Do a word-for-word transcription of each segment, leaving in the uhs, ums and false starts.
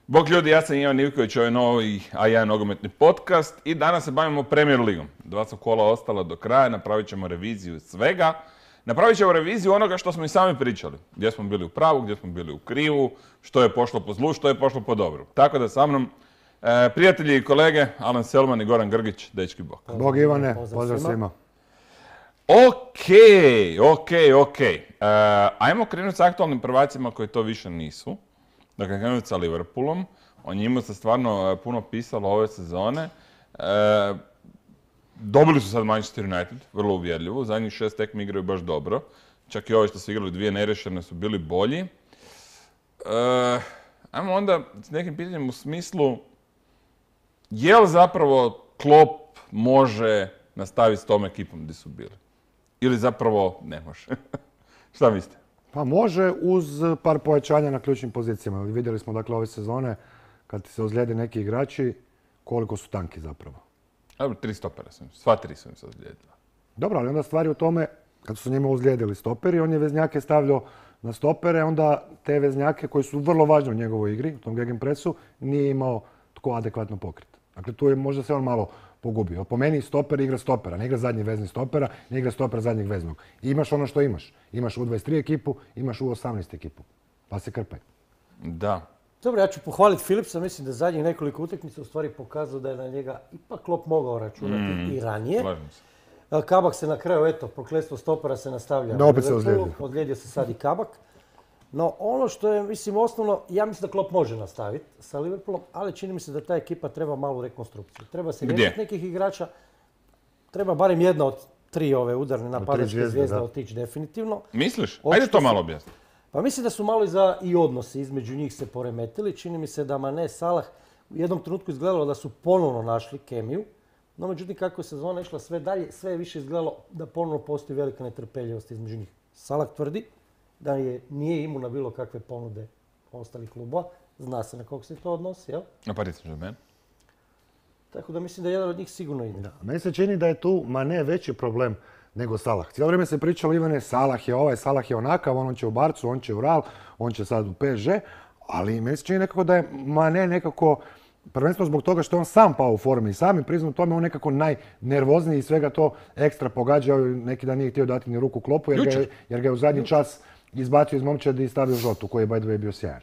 Bog ljudi, ja sam Ivan Ivković, ovo je novi A jedan nogometni podcast i danas se bavimo Premier Ligom. Dva su kola ostala do kraja, napravit ćemo reviziju svega. Napravit ćemo reviziju onoga što smo i sami pričali. Gdje smo bili u pravu, gdje smo bili u krivu, što je pošlo po zlu, što je pošlo po dobru. Tako da sa mnom e, prijatelji i kolege, Alen Selman i Goran Grgić, dečki bog. Bog Ivane, pozdrav svima. Okej, okej, okej. E, ajmo krenuti s aktualnim prvacima koji to više nisu. Dakle, krenuti sa Liverpoolom. O njima se stvarno e, puno pisalo ove sezone. E, dobili su sad Manchester United, vrlo uvjerljivo. Zadnjih šest tekmi igraju baš dobro. Čak i ove što su igrali dvije nerešene su bili bolji. E, ajmo onda s nekim pitanjem u smislu je li zapravo Klopp može nastaviti s tom ekipom gdje su bili? Ili zapravo ne može? Šta mislite? Pa može uz par pojačanja na ključnim pozicijama. Vidjeli smo dakle ove sezone kad se ozlijede neki igrači koliko su tanki zapravo. Dobro, tri stopera sam, sva tri su im se ozlijedila. Dobro, ali onda stvari u tome kad su njima ozlijedili stoperi, on je veznjake stavljao na stopere, onda te veznjake koji su vrlo važni u njegovoj igri, u tom gegenpressu, nije imao tko adekvatno pokriti. Dakle, tu je možda se on malo pogubio. Po meni stoper igra stopera, ne igra zadnji vezni stopera, ne igra stopera zadnjeg veznog. I imaš ono što imaš. Imaš U dvadeset tri ekipu, imaš U osamnaest ekipu. Pa se krpaj. Da. Dobro, ja ću pohvaliti Philipsa, mislim da zadnjih nekoliko utakmica u stvari pokazao da je na njega ipak Klopp mogao računati mm, i ranije. Kabak se na kraju, eto, prokletstvo stopera se nastavlja. Da, opet se ozlijedio. Ozlijedio se sad i Kabak. No ono što je, mislim, osnovno, ja mislim da Klopp može nastaviti sa Liverpoolom, ali čini mi se da ta ekipa treba malu rekonstrukciju. Treba se riješiti nekih igrača, treba barem jedna od tri ove udarne napadačke zvijezde otići definitivno. Misliš? Ajde to malo objasniti. Pa mislim da su malo i za i odnosi između njih se poremetili. Čini mi se da Mane, Salah u jednom trenutku izgledalo da su ponovno našli kemiju. No međutim, kako je sezona išla sve dalje, sve je više izgledalo da ponovno postoji velika netrpeljivost između njih. Salah tvrdi da je, nije imun na bilo kakve ponude ostalih klubova. Zna se na kog se to odnosi, jel? Na Paris Saint-Germain. Tako da mislim da jedan od njih sigurno ide. Da. Meni se čini da je tu Mane veći problem nego Salah. Cijelo vrijeme se pričalo, Ivane, Salah je ovaj, Salah je onakav, on će u Barcu, on će u Real, on će sad u P S G, ali meni se čini nekako da je Mane nekako, prvenstveno zbog toga što je on sam pao u formi i sami priznao tome, on nekako najnervozniji i svega to ekstra pogađa. Neki dan nije htio dati ni ruku Kloppu jer, ga, jer ga je u zadnji čas izbacio iz momčadi i stavio žotu, koji je by the way bio sjajan.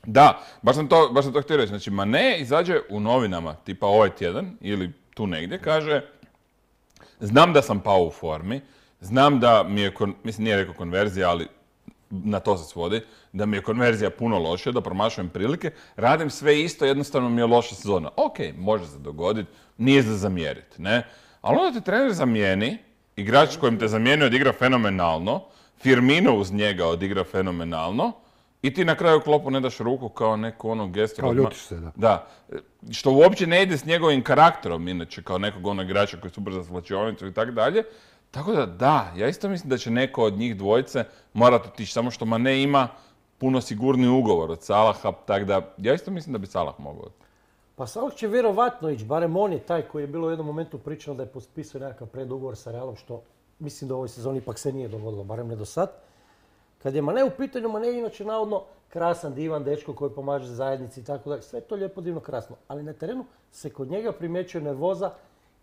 Da, baš sam to, baš sam to htio reći. Znači, Mane izađe u novinama, tipa ovaj tjedan ili tu negdje, kaže znam da sam pao u formi, znam da mi je, mislim nije rekao konverzija, ali na to se svodi, da mi je konverzija puno lošija, da promašujem prilike, radim sve isto, jednostavno mi je loša sezona. Ok, može se dogoditi, nije za zamjeriti, ne? Ali onda te trener zamijeni, igrač kojim te zamijenio odigra fenomenalno, Firmino uz njega odigra fenomenalno i ti na kraju Kloppu ne daš ruku kao neko ono gesto. Kao ljutiš se, da. Da. Što uopće ne ide s njegovim karakterom, inače, kao nekog onog igrača koji je super za svlačionicu i tako dalje. Tako da, da, ja isto mislim da će neko od njih dvojice morati otići, samo što Mane ima puno sigurniji ugovor od Salaha, tako da ja isto mislim da bi Salah mogao otići. Pa Salah će vjerovatno ići, barem on je taj koji je bilo u jednom momentu pričao da je potpisao nekakav predugovor sa Realom, što mislim da u ovoj sezoni ipak se nije dogodilo, barem ne do sad. Kad je Mane u pitanju, Mane je inače navodno krasan, divan dečko koji pomaže zajednici i tako dalje. Sve to lijepo, divno, krasno. Ali na terenu se kod njega primjećuje nervoza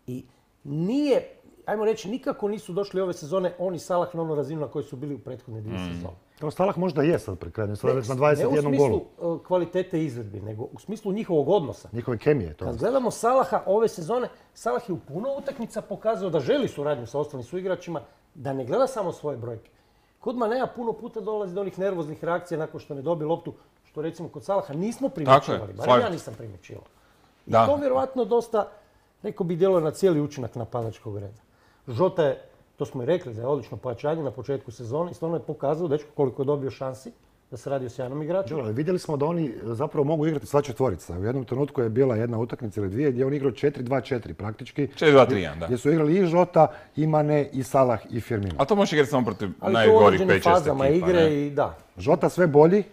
i nije, ajmo reći, nikako nisu došli ove sezone oni Salah na onu razinu na kojoj su bili u prethodne dvije Mm. sezone. To Salah možda je sad pri kraju, sad je već na Ne dvadeset jedan u golu. smislu uh, kvalitete izvedbi, nego u smislu njihovog odnosa. Njihove kemije to. Kad gledamo Salaha ove sezone, Salah je u puno utakmica pokazao da želi suradnju sa ostalim suigračima, da ne gleda samo svoje brojke. Kod Manea puno puta dolazi do onih nervoznih reakcija nakon što ne dobije loptu, što recimo kod Salaha nismo primjećivali, barem slažem ja se. nisam primjećivao. I Da. to vjerovatno dosta, rekao bi, djeluje na cijeli učinak napadačkog reda. Žota je, to smo i rekli, da je odlično pojačanje na početku sezone i stvarno je pokazao dečko koliko je dobio šansi da se radi o sjajnom igraču. Dobro, ali vidjeli smo da oni zapravo mogu igrati sva četvorica. U jednom trenutku je bila jedna utakmica ili dvije gdje je on igrao četiri dva četiri praktički. četiri dva tri jedan, da. Gdje su igrali i Žota, i Mane, i Salah, i Firmino. A to možeš igrati samo protiv Ali to u najgorih određenim pet šest fazama ekipa, igre ne? i da. Žota sve bolji,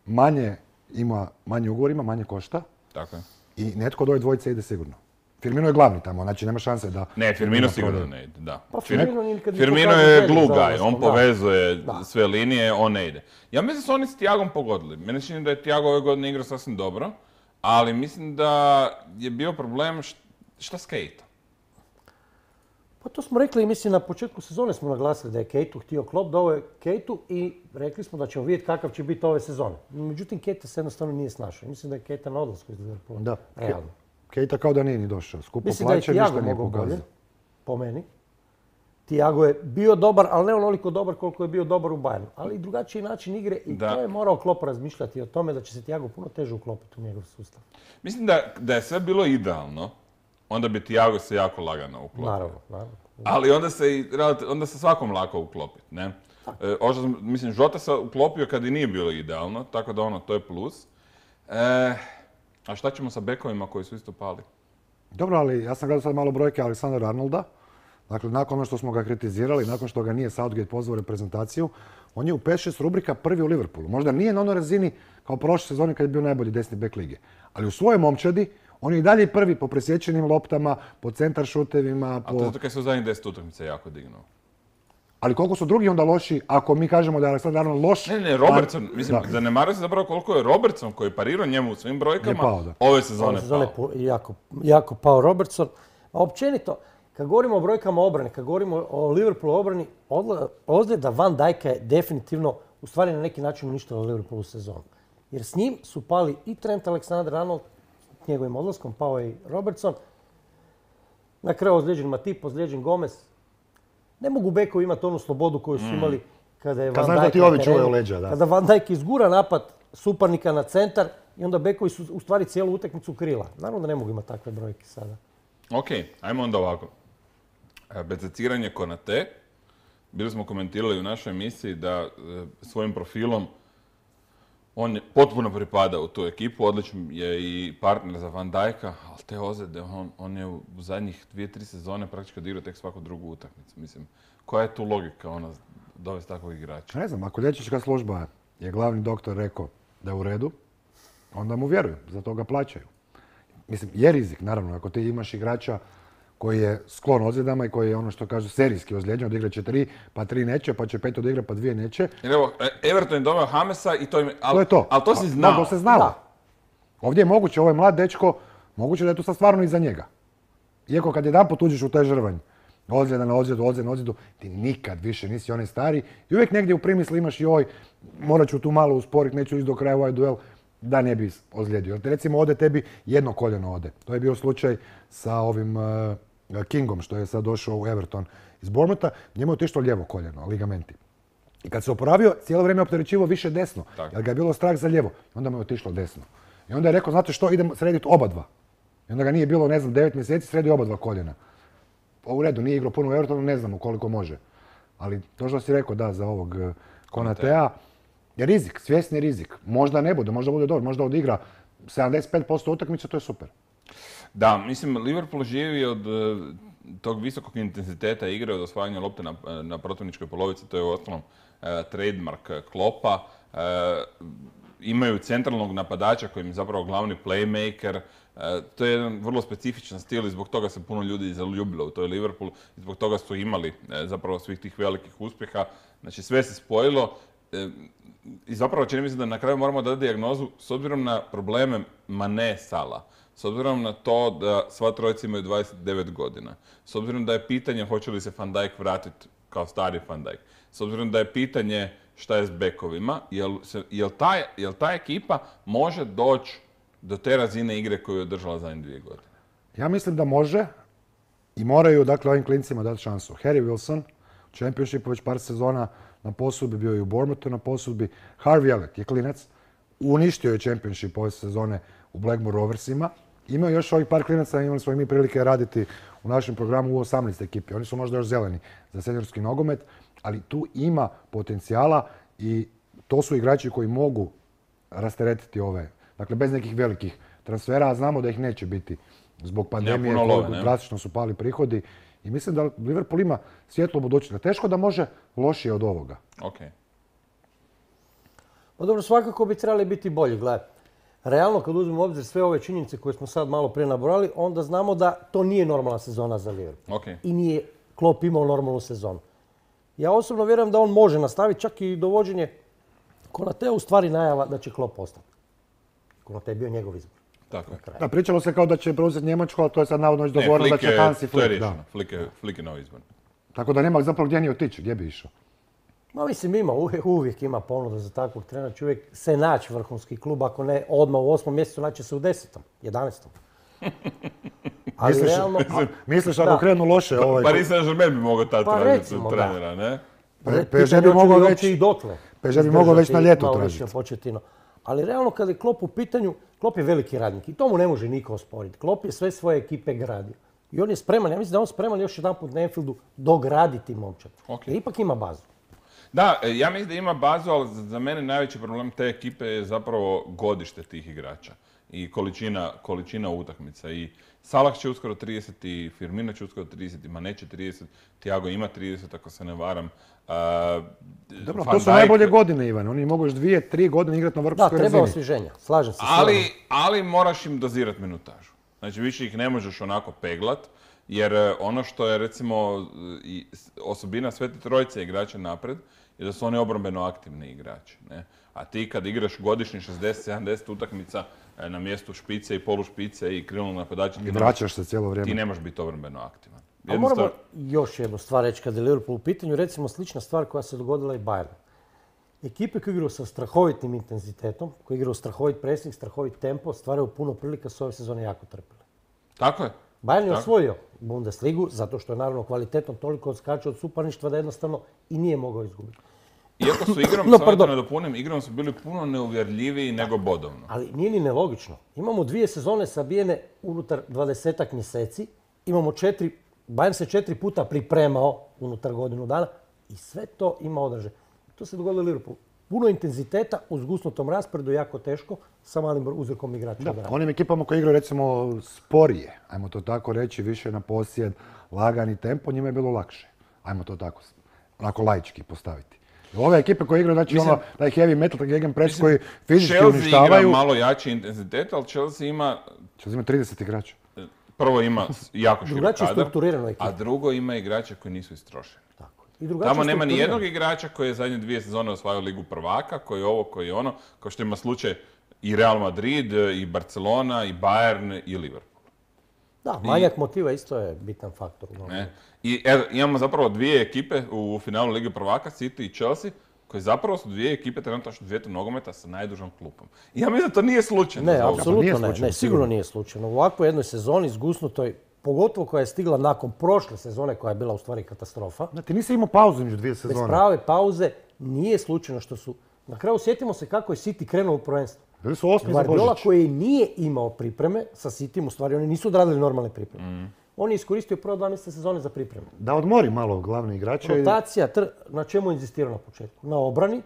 manje ima, manje ugovor ima, manje košta Tako je. i netko od ove dvojice ide sigurno. Firmino je glavni tamo, znači nema šanse da... Ne, Firmino da sigurno prodaje. ne ide, da. Pa Fir- Firmino nikad nije Firmino pokazao je želju glue za guy, on odlaskom, da. povezuje Da. sve linije, on ne ide. Ja mislim da su oni s Tiagom pogodili. Mene se čini da je Tiago ove godine igrao sasvim dobro, ali mislim da je bio problem št- šta s Keita. Pa to smo rekli i mislim na početku sezone smo naglasili da je Keitu htio Klopp, da ovo je Keitu i rekli smo da ćemo vidjeti kakav će biti ove sezone. Međutim, Keita se jednostavno nije snašao. Mislim da je Keita na odlasku iz Liverpoola. Da. Realno. Keita kao da nije ni došao. Skupo Mislim da je plaće, Thiago ništa nije mogao bolje, pokazao. po meni. Thiago je bio dobar, ali ne onoliko dobar koliko je bio dobar u Bayernu. Ali i drugačiji način igre i Da. to je morao Klopp razmišljati o tome da će se Thiago puno teže uklopiti u njegov sustav. Mislim da, da je sve bilo idealno, onda bi Tiago se jako lagano uklopio. Naravno, naravno. Ali onda se, i relati- onda se svakom lako uklopiti, ne? E, ovo što sam- mislim, Žota se uklopio kad i nije bilo idealno, tako da ono, to je plus. E, a šta ćemo sa bekovima koji su isto pali? Dobro, ali ja sam gledao sad malo brojke Aleksandra Arnolda. Dakle, nakon ono što smo ga kritizirali, nakon što ga nije Southgate pozvao u reprezentaciju, on je u pet šest rubrika prvi u Liverpoolu. Možda nije na onoj razini kao prošle sezone kad je bio najbolji desni bek lige. Ali u svojoj momčadi on je i dalje prvi po presječenim loptama, po centar šutevima, A to po... je zato kad se u zadnjih deset utakmica jako dignuo. Ali koliko su drugi onda loši, ako mi kažemo da je Aleksandar Arnold loš... Ne, ne, Robertson, mislim, Da. zanemaruje se zapravo koliko je Robertson koji je parirao njemu u svim brojkama, Je pao, da. ove sezone Ove sezone pao. po- jako, jako pao Robertson. A općenito, kad govorimo o brojkama obrane, kad govorimo o Liverpoolu obrani, odla- ozljeda Van Dijka je definitivno, u stvari na neki način uništila Liverpoolu sezonu. Jer s njim su pali i Trent Alexander-Arnold, s njegovim odlaskom pao je i Robertson. Na kraju ozlijeđen Matip, ozlijeđen Gomez. Ne mogu bekovi imati onu slobodu koju su imali kada je Kad Van znaš da Dijk ti na ovi terenu. čuvaju leđa, da. Kada Van Dijk izgura napad suparnika na centar i onda bekovi su u stvari cijelu utakmicu krila. Naravno da ne mogu imati takve brojke sada. Ok, ajmo onda ovako. E, Bececiranje Konate. Bili smo komentirali u našoj emisiji da e, svojim profilom on je potpuno pripada u tu ekipu, odličan je i partner za Van Dijka, ali te ozljede, on, on je u zadnjih dvije, tri sezone praktički odigrao tek svaku drugu utakmicu. Mislim, koja je tu logika ona dovesti takvog igrača? Ne znam, ako liječnička služba je glavni doktor rekao da je u redu, onda mu vjeruju, za to ga plaćaju. Mislim, je rizik, naravno, ako ti imaš igrača koji je sklon ozljedama i koji je ono što kažu serijski ozlijeđen, odigrat će tri, pa tri neće, pa će pet odigrat, pa dvije neće. Jer evo, e, Everton je doveo Hamesa i to im... al- To je to. Ali to si A- znao. Da, to se znalo. Da. Ovdje je moguće, ovo je mlad dečko, moguće da je to sad stvarno iza njega. Iako kad jedanput uđeš u taj žrvanj, ozljeda na ozljedu, ozljeda na ozljedu, ti nikad više nisi onaj stari i uvijek negdje u primisli imaš i oj, morat ću tu malo usporiti, neću ići do kraja u ovaj duel, da ne bi ozlijedio. Jer te recimo ode tebi jedno koljeno ode. To je bio slučaj sa ovim uh, Kingom što je sad došao u Everton iz Bournemoutha, njemu je otišlo lijevo koljeno, ligamenti. I kad se oporavio, cijelo vrijeme je opterećivao više desno, Tako. jer ga je bilo strah za lijevo. I onda mu je otišlo desno. I onda je rekao, znate što, idemo srediti oba dva. I onda ga nije bilo, ne znam, devet mjeseci, sredio oba dva koljena. Pa u redu, nije igrao puno u Evertonu, ne znamo koliko može. Ali to što si rekao, da, za ovog eh, Konatea, je rizik, svjesni rizik. Možda ne bude, možda bude dobro, možda odigra sedamdeset pet posto utakmice, to je super. Da, mislim, Liverpool živi od e, tog visokog intenziteta igre, od osvajanja lopte na, na protivničkoj polovici, to je u ostalom e, trademark Kloppa. E, imaju centralnog napadača koji im je zapravo glavni playmaker. E, to je jedan vrlo specifičan stil i zbog toga se puno ljudi zaljubilo u toj Liverpool i zbog toga su imali e, zapravo svih tih velikih uspjeha. Znači sve se spojilo. E, I zapravo čini mi se da na kraju moramo dati dijagnozu s obzirom na probleme Mane Sala. s obzirom na to da sva trojica imaju dvadeset devet godina, s obzirom da je pitanje hoće li se Van Dijk vratiti kao stari Van Dijk, s obzirom da je pitanje šta je s bekovima, jel, se, jel, ta, jel ta ekipa može doći do te razine igre koju je održala zadnje dvije godine? Ja mislim da može i moraju, dakle, ovim klincima dati šansu. Harry Wilson, u Championshipu već par sezona na posudbi, bio je u Bournemouthu na posudbi. Harvey Elliott je klinac, uništio je Championship ove sezone u Blackburn Roversima. Imao još ovih par klinaca, imali smo i mi prilike raditi u našem programu u osamnaest ekipi. Oni su možda još zeleni za seniorski nogomet, ali tu ima potencijala i to su igrači koji mogu rasteretiti ove, dakle bez nekih velikih transfera, a znamo da ih neće biti zbog pandemije, love, drastično su pali prihodi i mislim da Liverpool ima svjetlo budućnost. Teško da može lošije od ovoga. Okay. Pa dobro, svakako bi trebali biti bolji. Gledaj, realno kad uzmemo u obzir sve ove činjenice koje smo sad malo prije nabrojali, onda znamo da to nije normalna sezona za Liverpool. Okay. I nije Klopp imao normalnu sezonu. Ja osobno vjerujem da on može nastaviti, čak i dovođenje Konatea u stvari najava da će Klopp ostati. Konate je bio njegov izbor. Tako je. Da, pričalo se kao da će preuzeti Njemačku, ali to je sad navodno već dogovoreno da će Hansi Flick. To je rješeno. Flick je, Flick je novi izbor. Tako da nema zapravo gdje ni otići, gdje bi išao. Ma mislim ima, uvijek, uvijek ima ponuda za takvog trenera. Će uvijek se naći vrhunski klub, ako ne odmah u osmom mjesecu, naći se u desetom, jedanaestom. Ali misliš, realno... A, misliš ako krenu loše... Pa, ovaj... Paris Saint-Germain bi mogao tad pa tražiti recimo, trenera, ne? P S G bi mogao već... i dotle. P S G bi mogao već na ljeto tražiti. Početino. Ali realno kad je Klopp u pitanju, Klopp je veliki radnik i to mu ne može niko osporiti. Klopp je sve svoje ekipe gradio. I on je spreman, ja mislim da je on spreman još jedan put na Anfieldu dograditi momčad. Okay. Jer ipak ima bazu. Da, ja mislim da ima bazu, ali za mene najveći problem te ekipe je zapravo godište tih igrača i količina, količina utakmica. I Salah će uskoro trideset, i Firmino će uskoro trideset, i Mane će trideset, Thiago ima trideset, ako se ne varam. Uh, Dobro, to su Dijk... najbolje godine, Ivan. Oni mogu još dvije, tri godine igrati na vrhunskoj razini. Da, treba osvježenja, slažem se. Ali, ali moraš im dozirati minutažu. Znači, više ih ne možeš onako peglat, jer ono što je, recimo, osobina Svete Trojice igrača napred, je da su oni obrambeno aktivni igrači. Ne? A ti kad igraš godišnji šezdeset sedamdeset utakmica na mjestu špice i polušpice i krilnog napadača, i vraćaš se cijelo vrijeme. Ti ne možeš biti obrambeno aktivan. A moramo još jednu stvar reći kad je Liverpool u pitanju, recimo slična stvar koja se dogodila i Bayernu. Ekipe koje igraju sa strahovitim intenzitetom, koje igraju strahovit presing, strahovit tempo, stvaraju puno prilika, su ove sezone jako trpile. Tako je. Bayern je osvojio Bundesligu zato što je naravno kvalitetom toliko odskačio od suparništva da jednostavno i nije mogao izgubiti. Iako su igrom, no, samo da nadopunim, igrom su bili puno neuvjerljiviji nego bodovno. Ali nije ni nelogično. Imamo dvije sezone sabijene unutar dvadesetak mjeseci, imamo četiri, Bayern se četiri puta pripremao unutar godinu dana i sve to ima odraže. To se dogodilo u Liverpoolu. Puno intenziteta u zgusnutom rasporedu, jako teško, sa malim uzrokom igrača. Da, onim ekipama koji igraju recimo sporije, ajmo to tako reći, više na posjed, lagani tempo, njima je bilo lakše. Ajmo to tako, onako laički postaviti. Ove ekipe koje igraju, znači ono, taj heavy metal, taj gegenpress koji fizički Chelsea uništavaju... Chelsea igra malo jači intenzitet, ali Chelsea ima... Chelsea ima trideset igrača. Prvo ima jako širok kadar, a drugo ima igrača koji nisu istrošeni. Tako. Tamo nema ni jednog igrača koji je zadnje dvije sezone osvajao Ligu prvaka, koji je ovo, koji je ono, kao što ima slučaj i Real Madrid, i Barcelona, i Bayern, i Liverpool. Da, manjak motiva isto je bitan faktor. Ne. I er, imamo zapravo dvije ekipe u finalu Lige prvaka, City i Chelsea, koji zapravo su dvije ekipe trenutačno svijetu nogometa sa najdužom klupom. I ja mislim da to nije slučajno. Ne, apsolutno ne, ne, sigurno nije slučajno. U ovakvoj jednoj sezoni zgusnutoj, pogotovo koja je stigla nakon prošle sezone koja je bila u stvari katastrofa. Da, ti nisi imao pauzu među dvije sezone. Bez prave pauze nije slučajno što su... Na kraju sjetimo se kako je City krenuo u prvenstvo. Bili su osmi za Božić. Guardiola koji nije imao pripreme sa Cityjem, u stvari oni nisu odradili normalne pripreme. Mm. On je iskoristio prvo dva mjeseca sezone za pripremu. Da odmori malo glavni igrače. Rotacija, tr... na čemu je inzistirao na početku? Na obrani.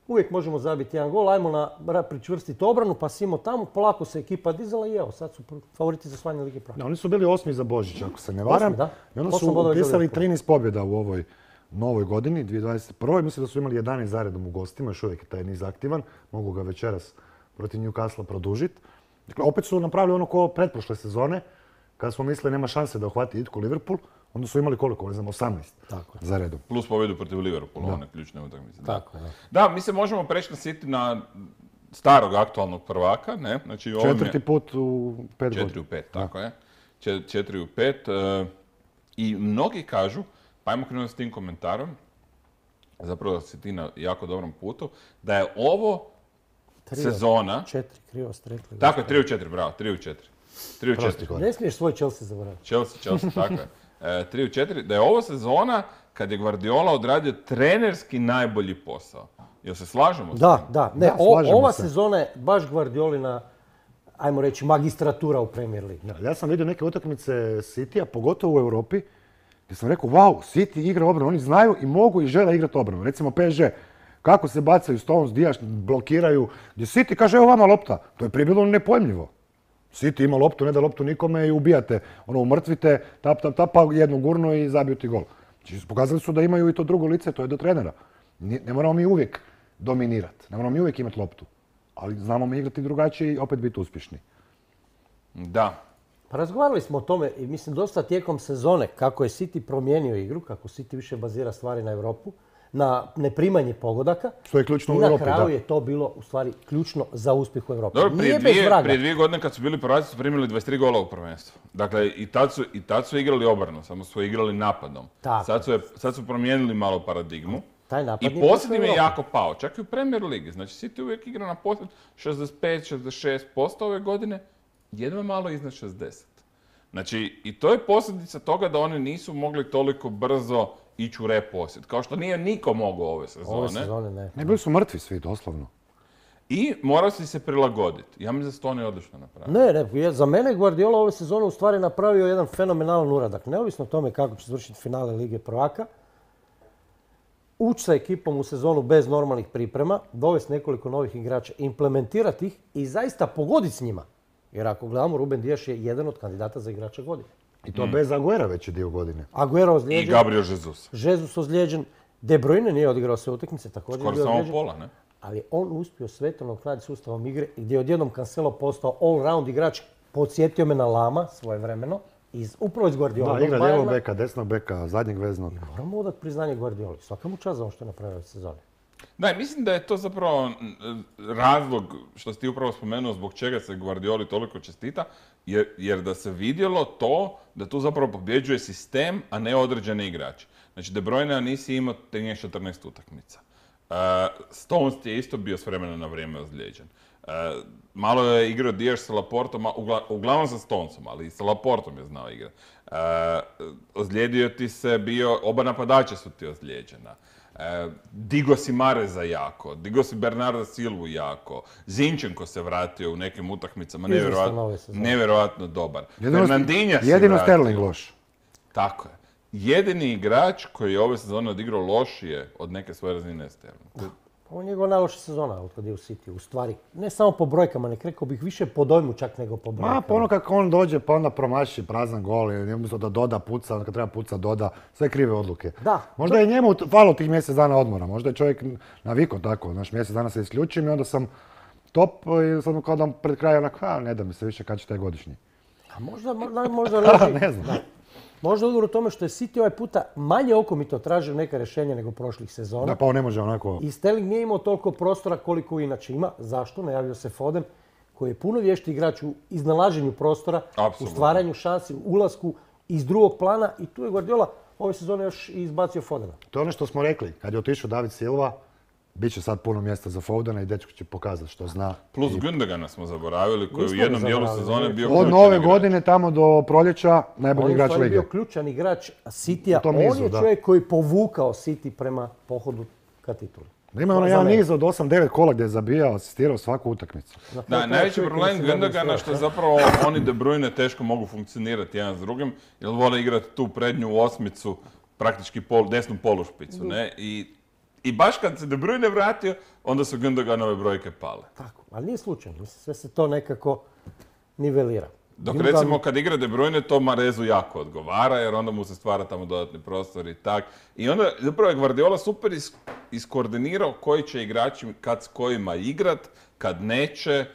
Uvijek možemo zabiti jedan gol, ajmo na pričvrstiti obranu, pa simo tamo, polako se ekipa dizala i evo, sad su favoriti za osvajanje Lige prvaka. Oni su bili osmi za Božić, ako se ne varam. Osmi, da. I onda su upisali trinaest pobjeda u ovoj novoj godini, dvije tisuće dvadeset prve. Mislim da su imali jedanaest zaredom u gostima, još uvijek je taj niz aktivan. Mogu ga večeras protiv Newcastle produžiti. Dakle, opet su napravili ono ko pretprošle sezone, kada smo mislili nema šanse da uhvati itko Liverpool, onda su imali koliko, ne znam, osamnaest za redom. Plus pobjedu protiv Liverpoola, one ključne utakmice. Tako, da. Da, mi se možemo preći na City na starog aktualnog prvaka, ne? Znači, ovo mi je- Četvrti put u pet Četiri godina. u pet, tako je. Čet- Četiri u pet. e, I mnogi kažu, pa ajmo krenuti s tim komentarom, zapravo da si ti na jako dobrom putu, da je ovo Tri sezona, Četiri, krivo ste rekli. tako je, tri u četiri, bravo, tri u četiri. tri u Prosti četiri. korak. Ne smiješ svoj Chelsea zaboraviti. Chelsea, Chelsea, tako je. E, tri u četiri, da je ovo sezona kad je Guardiola odradio trenerski najbolji posao. Jel se slažemo s Da, tim? da. Ne, Da, o- slažemo ova se. sezona je baš Guardiolina, ajmo reći, magistratura u Premier League. Da, ja sam vidio neke utakmice Citya, pogotovo u Europi, gdje sam rekao, wow, City igra obranu, oni znaju i mogu i žele igrati obranu. Recimo P S G, kako se bacaju Stones, Dijaš, blokiraju, gdje City kaže, evo vama lopta. To je prije bilo nepojmljivo. City ima loptu, ne da loptu nikome i ubijate. Ono, umrtvite, tap, tap, tap, pa jednu gurnu i zabiju ti gol. Znači, pokazali su da imaju i to drugo lice, to je do trenera. Ne, ne moramo mi uvijek dominirati, ne moramo mi uvijek imati loptu. Ali znamo mi igrati drugačije i opet biti uspješni. Da. Pa razgovarali smo o tome i mislim dosta tijekom sezone kako je City promijenio igru, kako City više bazira stvari na Europu, na neprimanje pogodaka. Što je ključno I u na Europi, kraju da. je to bilo u stvari ključno za uspjeh u Europi. Dobro, prije Nije bez dvije, vraga. prije dvije godine kad su bili prvaci su primili dvadeset tri gola u prvenstvu. Dakle, i tad su, i tad su igrali obranu, samo su igrali napadom. Tako. Sad su, je- sad su promijenili malo paradigmu. Taj napad I nije posljednji prošao je u jako pao, čak i u Premier Ligi. Znači, City uvijek igra na posljed šezdeset pet šezdeset šest posto ove godine, jedva malo iznad šezdeset. Znači, i to je posljedica toga da oni nisu mogli toliko brzo ići u reposjed, kao što nije niko mogao ove sezone. Ove sezone ne. Ne, bili su mrtvi svi, doslovno. I morao si se prilagoditi. Ja mislim da su to oni odlično napravili. Ne, ne, je- za mene Guardiola ove sezone u stvari napravio jedan fenomenalan uradak. Neovisno o tome kako će završiti finale Lige prvaka, ući sa ekipom u sezonu bez normalnih priprema, dovesti nekoliko novih igrača, implementirati ih i zaista pogoditi s njima. Jer ako gledamo, Ruben Dijaš je jedan od kandidata za igrača godine. I to bez Aguera veći dio godine. Aguero I ozlijeđen, Gabriel Jesus. Jesus ozlijeđen, De Bruyne nije odigrao sve utakmice, također je Skoro bio samo ozlijeđen. pola, ne? Ali je on uspio svetovno nadoknaditi sustavom igre gdje je odjednom Cancelo postao all-round igrač, podsjetio me na Lama svojevremeno, iz, upravo iz Guardiola. Da, igra lijevog beka, desnog beka, zadnjeg veznog. Moramo odati priznanje Guardioli. Svaka mu čast za ovo što je napravio ove sezone. Da, i mislim da je to zapravo mm, razlog što si ti upravo spomenuo zbog čega se Guardioli toliko čestita, jer, jer da se vidjelo to da tu zapravo pobjeđuje sistem, a ne određene igrače. Znači, De Bruyne nisi imao trinaest četrnaest utakmica. Uh, Stones ti je isto bio s vremena na vrijeme ozlijeđen. Uh, malo je igrao Dijaš sa Laportom, a ugla- uglavnom sa Stonesom, ali i sa Laportom je znao igrati. Uh, ozlijedio ti se bio, oba napadača su ti ozlijeđena. E, digo si Mareza jako, digo si Bernarda Silvu jako, Zinčenko se vratio u nekim utakmicama, Izvrstan nevjerojatno, ove sezone. nevjerojatno dobar. Jedino, Fernandinha se jedino vratio. Sterling loš. Tako je. Jedini igrač koji je ove sezone odigrao lošije od neke svoje razine je Sterling. To je- Ovo je njegova najloša sezona od kad je u City. U stvari, ne samo po brojkama, nek rekao bih više po dojmu čak nego po brojkama. Ma, pa ono kako on dođe, pa onda promaši prazan gol, i umjesto da doda, puca, onda kad treba puca, doda, sve krive odluke. Da. Možda je njemu falo tih mjesec dana odmora, možda je čovjek navikao tako, znaš, mjesec dana se isključim i onda sam top i sad mu kao da pred kraj onako, a ne da mi se više kad će taj godišnji. A možda, možda, možda leži- Ne znam. Da. Možda odgovor u tome što je City ovaj puta manje okomito tražio neka rješenja nego prošlih sezona. Da, pa on ne može onako... I Sterling nije imao toliko prostora koliko inače ima. Zašto? Najavio se Foden, koji je puno vješti igrač u iznalaženju prostora, Apsolutno. u stvaranju šansi, u ulasku iz drugog plana. I tu je Guardiola ove sezone još i izbacio Fodena. To je ono što smo rekli, kad je otišao David Silva, bit će sad puno mjesta za Fodena i dečko će pokazati što zna. Plus Gündogana smo zaboravili, koji je u Nismo ga jednom dijelu zaboravili. sezone bio Od ključan nove igrač. godine tamo do proljeća On najbolji je u igrač stvari lige. bio ključan igrač Citya. U tom On nizu, je da. čovjek koji je povukao City prema pohodu ka tituli. Da ima ono Za jedan mene. niz od osam devet kola gdje je zabijao, asistirao svaku utakmicu. Na Da, kraju najveći čovjek problem koji se bavi Gündogana sve, što je da. zapravo oni De Bruyne teško mogu funkcionirati jedan s drugim, jer vole igrati tu prednju osmicu, praktički pol, desnu polušpicu, ne? I, I baš kad se De Bruyne vratio, onda su Gündoganove brojke pale. Tako, ali nije slučajno. Mislim, sve se to nekako nivelira. Dok Gündogan- recimo kad igra De Bruyne, to Marezu jako odgovara, jer onda mu se stvara tamo dodatni prostor i tak. I onda zapravo je Guardiola super is, iskoordinirao koji će igrači kad s kojima igrat, kad neće.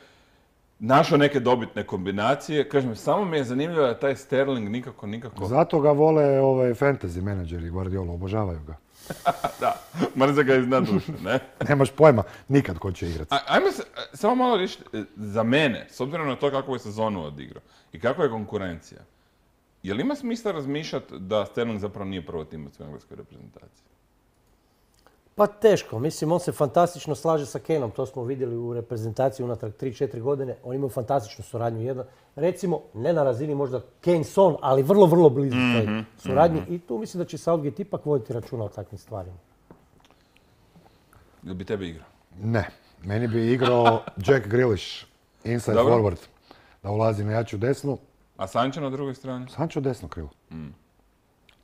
našao neke dobitne kombinacije. Kažem, samo mi je zanimljivo da taj Sterling nikako, nikako... Zato ga vole ovaj, fantasy menadžeri Guardiola, obožavaju ga. Da, mrze ga iznad duše, ne? Nemaš pojma nikad ko će igrati. A- Ajmo se, samo malo reći, za mene, s obzirom na to kako je sezonu odigrao i kakva je konkurencija, je li ima smisla razmišljati da Sterling zapravo nije prvo timac u engleskoj reprezentaciji? Pa teško, mislim on se fantastično slaže sa Kaneom, to smo vidjeli u reprezentaciji unatrag tri četiri godine, oni imaju fantastičnu suradnju. Jedna, recimo, ne na razini možda Kane-Son, ali vrlo, vrlo blizu mm-hmm, suradnji mm-hmm. I tu mislim da će Southgate ipak voditi računa o takvim stvarima. Jel bi tebe igrao? Ne, meni bi igrao Jack Grealish, inside Dobro. forward, da ulazi na jaču desnu. A Sancho na drugoj strani? Sancho desno krilo. Mm.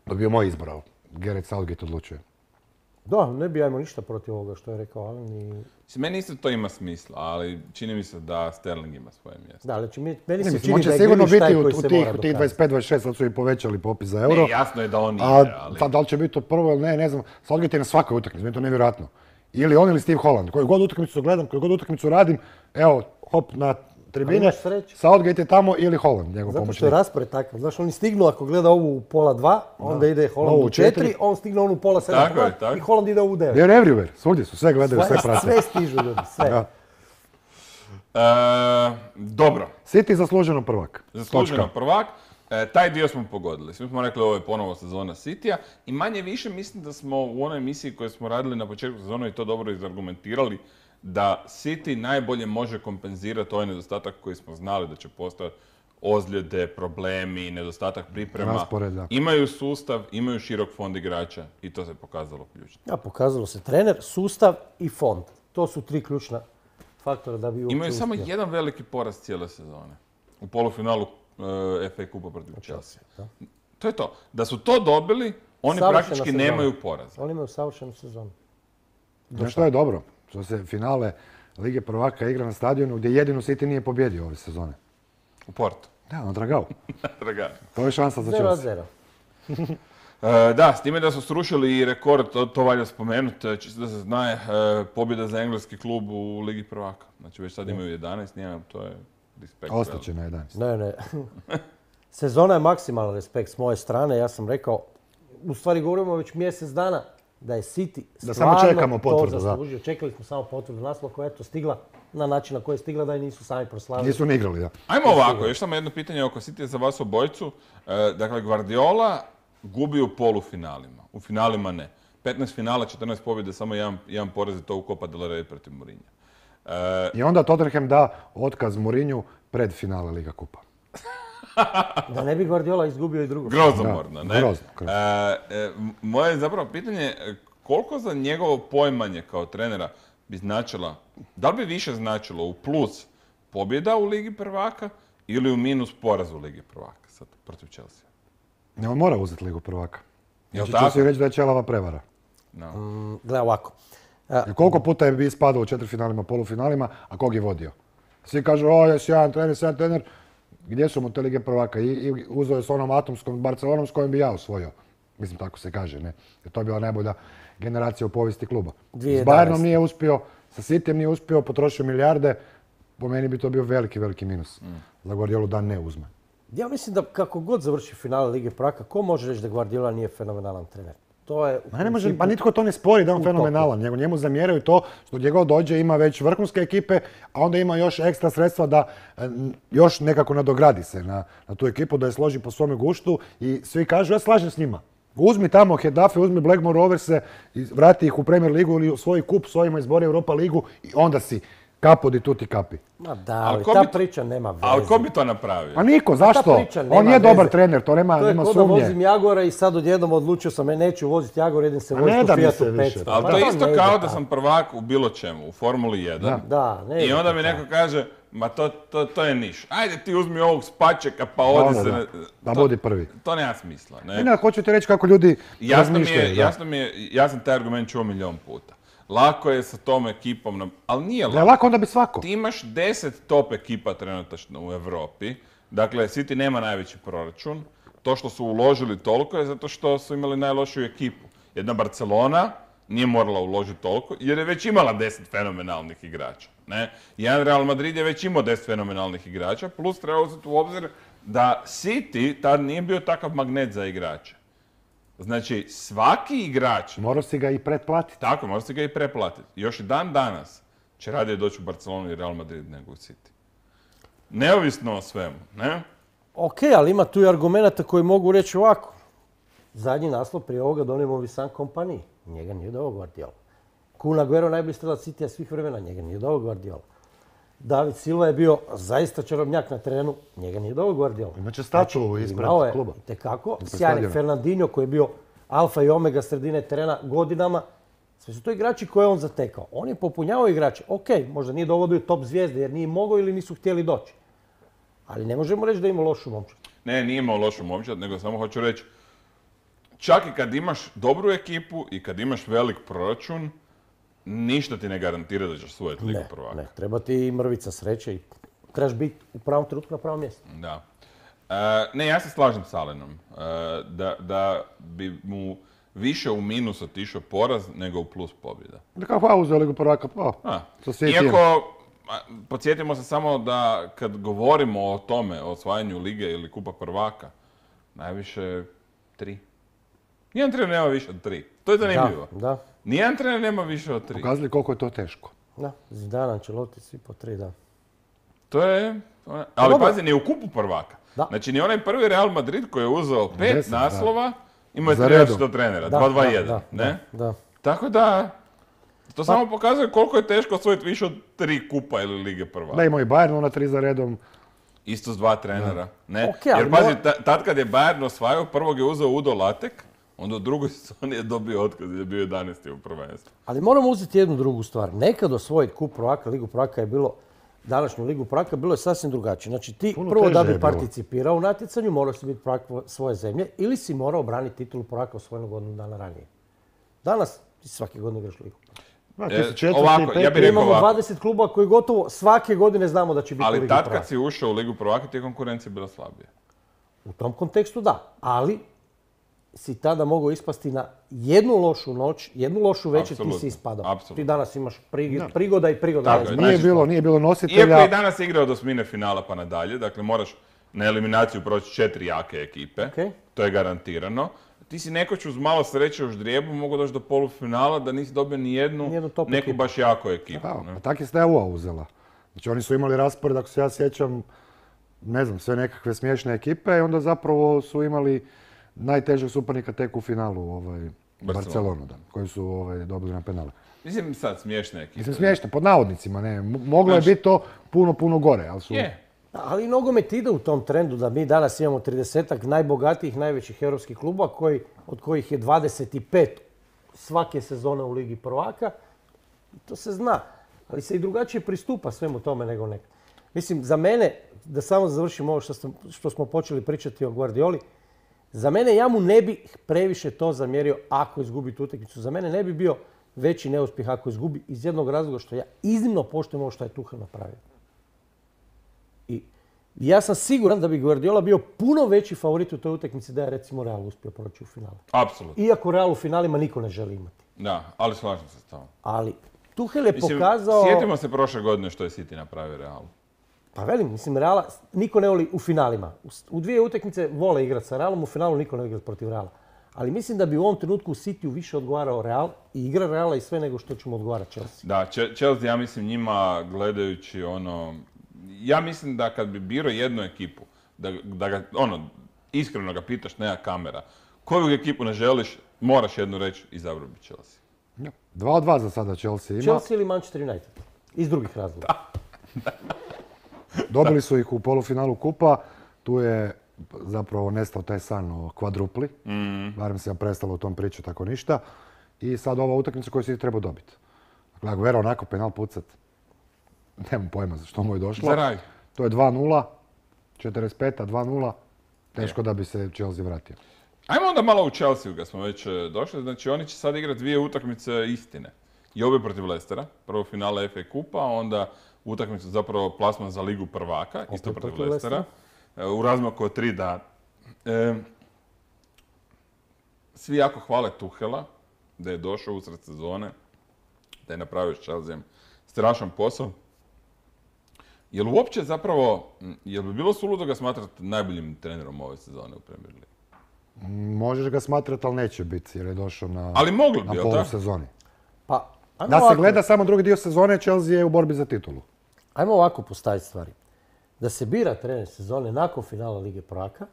To bi bio moj izbor, ali Gareth Southgate odlučuje. Da, ne bi ja imao ništa protiv ovoga što je rekao Alen i... Mislim, meni isto to ima smisla, ali čini mi se da Sterling ima svoje mjesto. Da, ali će mi, meni Ne, se mislim, čini on će da je sigurno Grealish taj biti u, koji u se tih, mora u tih dokazati. dvadeset pet dvadeset šest, sad su i povećali popis za euro. Ne, jasno je da on A igra, ali... sad, da li će biti to prvo ili ne, ne znam. Southgate je na svakoj utakmici, meni je to nevjerojatno. Ili on ili Steve Holland. Koju god utakmicu gledam, koju god utakmicu radim, evo, hop na tribine, imaš sreće. Southgate je tamo ili Holland, njegov Zato što je pomoćnik. raspored takav. Znaš, oni stignu ako gleda ovu u pola dva, onda ide Holland Ovu u u četiri. četiri, on stigne onu u pola sedam Tako je, tako. i Holland ide u devet. They're everywhere, svugdje su, sve gledaju, sve Sve, prate. sve stižu ljudi, sve. Da. E, dobro, City zasluženo prvak. zasluženo Točka. prvak. E, taj dio smo pogodili. Svi smo rekli ovo je ponovo sezona Citya i manje više mislim da smo u onoj emisiji koju smo radili na početku sezone i to dobro izargumentirali da City najbolje može kompenzirati ovaj nedostatak koji smo znali da će postojati, ozljede, problemi, nedostatak priprema. Raspored, da. Imaju sustav, imaju širok fond igrača i to se pokazalo ključno. Ja, pokazalo se trener, sustav i fond. To su tri ključna faktora da bi uopće Imaju samo uspjeli. jedan veliki poraz cijele sezone. U polufinalu uh, F A kupa protiv Chelsea. Da. To je to. Da su to dobili, oni Savršena praktički sezona. nemaju poraza. Oni imaju savršenu sezonu. Znaš što je dobro? Što se finale Lige prvaka igra na stadionu gdje jedino City nije pobjedio ove sezone. U Portu. Da, na Dragao. Draga. To je šansa za zero Chelsea. zero. E, da, s time da su srušili i rekord, to, to valja spomenuti, čisto da se zna, e, pobjeda za engleski klub u Ligi prvaka. Znači već sad imaju jedanaest, nijem, to je respekt. Ostaće na jedanaest. Ne, ne. Sezona je maksimalan respekt s moje strane. Ja sam rekao, u stvari govorimo već mjesec dana, da je City Da samo stvarno čekamo potvrdu, to da. zaslužio. Čekali smo samo potvrdu naslova koja je to stigla na način na koji je stigla da je nisu sami proslavili. Nisu ni igrali, da. Ajmo ovako, još samo jedno pitanje oko City za vas obojcu. E, dakle, Guardiola gubi u polufinalima, u finalima ne. petnaest finala, četrnaest pobjede, samo jedan, jedan poraz i to u Copa del Rey protiv Mourinha. E, I onda Tottenham da otkaz Mourinhu pred finale Liga kupa. Da ne bi Guardiola izgubio i drugo. grozomorno, Da, ne? grozno, grozno. E, e, moje je zapravo pitanje, e, koliko za njegovo poimanje kao trenera bi značila, da li bi više značilo u plus pobjeda u Ligi prvaka ili u minus poraz u Ligi prvaka sad protiv Chelsea? Ne, on mora uzeti Ligu prvaka. Jel Znači, tako? ću si reći da je Čelava prevara. No. Mm, Gle ovako. E, Jer koliko puta je bi ispadao u četvrtfinalima, polufinalima, a kog je vodio? Svi kažu, o, je sjajan trener, sjajan trener. Gdje su mu te Lige prvaka? I, i uzeo je s onom atomskom Barcelonom s kojom bi ja osvojio. Mislim, tako se kaže, ne? Jer to je bila najbolja generacija u povijesti kluba. dvije S tisuće jedanaeste. Bayernom nije uspio, sa Cityjem nije uspio, potrošio milijarde. Po meni bi to bio veliki, veliki minus. Za Guardiolu da ne uzme. Ja mislim da kako god završi finale Lige prvaka, ko može reći da Guardiola nije fenomenalan trener? To je u Ma ne može, principu- pa nitko to ne spori da je on u topu. fenomenalan. Njemu, njemu zamjeraju to što gdje god dođe ima već vrhunske ekipe, a onda ima još ekstra sredstva da e, n- još nekako nadogradi se na, na tu ekipu, da je složi po svome guštu i svi kažu ja slažem s njima. Uzmi tamo Hedafe, uzmi Blackmore Roverse i vrati ih u Premier ligu ili u svoj kup s ovima izbori Europa ligu i onda si kapo di tuti kapi. Ma da, Ali ali ko ta bi to- priča nema veze. Ali ko bi to napravio? Pa niko, zašto? priča nema On je dobar veze. trener, to nema, To je nema ko da vozim sumnje. Jagora i sad odjednom odlučio sam, e, neću voziti Jagor, idem se A voziti ne u da mi Fiatu se više. petsto. Ali Pa to je ne isto ide kao da tako. sam prvak u bilo čemu, u Formuli jedan. Da, ne I ide onda to mi tako. neko kaže, ma to, to, to je niš. Ajde ti uzmi ovog spačeka pa odi Ono, se. da. na- Da to- budi prvi. To nema smisla. Ne? Ne, ne, hoću ti reći kako ljudi Jasno mi, razmišljaju. je, da. jasno mi je, ja sam taj argument čuo milion puta. Lako je sa tom ekipom, na- ali nije Da je lako. lako, onda bi svako. Ti imaš deset top ekipa trenutačno u Europi. Dakle, City nema najveći proračun. To što su uložili toliko je zato što su imali najlošiju ekipu. Jedna Barcelona nije morala uložiti toliko jer je već imala deset fenomenalnih igrača. Ne? Jedan Real Madrid je već imao deset fenomenalnih igrača, plus treba uzeti u obzir da City tad nije bio takav magnet za igrače. Znači, svaki igrač, Morao si ga i pretplatiti. tako, može se ga i preplatiti. Još i dan danas će radije doći u Barcelonu i Real Madrid nego u City. Neovisno o svemu, ne? Ok, ali ima tu i argumenta koji mogu reći ovako. Zadnji naslov prije ovoga donijemo Visan Kompani. Njega nije doveo Guardiola. Kun Aguero najbolji strelac Citya svih vremena. Njega nije doveo Guardiola. David Silva je bio zaista čarobnjak na terenu. Njega nije doveo Guardiola. Imaće statu ispred Imao je kluba. itekako. Ispred Sjajni stadiona. Fernandinho koji je bio alfa i omega sredine terena godinama. Sve su to igrači koje je on zatekao. On je popunjavao igrače. Ok, možda nije dovodio top zvijezde jer nije mogao ili nisu htjeli doći. Ali ne možemo reći da ima lošu momčad. Ne, nije imao lošu momčad, nego samo hoću reći, čak i kad imaš dobru ekipu i kad imaš velik proračun, ništa ti ne garantira da ćeš osvojiti Ligu Ne, prvaka. ne, treba ti mrvica sreće i trebaš biti u pravom trenutku na pravom mjestu. Da. E, ne, ja se slažem s Alenom. E, da, da bi mu više u minus otišao poraz nego u plus pobjeda. Da kao hvala uzeo Ligu prvaka, pa, A, sa Cityjem. iako, a, podsjetimo se samo da kad govorimo o tome, o osvajanju Lige ili Kupa prvaka, najviše tri. Nijedan trener nema više od tri. To je zanimljivo. Da, da, Nijedan trener nema više od tri. Pokazali koliko je to teško. da. Zidane, Ancelotti, svi po tri, da. To je... Ali dobro. pazi, ni u Kupu prvaka. Da. Znači, ni onaj prvi Real Madrid koji je uzeo pet Deset, da. naslova, imao je Za tri redom. različita trenera, Da, dva dva da, jedan, da, ne? Da, da. Tako da, to samo pokazuje koliko je teško osvojiti više od tri kupa ili Lige prvaka. Da, imao i Bayern ona tri za redom. Isto s dva trenera, ne? Ok, ali Jer pazi, mora- ta- tad kad je Bayern osvajao, prvog je uzeo Udo Latek, onda u drugoj sezoni je dobio otkaz jer je bio jedanaesti u prvenstvu. Ali moramo uzeti jednu drugu stvar. Nekad osvojiti kup prvaka, Ligu prvaka je bilo, današnju Ligu prvaka, bilo je sasvim drugačije. Znači ti Puno prvo teže da je bi bilo. participirao u natjecanju, morao si biti prvak svoje zemlje ili si morao braniti titulu prvaka osvojenog godinu dana ranije. Danas ti svake godine igraš Ligu. Da, ti E, si četvrti, ovako, peti. ja bih Mi rekao imamo ovako. dvadeset kluba koji gotovo svake godine znamo da će biti u Ali Ligi tad prvaka. kad si ušao u Ligu prvaka, ti je konkurencija bila slabija. U tom kontekstu da, ali si tada mogao ispasti na jednu lošu noć, jednu lošu večer, ti Apsolutno, si ispadao. apsolutno. Ti danas imaš prigi- prigoda i prigoda. Tako ne je, znam. Nije znači- bilo, nije bilo Iako nositelja. je i danas igrao do osmine finala pa nadalje, dakle moraš na eliminaciju proći četiri jake ekipe, Okej. to je garantirano. Ti si nekoć uz malo sreće u ždrijebu mogao doći do polufinala da nisi dobio ni jednu, Nijednu top neku ekipu. baš jako ekipu. Pa, ne? pa tak je S T U A uzela. Znači oni su imali raspored, ako se ja sjećam, ne znam, sve nekakve smiješne ekipe i onda zapravo su imali najtežeg suparnika tek u finalu, ovaj, Barcelonu. Barcelonu, da, koji su ovaj, dobili na penale. Mislim sad smiješne ekipe. Mislim, smiješno, pod navodnicima, ne, m- moglo je Znači- biti to puno, puno gore, ali su... Je. Ali nogomet ide u tom trendu da mi danas imamo tridesetak najbogatijih, najvećih europskih kluba koji, od kojih je dvadeset pet svake sezone u Ligi prvaka. I to se zna. Ali se i drugačije pristupa svemu tome nego nekad. Mislim, za mene, da samo završim ovo što, sam, što smo počeli pričati o Guardioli, za mene ja mu ne bi previše to zamjerio ako izgubi tu utakmicu. Za mene ne bi bio veći neuspjeh ako izgubi iz jednog razloga što ja iznimno poštujem ovo što je Tuchel napravio. I ja sam siguran da bi Guardiola bio puno veći favorit u toj utakmici da je recimo Real uspio proći u finalu. Apsolutno. Iako Real u finalima niko ne želi imati. Da, ali slažem se s tobom. Ali Tuchel je Mislim, pokazao... sjetimo se prošle godine što je City napravio Realu. Pa velim, mislim, Reala niko ne voli u finalima. U- U dvije utakmice vole igrati sa Realom, u finalu niko ne igra protiv Reala. Ali mislim da bi u ovom trenutku u Cityu više odgovarao Real i igra Reala i sve nego što će mu odgovarati Chelsea. Da, Če- Chelsea, ja mislim njima gledajući ono... Ja mislim da kad bi birao jednu ekipu, da, da ga, ono, iskreno ga pitaš, nema kamera, koju ekipu ne želiš, moraš jednu reći, izabrao bi Chelsea. Da. Dva od dva za sada Chelsea ima. Chelsea ili Manchester United? Iz drugih razloga. Dobili su ih u polufinalu kupa, tu je zapravo nestao taj san o kvadrupli, barem se ja prestalo o tom pričati tako ništa. I sad ova utakmica koju si treba dobiti. Dakle, Aguero onako penal pucat, nemam pojma za što mu je došlo. Za raj. To je dva nula, četrdeset peta dva nula, teško da bi se Chelsea vratio. Ajmo onda malo u Chelsea kad smo već e, došli. Znači oni će sad igrati dvije utakmice istine. I obje protiv Leicestera. Prvo finale F A kupa, a onda utakmicu zapravo plasman za Ligu prvaka, isto Opet protiv protiv Leicestera. E, U razmaku od tri dana. E, svi jako hvale Tuchela, da je došao usred sezone, da je napravio s Chelseaem strašan posao. Jel uopće zapravo, jel bi bilo suludo ga smatrati najboljim trenerom ove sezone u Premier Ligi? Možeš ga smatrati, ali neće biti jer je došao na, Ali mogli bi, na jel tako? polusezoni. Pa, ajmo Da se ovako. gleda samo drugi dio sezone, Chelsea je u borbi za titulu. Ajmo ovako postaviti stvari. Da se bira trener sezone nakon finala Lige prvaka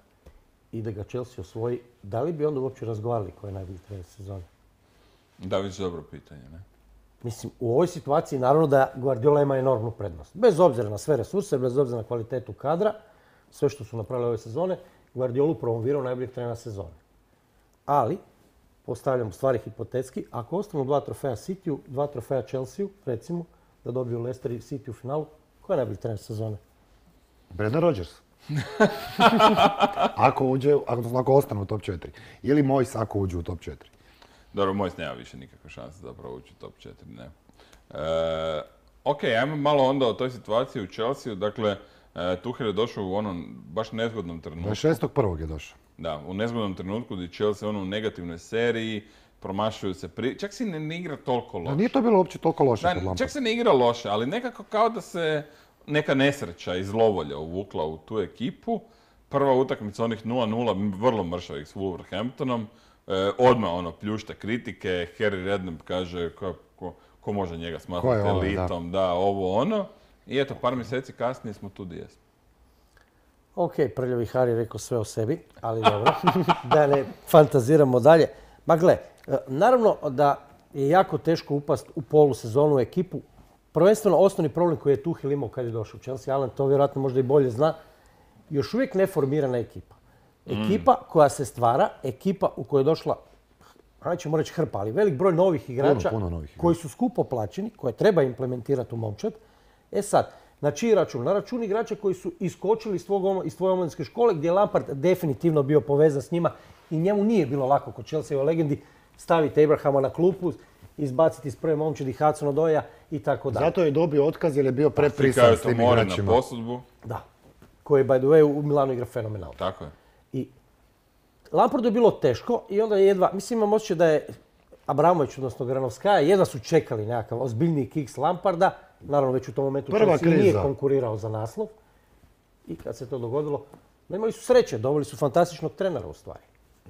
i da ga Chelsea osvoji, da li bi onda uopće razgovarali ko je najbolji trener sezone? Da, već dobro pitanje, ne? Mislim, u ovoj situaciji naravno da Guardiola ima enormnu prednost. Bez obzira na sve resurse, bez obzira na kvalitetu kadra, sve što su napravili ove sezone, Guardiolu promovirao najboljeg trenera sezone. Ali, postavljam stvari hipotetski, ako ostanu dva trofeja Cityu, dva trofeja Chelsea, recimo, da dobiju Leicester i City u finalu, ko je najbolji trener sezone? Brendan Rodgers. ako uđe, ako, ako ostane u top četiri. Ili Moyes ako uđe u top četiri. Dobro, Moyes nema više nikakve šanse zapravo ući u top četiri, ne. E, ok, ajmo malo onda o toj situaciji u Chelsea. Dakle, e, Tuchel je došao u onom baš nezgodnom trenutku. dvadeset šestog prvog je došao. Da, u nezgodnom trenutku gdje Chelsea ono u negativnoj seriji, promašuju se pri... Čak se ne, ne igra toliko loše. Da, nije to bilo uopće toliko loše Da, kod Lamparda. čak se ne igra loše, ali nekako kao da se neka nesreća iz lovolja uvukla u tu ekipu. Prva utakmica onih nula nula, vrlo mršavih s Wolverhamptonom. E, odmah ono, pljušta kritike, Harry Redknapp kaže ko, ko, ko može njega Ko smatrati je ovaj, elitom, da. ovo ono. I eto, par mjeseci kasnije smo tu gdje jesmo. Ok, prljavi Harry je rekao sve o sebi, ali dobro, da ne fantaziramo dalje. Ma gle, naravno da je jako teško upast u polusezonu u ekipu. Prvenstveno osnovni problem koji je Tuchel imao kad je došao u Chelsea, Alan to vjerojatno možda i bolje zna, još uvijek neformirana ekipa. Ekipa koja se stvara, ekipa u kojoj je došla, nećemo reći hrpa, ali velik broj novih igrača puno novih igrača. koji su skupo plaćeni, koje treba implementirati u momčad. E sad, na čiji račun? Na račun igrača koji su iskočili iz, tvog, iz tvoje omladinske škole gdje je Lampard definitivno bio povezan s njima i njemu nije bilo lako kod Chelsea u legendi staviti Abrahama na klupu, izbaciti iz prve momčadi Hudson Odoia i tako dalje. Zato je dobio otkaz jer je bio preprisan Slikaju s to tim more na igračima. posudbu. Da. Koji, by the way, u Milanu igra fenomenalno. Tako je. I Lampardu je bilo teško i onda je jedva, mislim imam osjećaj da je Abramović, odnosno Granovskaja, jedva su čekali nekakav ozbiljniji kiks Lamparda. Naravno, već u tom momentu Prva Chelsea nije kriza. konkurirao za naslov. I kad se to dogodilo, imali su sreće, dobili su fantastičnog trenera u stvari.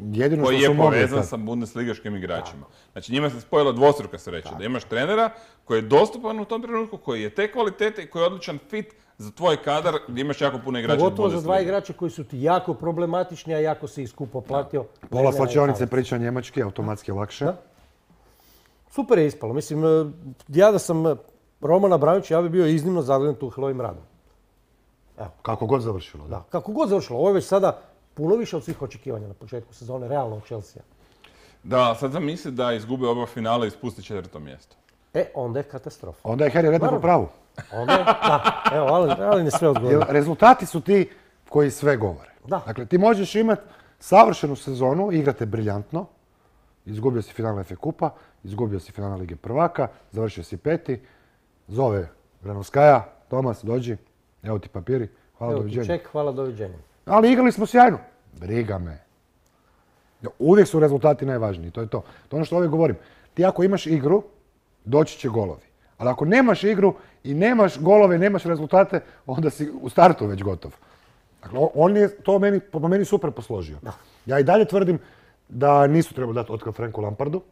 Jedino Koji što je su mogli povezan tad. sa bundesligaškim igračima. Znači njima se spojila dvostruka sreća. Da imaš trenera koji je dostupan u tom trenutku, koji je te kvalitete i koji je odličan fit za tvoj kadar gdje imaš jako puno igrača iz Pogotovo za dva Bundeslige. igrača koji su ti jako problematični, a jako si ih skupo platio. Pola Lenera i slačionice Havertza. priča njemački, automatski je lakše. Da. Super je ispalo. Mislim, e, ja da sam e, Roman Abramović, ja bi bio iznimno zadovoljan Tuchelovim radom. Kako god završilo. Da. Da. Kako god završilo, ovo je već sada puno više od svih očekivanja na početku sezone, realno u Chelsea. Da, sad sam misli da izgube oba finala i ispusti četvrto mjesto. E, onda je katastrofa. Onda je Harry Redknapp Naravno. u pravu. Onda je, da, evo, Alen, Alen je sve Jer odgovorio. rezultati su ti koji sve govore. Da. Dakle, ti možeš imati savršenu sezonu, igrate briljantno, izgubio si finale F A Kupa, izgubio si finale Lige prvaka, završio si peti, zove Granovskaja, Tomas, dođi, evo ti papiri, hvala, Evo ti doviđenja. ček, hvala, doviđenja. Ali igrali smo sjajno. Briga me. Uvijek su rezultati najvažniji, to je to. To je ono što uvijek govorim. Ti ako imaš igru, doći će golovi. Ali ako nemaš igru i nemaš golove, nemaš rezultate, onda si u startu već gotov. Dakle, on je to meni, po meni super posložio. Ja i dalje tvrdim da nisu trebali dati otkaz Franku Lampardu.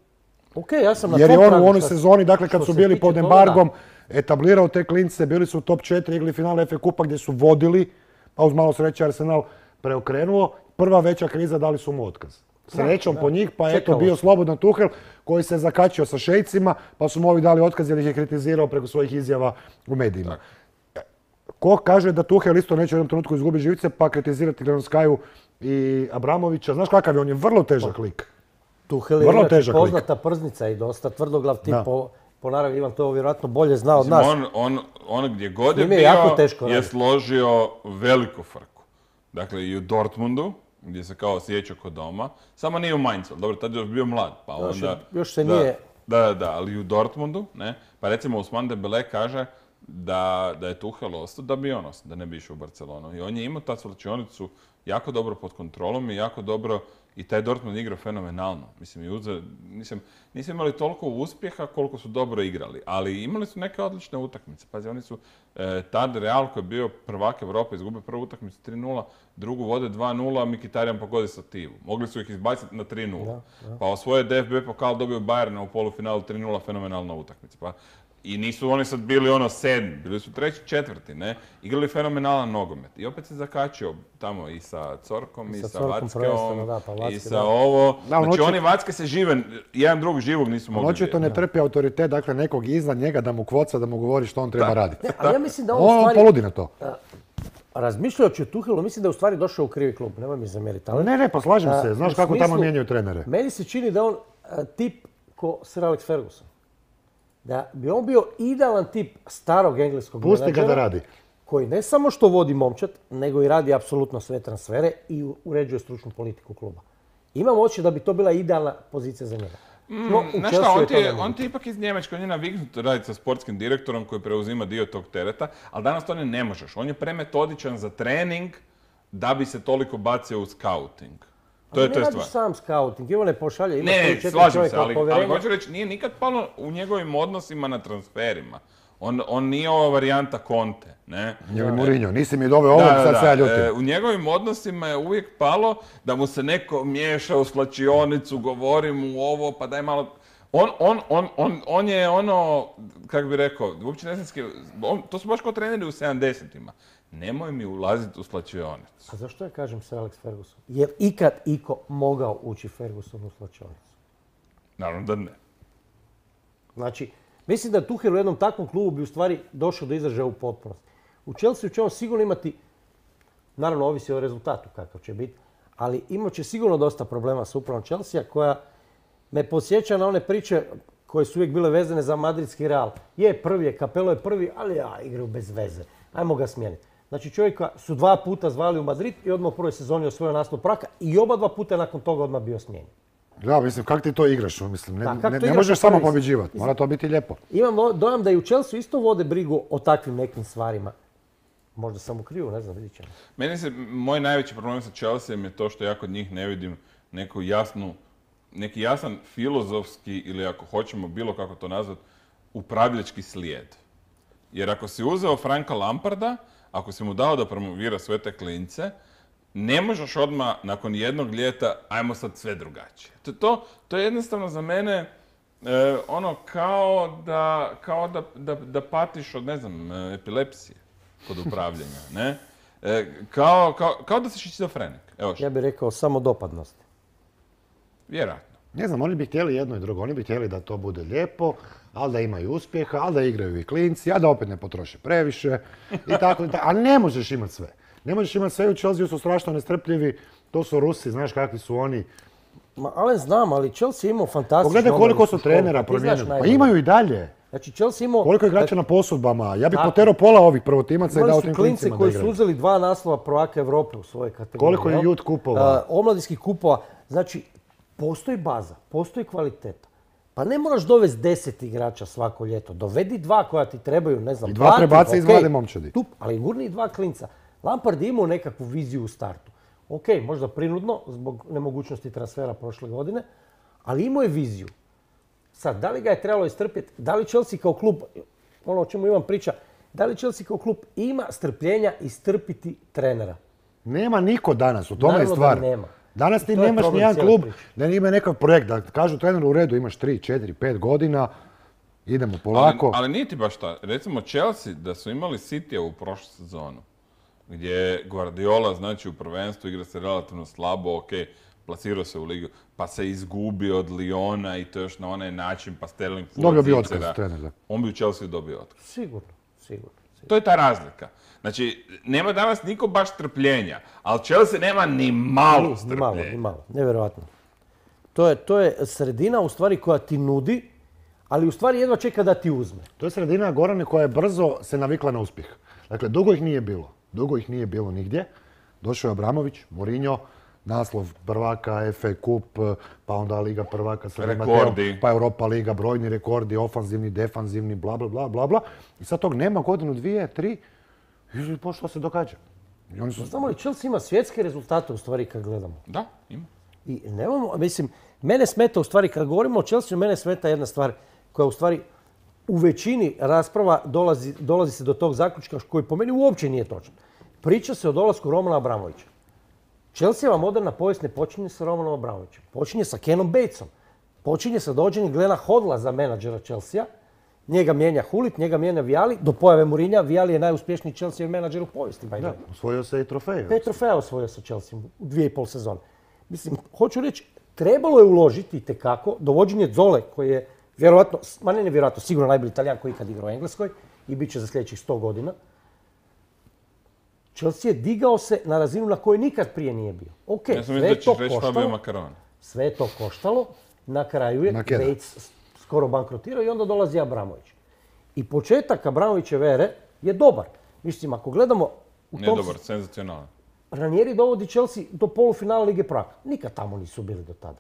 Ok, ja sam na Jer je tom on tragu u onoj sad. sezoni, dakle kad što su se bili tiče pod toga, embargom, da. etablirao te klince, bili su u top četiri, igrali finale F A Kupa gdje su vodili, pa uz malo sreće Arsenal preokrenuo. Prva veća kriza dali su mu otkaz. Srećom da. po njih, pa eto Čekalo bio se. slobodan Tuchel koji se zakačio sa šejcima, pa su mu ovi dali otkaz jer ih je kritizirao preko svojih izjava u medijima. Ko kaže da Tuchel isto neće u jednom trenutku izgubiti živce, pa kritizirati Granovskaju i Abramovića. Znaš kakav je, on je vrlo težak lik. Tuchel je Vrlo inače težak lik. poznata prznica i dosta tvrdoglav tip Da. po, po naravi. Ivan to vjerojatno bolje zna od Mislim, nas. on, on, on gdje god je njime je bio, jako teško je raditi. složio veliku frku. Dakle, i u Dortmundu, gdje se kao osjećao kod doma, samo nije u Mainzu, dobro, tad je još bio mlad, pa Još je- onda... još se da, nije- Da, da, da, ali i u Dortmundu, ne, pa recimo Ousmane Dembele kaže da, da je Tuchel ostao, da bi on ostao, da ne bi išao u Barcelonu. I on je imao ta svlačionicu jako dobro pod kontrolom i jako dobro, i taj Dortmund igrao fenomenalno. Mislim, i uze, nisam, nisam imali toliko uspjeha koliko su dobro igrali, ali imali su neke odlične utakmice. Pazi, oni su, e, tad Real koji je bio prvak Europe, izgubio prvu utakmicu tri nula, drugu vode dva nula, a Mkhitaryan pogodi sativu. Mogli su ih izbaciti na tri nula. Da, da. Pa osvoje D F B pokal, dobio Bayerna u polufinalu tri nula, fenomenalna utakmica. Pa, i nisu oni sad bili ono sedmi, bili su treći, četvrti, ne? Igrali fenomenalan nogomet. I opet se zakačio tamo i sa Corkom, i, I sa sa Corkom prvenstveno, Vackeom, da, pa Vacke, i sa da. ovo. Da, on Znači očito- oni Vacke se žive, jedan drugog živog nisu mogli Očito ne trpi autoritet, dakle nekog iznad njega da mu kvoca, da mu govori što on treba Da. raditi. Ne, ali ja mislim da on u On stvari, poludi na to. razmišljajući o Tuhelu, mislim da je u stvari došao u krivi klub, nemoj mi zamjeriti. Ali Ne, ne, pa slažem A, se. Znaš u kako tamo smislu- mijenjaju trenere. meni se čini da on a, tip ko Sir Alex Ferguson. Da bi on bio idealan tip starog engleskog Pusti ga menadžera, da radi. koji ne samo što vodi momčad, nego i radi apsolutno sve transfere i u- uređuje stručnu politiku kluba. Imam osjećaj da bi to bila idealna pozicija za njega. No, u Znaš Chelsea šta, on je ti to je, nemoguće. on ti je ipak iz Njemačke, on je naviknut raditi sa sportskim direktorom koji preuzima dio tog tereta, ali danas to ne možeš. On je premetodičan za trening da bi se toliko bacio u scouting. To je, ne to je radiš stvar. sam scouting, Ivo ne pošalje, ima Ne, tri, ne, četiri slažem se, čovjeka od ali, ali povjerenja. hoću reći, nije nikad palo u njegovim odnosima na transferima. On, on nije ova varijanta Conte, ne? Ili Mourinho, nisi mi doveo ovog, Da, da, sad da. se ja ljutim. E, u njegovim odnosima je uvijek palo da mu se neko miješa u slačionicu, govori mu ovo, pa daj malo... On, on, on, on, on je ono, kako bi rekao, uopće ne znam s kim- on- to su baš kao treneri u sedamdesetima. Nemoj mi ulaziti u slačionicu. A zašto ja kažem Sir Alex Ferguson? Je li ikad iko mogao ući Ferguson u slačionicu? Naravno da ne. Znači, mislim da Tuchel u jednom takvom klubu bi u stvari došao do izražaja u potpunosti. U Chelsea će on sigurno imati, naravno ovisi o rezultatu kakav će biti, ali imat će sigurno dosta problema s upravom Chelsea koja me podsjeća na one priče koje su uvijek bile vezane za madridski Real. Je, prvi je, Capello je prvi, ali ja, igraju bez veze. Ajmo ga smijeniti. Znači čovjeka su dva puta zvali u Madrid i odmah u prvoj sezoni osvojio naslov prvaka i oba dva puta nakon toga odmah bio smijenjen. Da, mislim, kako ti to igraš? Mislim, ne, Da, kako ne, to ne igraš možeš u samo prvi- pobjeđivati, mora to biti lijepo. Imam dojam da i u Chelsea isto vode brigu o takvim nekim stvarima. Možda sam u krivu, ne znam, vidit ćemo. Meni se, moj najveći problem sa Chelseaom je to što ja kod njih ne vidim neku jasnu, neki jasan filozofski ili ako hoćemo bilo kako to nazvati, upravljački slijed. Jer ako si uzeo Franka Lamparda, ako si mu dao da promovira sve te klince, ne možeš odmah nakon jednog ljeta, ajmo sad sve drugačije. To, to, to je jednostavno za mene e, ono kao, da, kao da, da, da patiš od, ne znam, e, epilepsije kod upravljanja, ne? E, kao, kao, kao da si šizofrenik. Evo što, Ja bih rekao samodopadnost. vjerojatno. Ne znam, oni bi htjeli jedno i drugo. Oni bi htjeli da to bude lijepo, ali da imaju uspjeha, ali da igraju i klinci, a da opet ne potroše previše i tako i tako. Ali ne možeš imati sve. Ne možeš imati sve, u Chelsea su strašno nestrpljivi. To su Rusi, znaš kakvi su oni. Ma, ali znam, ali Chelsea je imao fantastično. Pogledaj koliko su trenera Pa ti znaš promijenili. Pa najbolje. imaju i dalje. Znači Chelsea imao... Koliko je igrača na posudbama. Ja bih Tako. poterao pola ovih prvotimaca i dao Imali tim su klinci klincima da koji su igraju. uzeli dva naslova prvaka Europe u svojoj kategoriji. Koliko je jel? youth kupova? A, omladinskih kupova. Znači, postoji baza, postoji kvaliteta. Pa ne moraš dovesti deset igrača svako ljeto. Dovedi dva koja ti trebaju, ne znam, I dva plati, prebaci iz okej, mlade momčadi. tup, ali gurni i dva klinca. Lampard je imao nekakvu viziju u startu. Ok, možda prinudno, zbog nemogućnosti transfera prošle godine, ali imao je viziju. Sad, da li ga je trebalo istrpjeti, da li Chelsea kao klub, ono o čemu imam priča, da li Chelsea kao klub ima strpljenja istrpiti trenera? Nema niko danas, u tome je Naravno da stvar. nema. Danas I ti to je nemaš problem nijedan cijele klub priče. da ima nekakav projekt, da kažu treneru u redu, imaš tri, četiri, pet godina, idemo Ali, polako. ali nije ti baš ta. Recimo Chelsea, da su imali Citya u prošlu sezonu, gdje je Guardiola, znači u prvenstvu igra se relativno slabo, ok, plasirao se u ligu, pa se izgubio od Liona i to još na onaj način, pa Sterling Dobio bi Cicera. otkaz trener, da. On bi u Chelsea dobio otkaz. Sigurno, sigurno. sigurno. To je ta razlika. Znači, nema danas niko baš strpljenja, ali Chelsea nema ni malo Ni malo, strpljenja. ni malo, nevjerojatno. To je, to je sredina u stvari koja ti nudi, ali u stvari jedva čeka da ti uzme. To je sredina Gorane koja je brzo se navikla na uspjeh. Dakle, dugo ih nije bilo. Dugo ih nije bilo nigdje. Došao je Abramović, Mourinho, naslov prvaka, F A Kup, pa onda Liga prvaka sa Rekordi. Mateom, pa Europa Liga, brojni rekordi, ofanzivni, defanzivni, bla, bla, bla, bla, bla. I sad tog nema godinu, dvije, tri, i po što se događa. I oni su... Znamo li, Chelsea ima svjetske rezultate u stvari kad gledamo. Da, ima. I nemamo, mislim, mene smeta u stvari, kad govorimo o Chelsea, mene smeta jedna stvar koja u stvari u većini rasprava dolazi, dolazi se do tog zaključka koji po meni uopće nije točan. Priča se o dolasku Romana Abramovića. Chelseava moderna povijest ne počinje sa Romanom Abramovićem. Počinje sa Kenom Batesom. Počinje sa dođenjem Glena Hodla za menadžera Chelsea. Njega mijenja Hulit, njega mijenja Viali. Do pojave Mourinha, Viali je najuspješniji Chelsea menadžer u povijesti. Da, osvojio se i trofej. Pet trofeja osvojio sa Chelsea u dvije i pol sezone. Mislim, hoću reći, trebalo je uložiti itekako dovođenje Zole, koji je vjerojatno, ma ne nevjerojatno, sigurno najbolji Italijan koji ikad igrao u Engleskoj i bit će za sljedećih sto godina. Chelsea je digao se na razinu na kojoj nikad prije nije bio. Ok, Ja sam sve mislio je da to ćeš reći Fabio koštalo. Macaroni. Sve je to koštalo. Na kraju je Nakeda. Bates skoro bankrotirao i onda dolazi Abramović. I početak Abramovićeve ere je dobar. Mislim, ako gledamo u Ne tom... dobar, senzacionalan. Ranieri dovodi Chelsea do polufinala Lige prvaka. Nikad tamo nisu bili do tada.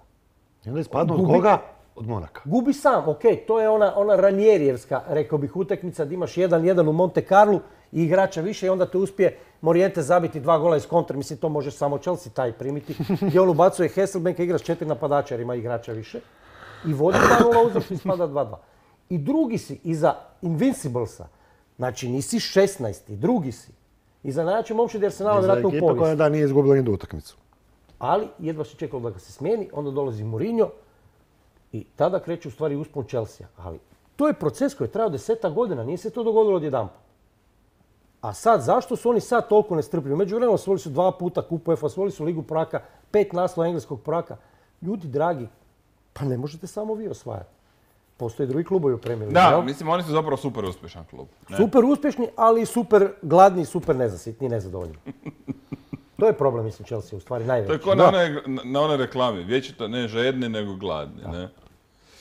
I onda ispadnu od Gubi- koga? Od Monaka. Gubi sam, ok, to je ona, ona Ranierijevska, rekao bih, utakmica da imaš jedan jedan u Monte Carlu i igrača više i onda te uspije Moriente zabiti dva gola iz kontra. Mislim, to može samo Chelsea taj primiti. Gdje on ubacuje Hasselbanka, igra s četiri napadača jer ima igrača više. I vodi dva nula uzvršno ispada dva dva. I drugi si, iza Invinciblesa, znači nisi šesnaesti, drugi si. Iza najjače momčadi Arsenala vjerojatno u Ekipa koja povijesti. da nije izgubila ni jednu utakmicu. Ali jedva se čekalo da ga se smijeni, onda dolazi Mourinho i tada kreće u stvari uspon Chelsea. Ali to je proces koji je trajao deseta godina, nije se to dogodilo odjedanput. A sad, zašto su oni sad toliko nestrpljivi? Međuvremenu osvojili su dva puta kup UEFA, osvojili su Ligu prvaka, pet naslova engleskog prvaka. Ljudi dragi, pa ne možete samo vi osvajati. Postoje drugi klubovi u Premier Ligi, Da, jel? mislim, oni su zapravo super uspješan klub. Ne? Super uspješni, ali super gladni, super nezasitni i nezadovoljni. To je problem, mislim, Chelsea u stvari To je najveći. kao na onoj, na onoj reklami. Vječito ne žedni, nego gladni. Ne?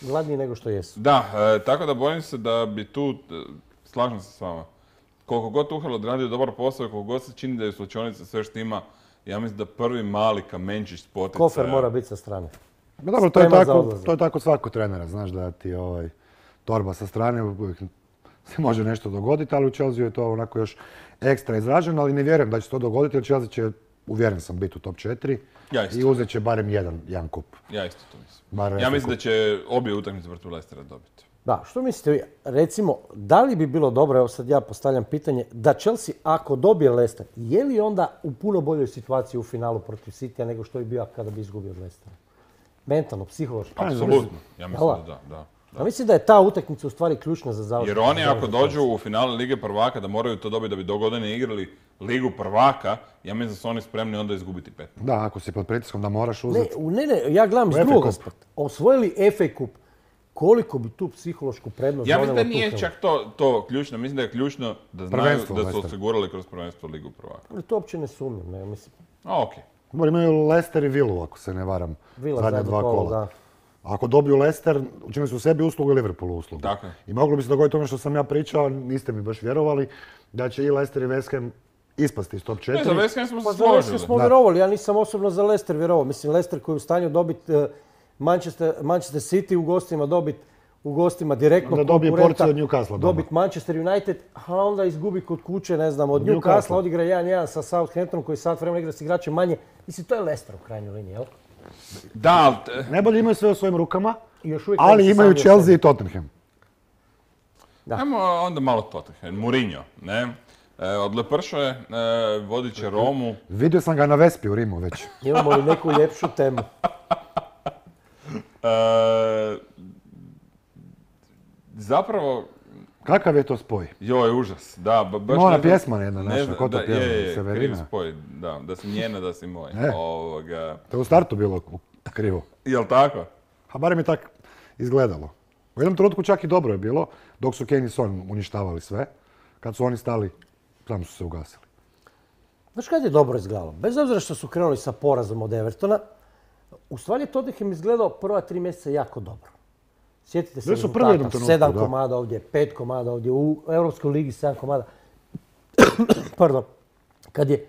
Gladniji nego što jesu. Da, e, tako da bojim se da bi tu, e, slažem se s vama, koliko god Tuchel odradio dobar posao i koliko god se čini da je u slučajnici sve štima, ja mislim da prvi mali kamenčić s poticaja... Kofer mora biti sa strane. Ma dobro, to je, Spreman za tako, odlazak. to je tako svako trenera, znaš da ti ovaj, torba sa strane uvijek se može nešto dogoditi, ali u Chelsea je to onako još ekstra izraženo, ali ne vjerujem da će se to dogoditi jer Chelsea će, uvjeren sam, biti u top četiri Ja isto. i uzet će barem jedan, jedan kup. Ja isto to mislim. Bar Ja F A mislim kup. da će obje utakmice protiv Leicestera dobiti. Da, što mislite vi? Recimo, da li bi bilo dobro, evo sad ja postavljam pitanje, da Chelsea ako dobije Leicester, je li onda u puno boljoj situaciji u finalu protiv Citya nego što je bio kada bi izgubio od Leicestera? Mentalno, psihološki. Apsolutno. Ja mislim Jel' da da, da. Ja mislim da je ta utakmica u stvari ključna za završak. Jer oni ako dođu u finale Lige prvaka da moraju to dobiti da bi do godine igrali Ligu prvaka, ja mislim da su oni spremni onda izgubiti pet. Da, ako si pod pritiskom da moraš Ne, uzeti. u- ne, ne, ja gledam iz F A drugog Cup. aspekta. Osvojili F A Kup. Koliko bi tu psihološku prednost Ja mislim da donijelo nije Tuchelu? čak to, to ključno, mislim da je ključno da znaju Prvenstvo da su Leicester. osigurali kroz prvenstvo Ligu prvaka. Ali to uopće ne sumnjam, ne, mislim. A, okej. Dobro, imaju Leicester i Villu, ako se ne varam, Villa zadnja zadnje dva kolo, kola. da. Ako dobiju Leicester, učinili su sebi uslugu i Liverpoolu uslugu. Tako je. I moglo bi se dogoditi ono što sam ja pričao, niste mi baš vjerovali, da će i Leicester i West Ham ispasti iz top Ne, četiri. za West Ham smo Pa se za Leicester složili. smo Da. vjerovali, ja nisam osobno za Leicester vjerovao. Mislim, Leicester koji je u stanju dobiti eh, Manchester, Manchester City u gostima, dobiti u gostima direktno Onda dobije konkurenta, porciju od Newcastle doma. dobiti Manchester United, a onda izgubi kod kuće, ne znam, od Od Newcastle, Newcastle. odigra jedan jedan sa Southamptonom koji sad vremena igra s igračem manje. Mislim, to je Leicester u krajnjoj liniji, jel? Da, ali t- Najbolje imaju sve u svojim rukama, I još uvijek ali ovisi imaju sami o Chelsea sebi. i Tottenham. Da. ajmo onda malo Tottenham. Mourinho, ne? E, odlepršao je, e, vodit će Romu. Vidio sam ga na Vespi u Rimu već. Imamo li neku ljepšu temu? E, zapravo, Kakav je to spoj? joj, užas, da. ba- Baš Ima ona ne znam- pjesma jedna ne naša, znam, ko to da, pjeva, je, je, Severina? kriv spoj, da, da si njena, da si moj. E. Ovoga, To je u startu bilo krivo. jel tako? A barem je tak izgledalo. U jednom trenutku čak i dobro je bilo, dok su Kane i Son uništavali sve. Kad su oni stali, samo su se ugasili. Znaš kad je dobro izgledalo? Bez obzira što su krenuli sa porazom od Evertona, u stvari je Tottenham izgledao prva tri mjeseca jako dobro. Sjetite se Bili su prvi u jednom rezultata, trenutku, sedam da. komada ovdje, pet komada ovdje, u Europskoj ligi sedam komada. Pardon. Kad je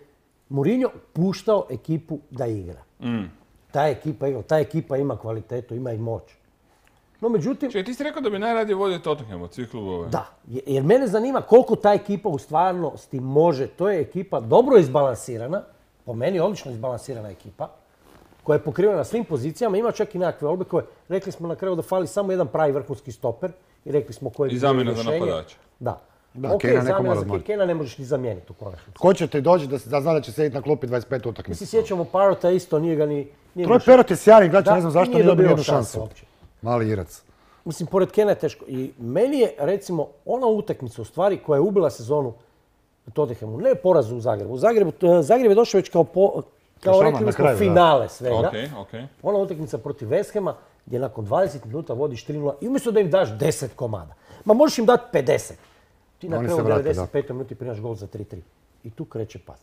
Mourinho puštao ekipu da igra. Mm. Ta ekipa igra, ta ekipa ima kvalitetu, ima i moć. No međutim, Čekaj, ti si rekao da bi najradije vodio Tottenham od svih klubova. da, je- jer mene zanima koliko ta ekipa u stvarnosti može. To je ekipa dobro izbalansirana, po meni odlično izbalansirana ekipa, koja je pokrivena na svim pozicijama, ima čak i nekakve olbe koje, rekli smo na kraju da fali samo jedan pravi vrhunski stoper i rekli smo koje I bi bilo zamjena za rješenje. napadača. Da. Da, Ok, Kena neko zamjena mora za odmoriti. Kena ne možeš ni zamijeniti u konačnici. Ko će ti doći da, da zna da će sjediti na klupi dvadeset pet Mi utakmica? se sjećamo Parota isto, nije ga ni... Nije Troy imao Perot je sjajan igrač, Da, ne znam zašto nije nije dobio dobio jednu šanse šansu. uopće. Mali Irac. Mislim, pored Kena je teško. I meni je, recimo, ona utakmica u stvari koja je ubila sezonu Tottenhamu, ne porazu u Zagrebu. U Zagrebu, eh, Zagreb je došao već kao, po, kao Šama, rekli na smo, kraju, da. finale svega. Ok, ok. Ona utakmica protiv West Hama gdje nakon dvadeset minuta vodiš tri nula i umjesto da im daš deset komada, ma možeš im dati pedeset. Ti na Oni kraju se vrate, devedeset petoj minuti prinaš gol za tri tri. I tu kreće pad.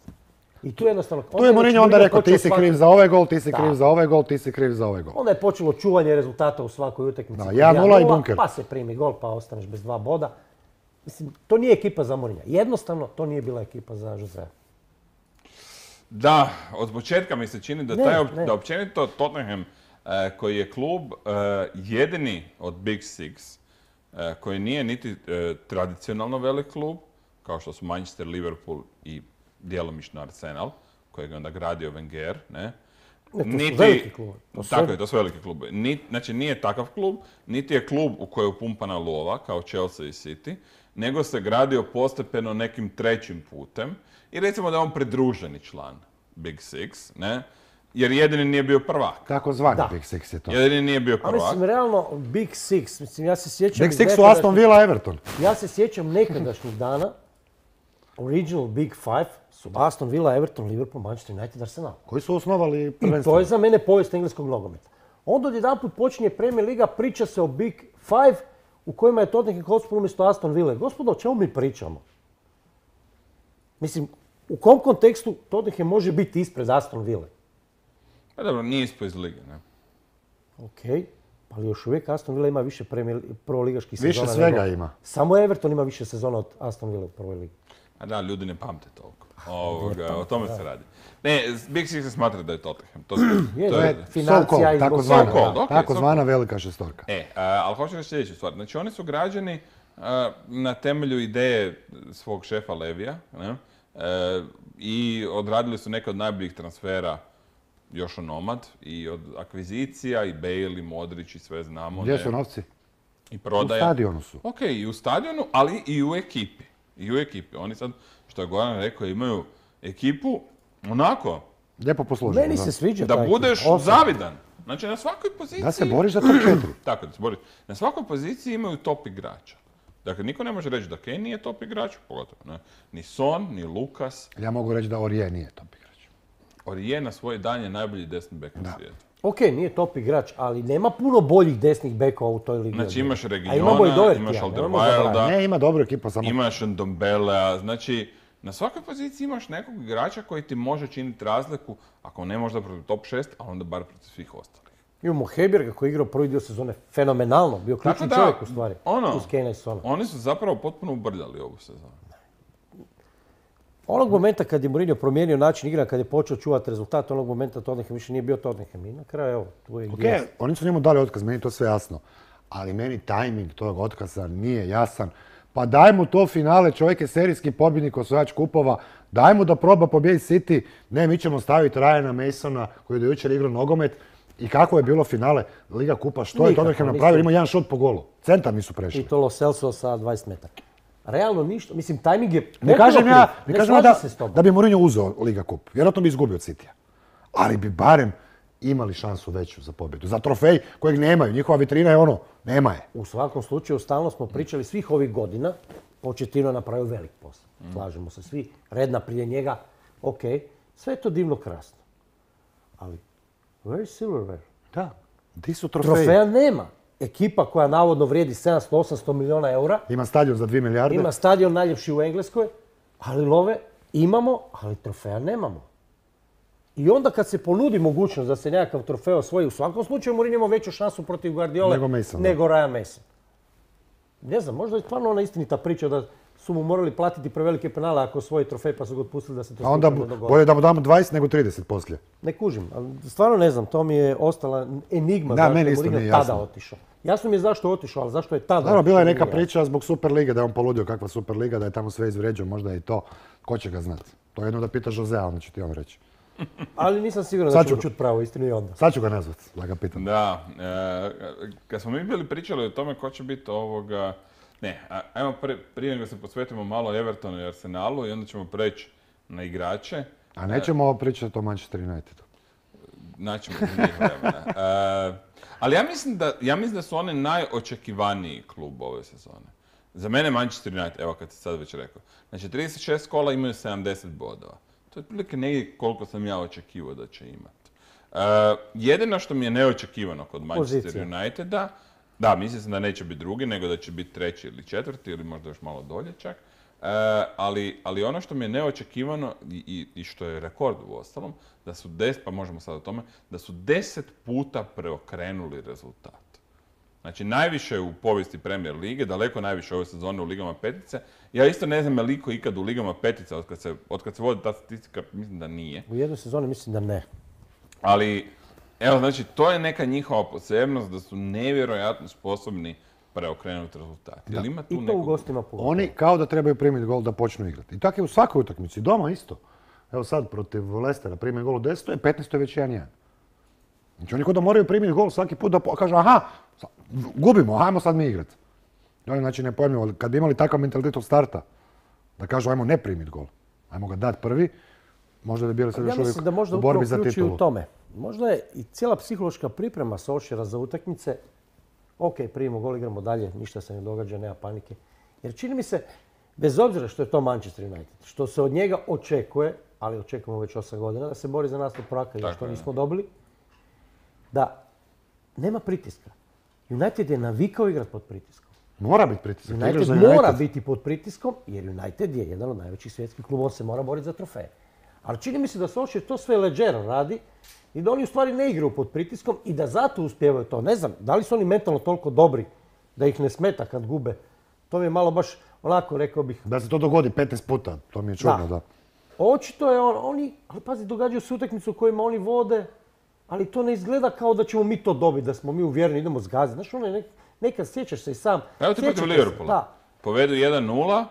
I tu jednostavno... Tu je Mourinho onda rekao ti si kriv za ovaj gol, ti si Da. kriv za ovaj gol, ti si kriv za ovaj gol. Onda je počelo čuvanje rezultata u svakoj utakmici. Da, jedan nula i bunker. Pa se primi gol, pa ostaneš bez dva boda. Mislim, to nije ekipa za Mourinha. Jednostavno, to nije bila ekipa za Josea. Da, od početka mi se čini da, Ne, taj, op- ne. da općenito Tottenham, eh, koji je klub eh, jedini od Big Six, eh, koji nije niti eh, tradicionalno velik klub, kao što su Manchester, Liverpool i djelomično Arsenal, kojeg je onda gradio Wenger, ne? Ne, to su veliki klubovi. To su Tako sve- je, to su veliki klubovi. Ni, znači nije takav klub, niti je klub u kojoj je upumpana lova, kao Chelsea i City, nego se gradio postepeno nekim trećim putem i recimo da je on pridruženi član Big Six, ne? Jer jedini nije bio prvak. Tako zvani Da. Big Six je to. Jedini nije bio A prvak. mislim, realno, Big Six, mislim, ja se sjećam... Big iz Six su nekadašnjih- Aston Villa, Everton. Ja se sjećam nekadašnjih dana, original Big Five su Aston Villa, Everton, Liverpool, Manchester United, Arsenal. Koji su osnovali I to prvenstvo. je za mene povijest engleskog nogometa. Onda odjedanput počinje Premier Liga, priča se o Big Five u kojima je Tottenham Hotspur umjesto Aston Ville. Gospodo, o čemu mi pričamo? Mislim, u kom kontekstu Tottenham može biti ispred Aston Ville? Pa dobro, nije ispao iz lige, ne? Ok, ali još uvijek Aston Villa ima više premier, prvoligaških Više sezona. svega nego- ima. Samo Everton ima više sezona od Aston Villa u prvoj ligi. A da, ljudi ne pamte toliko. Ovoga, o tome se radi. Ne, Big Six se smatra da je Tottenham. To, se- Je, to to je, je So financija called, i tako zbog zvana. svega. So called, ok, Tako so zvana velika šestorka. E, a, ali hoću reći sljedeću stvar. Znači, oni su građeni a, na temelju ideje svog šefa Levija, ne? E, i odradili su neke od najboljih transfera još onomad i od akvizicija i Bale i Modrić i sve znamo. Gdje ne? su novci? I U prodaja. stadionu su. Ok, i u stadionu, ali i u ekipi. I u ekipi. Oni sad, što je Goran rekao, imaju ekipu onako, Lijepo posluženo. Meni da. se sviđa da taj budeš ekipa. Osobno. zavidan. Znači, na svakoj poziciji... Da se boriš za top četiri. Tako, da se boriš. Na svakoj poziciji imaju top igrača. Dakle, niko ne može reći da Kane nije top igrač, pogotovo ne. Ni Son, ni Lukas. Ja mogu reći da Orije nije top igrač. Orije na svoj dan je najbolji desni bek na svijetu. Ok, nije top igrač, ali nema puno boljih desnih bekova u toj ligi. Znači, imaš A imamo i Reguilona, Dohertya, imaš nemojmo Alderweirelda, zaboraviti. Ne, ima dobru ekipu, samo imaš Ndombelea. Znači, na svakoj poziciji imaš nekog igrača koji ti može činiti razliku, ako ne možda protiv top šest, a onda bar protiv svih ostalih. Imamo Heberga koji je igrao prvi dio sezone fenomenalno, bio ključni Tako da, čovjek u stvari, ono, uz Kanea i Sona. Oni su zapravo potpuno ubrljali ovu sezonu. Onog momenta kad je Mourinho promijenio način igra, kad je počeo čuvati rezultat, onog momenta Tottenham više nije bio Tottenham. I na kraju, evo, tu je Ok, gdje je. oni su njemu dali otkaz, meni je to sve jasno. Ali meni tajming tog otkaza nije jasan. Pa daj mu to finale, čovjek je serijski pobjednik, osvajač kupova. Daj mu da proba pobijediti City. Ne, mi ćemo staviti Ryana Masona koji je do jučer igrao nogomet. I kako je bilo finale Liga kupa, što je Nikako, Tottenham nisu. napravio? Ima jedan šut po golu. Centar nisu I prešli. to Lo Celso sa dvadeset metara. Realno ništa, mislim, tajming je Ne potpuno kažem ja, kriv. ne Ne kažem ja slažem da, se s tobom. da bi Mourinho uzeo Liga kup. Vjerojatno bi izgubio od Citya. Ali bi barem imali šansu veću za pobjedu. Za trofej kojeg nemaju. Njihova vitrina je ono, nema je. U svakom slučaju, stalno smo pričali svih ovih godina, Pochettino je napravio velik posao. Slažemo se svi, Redna prije njega, ok, sve je to divno krasno. Ali, where is silverware? Da, di su trofeji? Trofeja nema. Ekipa koja navodno vrijedi sedamsto osamsto milijuna eura, Ima stadion za dvije milijarde. ima stadion najljepši u Engleskoj, ali love imamo, ali trofeja nemamo. I onda kad se ponudi mogućnost da se nekakav trofej osvoji, u svakom slučaju Mourinho ima veću šansu protiv Guardiole Nego Mason, da. nego Ryan Mason. Ne znam, možda je stvarno ona istinita priča da su mu morali platiti prevelike penale ako osvoji trofej pa su ga otpustili da se to A onda slučajno dogodi. bolje da mu damo dvadeset nego trideset poslije. Ne kužim, ali stvarno ne znam, to mi je ostala enigma Da, zašto meni je isto Mourinho nije tada jasno. otišao. Jasno mi je zašto je otišao, ali zašto je tada Naravno, bila je neka otišao, priča zbog Superlige, da je on poludio kakva Superliga, da je tamo sve izvređao, možda i to. Ko će ga znati? To je jedno da pita Josea, onda će ti on reći. Ali nisam siguran Sad da ću- ćemo čuti pravu istinu i onda. Sad ću ga nazvat, da ga pitam. Da, e, kad smo mi bili pričali o tome ko će biti ovoga... Ne, a- ajmo pre- prije nego se posvetimo malo Evertonu i Arsenalu i onda ćemo preći na igrače. A nećemo pričati o Manchester Unitedu. Naćemo za njih vremena. E, ali ja mislim, da, ja mislim da su oni najočekivaniji klub ove sezone. Za mene Manchester United, evo kad si sad već rekao. Znači trideset šest kola imaju sedamdeset bodova. To je otprilike negdje koliko sam ja očekivao da će imati. E, jedino što mi je neočekivano kod Manchester Pozicija. Uniteda, da, mislim sam da neće biti drugi, nego da će biti treći ili četvrti ili možda još malo dolje čak. E, ali, ali ono što mi je neočekivano i, i, i što je rekord u ostalom, da su des, pa možemo sad o tome, da su deset puta preokrenuli rezultat. Znači najviše u povijesti Premier lige, daleko najviše ove sezone u ligama petice. Ja isto ne znam je li iko ikad u ligama petice, od kad se, od kad se vodi ta statistika, mislim da nije. U jednoj sezoni mislim da ne. Ali, evo, znači, to je neka njihova posebnost da su nevjerojatno sposobni preokrenuti rezultat. Jel ima tu I to u nekog- gostima pogotovo. Oni kao da trebaju primiti gol da počnu igrati. I tako je u svakoj utakmici, doma isto. Evo sad protiv Lestera prime gol u desetoj, petnaestoj već jedan jedan. Znači oni kao da moraju primiti gol svaki put da po- kažu aha, sa- gubimo, ajmo sad mi igrati. Oni znači ne pojmljivo, kad bi imali takav mentalitet od starta, da kažu ajmo ne primiti gol, ajmo ga dati prvi, možda bi bili sad Ja još uvijek mislim da možda u upravo borbi za ključ je titulu. u tome. Možda je i cijela psihološka priprema Solskjaera za utakmice, ok, primimo gol, igramo dalje, ništa se ne događa, nema panike. Jer čini mi se, bez obzira što je to Manchester United, što se od njega očekuje, ali očekujemo već osam godina, da se bori za naslov prvaka i Tako što je. nismo dobili, da nema pritiska. United je navikao igrati pod pritiskom. Mora biti pritisak. igraš United za mora United. biti pod pritiskom jer United je jedan od najvećih svjetskih klubova, on se mora boriti za trofeje. Ali čini mi se da Solskjaer to sve leđero radi i da oni u stvari ne igraju pod pritiskom i da zato uspijevaju to. Ne znam, da li su oni mentalno toliko dobri da ih ne smeta kad gube. To mi je malo baš onako, rekao bih, Da se to dogodi petnaest puta, to mi je čudno, da. Da. očito je on, oni, ali pazi, događaju se utakmice u kojima oni vode, ali to ne izgleda kao da ćemo mi to dobiti, da smo mi uvjereni, idemo zgaziti. Znaš, ono je nek, nekad sjećaš se i sam. Evo ti protiv sjećate se, Liverpoola. Da, Povedu jedan nula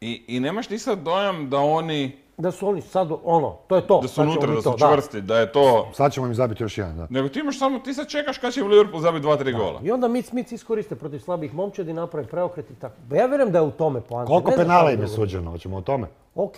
i, i nemaš ti sad dojam da oni, da su oni sad, ono, to je to. da su sad ćemo unutra, mi da to, su čvrsti, da je to... Sad ćemo im zabiti još jedan, da. Nego ti imaš samo, ti sad čekaš kad će Liverpool zabiti dva, tri gola. I onda Mic Mic iskoriste protiv slabih momčadi, naprave preokret i tako. Ba ja vjerujem da je u tome poanta. Koliko Ne znam penala šta im je drugo. suđeno, hoćemo o tome? Ok,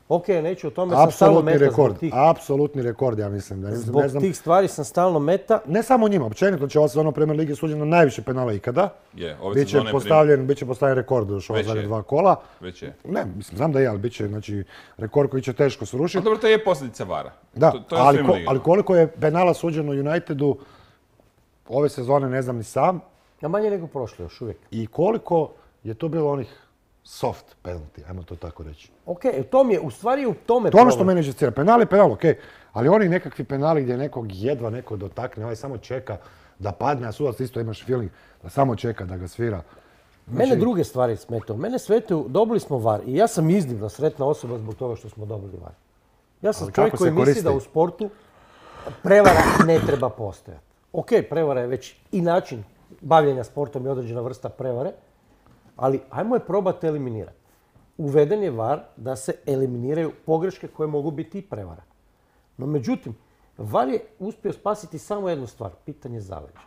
ok, neću o tome, sam stalno Apsolutni meta rekord, zbog tih, apsolutni rekord, ja mislim. Da, zbog ne znam, tih stvari sam stalno meta. ne samo njima, općenito će ova sezona u Premier Ligi suđeno najviše penala ikada. Je, ove Biće sezone postavljen, biće postavljen rekord još ova Već zadnja je. dva kola. Već je. Ne, mislim, znam da je, ali bit će znači, rekord koji će teško Ali srušiti. dobro, to je posljedica vara. Da, to, to je ali, svim ko- ligama. ali koliko je penala suđeno Unitedu ove sezone ne znam ni sam. A manje nego prošle još uvijek. I koliko je to bilo onih soft penalty, ajmo to tako reći. Ok, u tom je, u stvari u tome To je ono što problem. mene žestira. Penal je penal, ok. Ali oni nekakvi penali gdje nekog jedva neko dotakne, ovaj samo čeka da padne, a sudac isto imaš feeling da samo čeka da ga svira. Mene druge stvari smetaju. Mene smetaju, dobili smo var i ja sam iznimno sretna osoba zbog toga što smo dobili var. Ja sam Ali čovjek kako koji se misli koristi? da u sportu prevara ne treba postojati. Ok, prevara je već i način bavljenja sportom i određena vrsta prevare, ali ajmo je probati eliminirati. Uveden je var da se eliminiraju pogreške koje mogu biti i prevara. No međutim, var je uspio spasiti samo jednu stvar, pitanje zaleđa.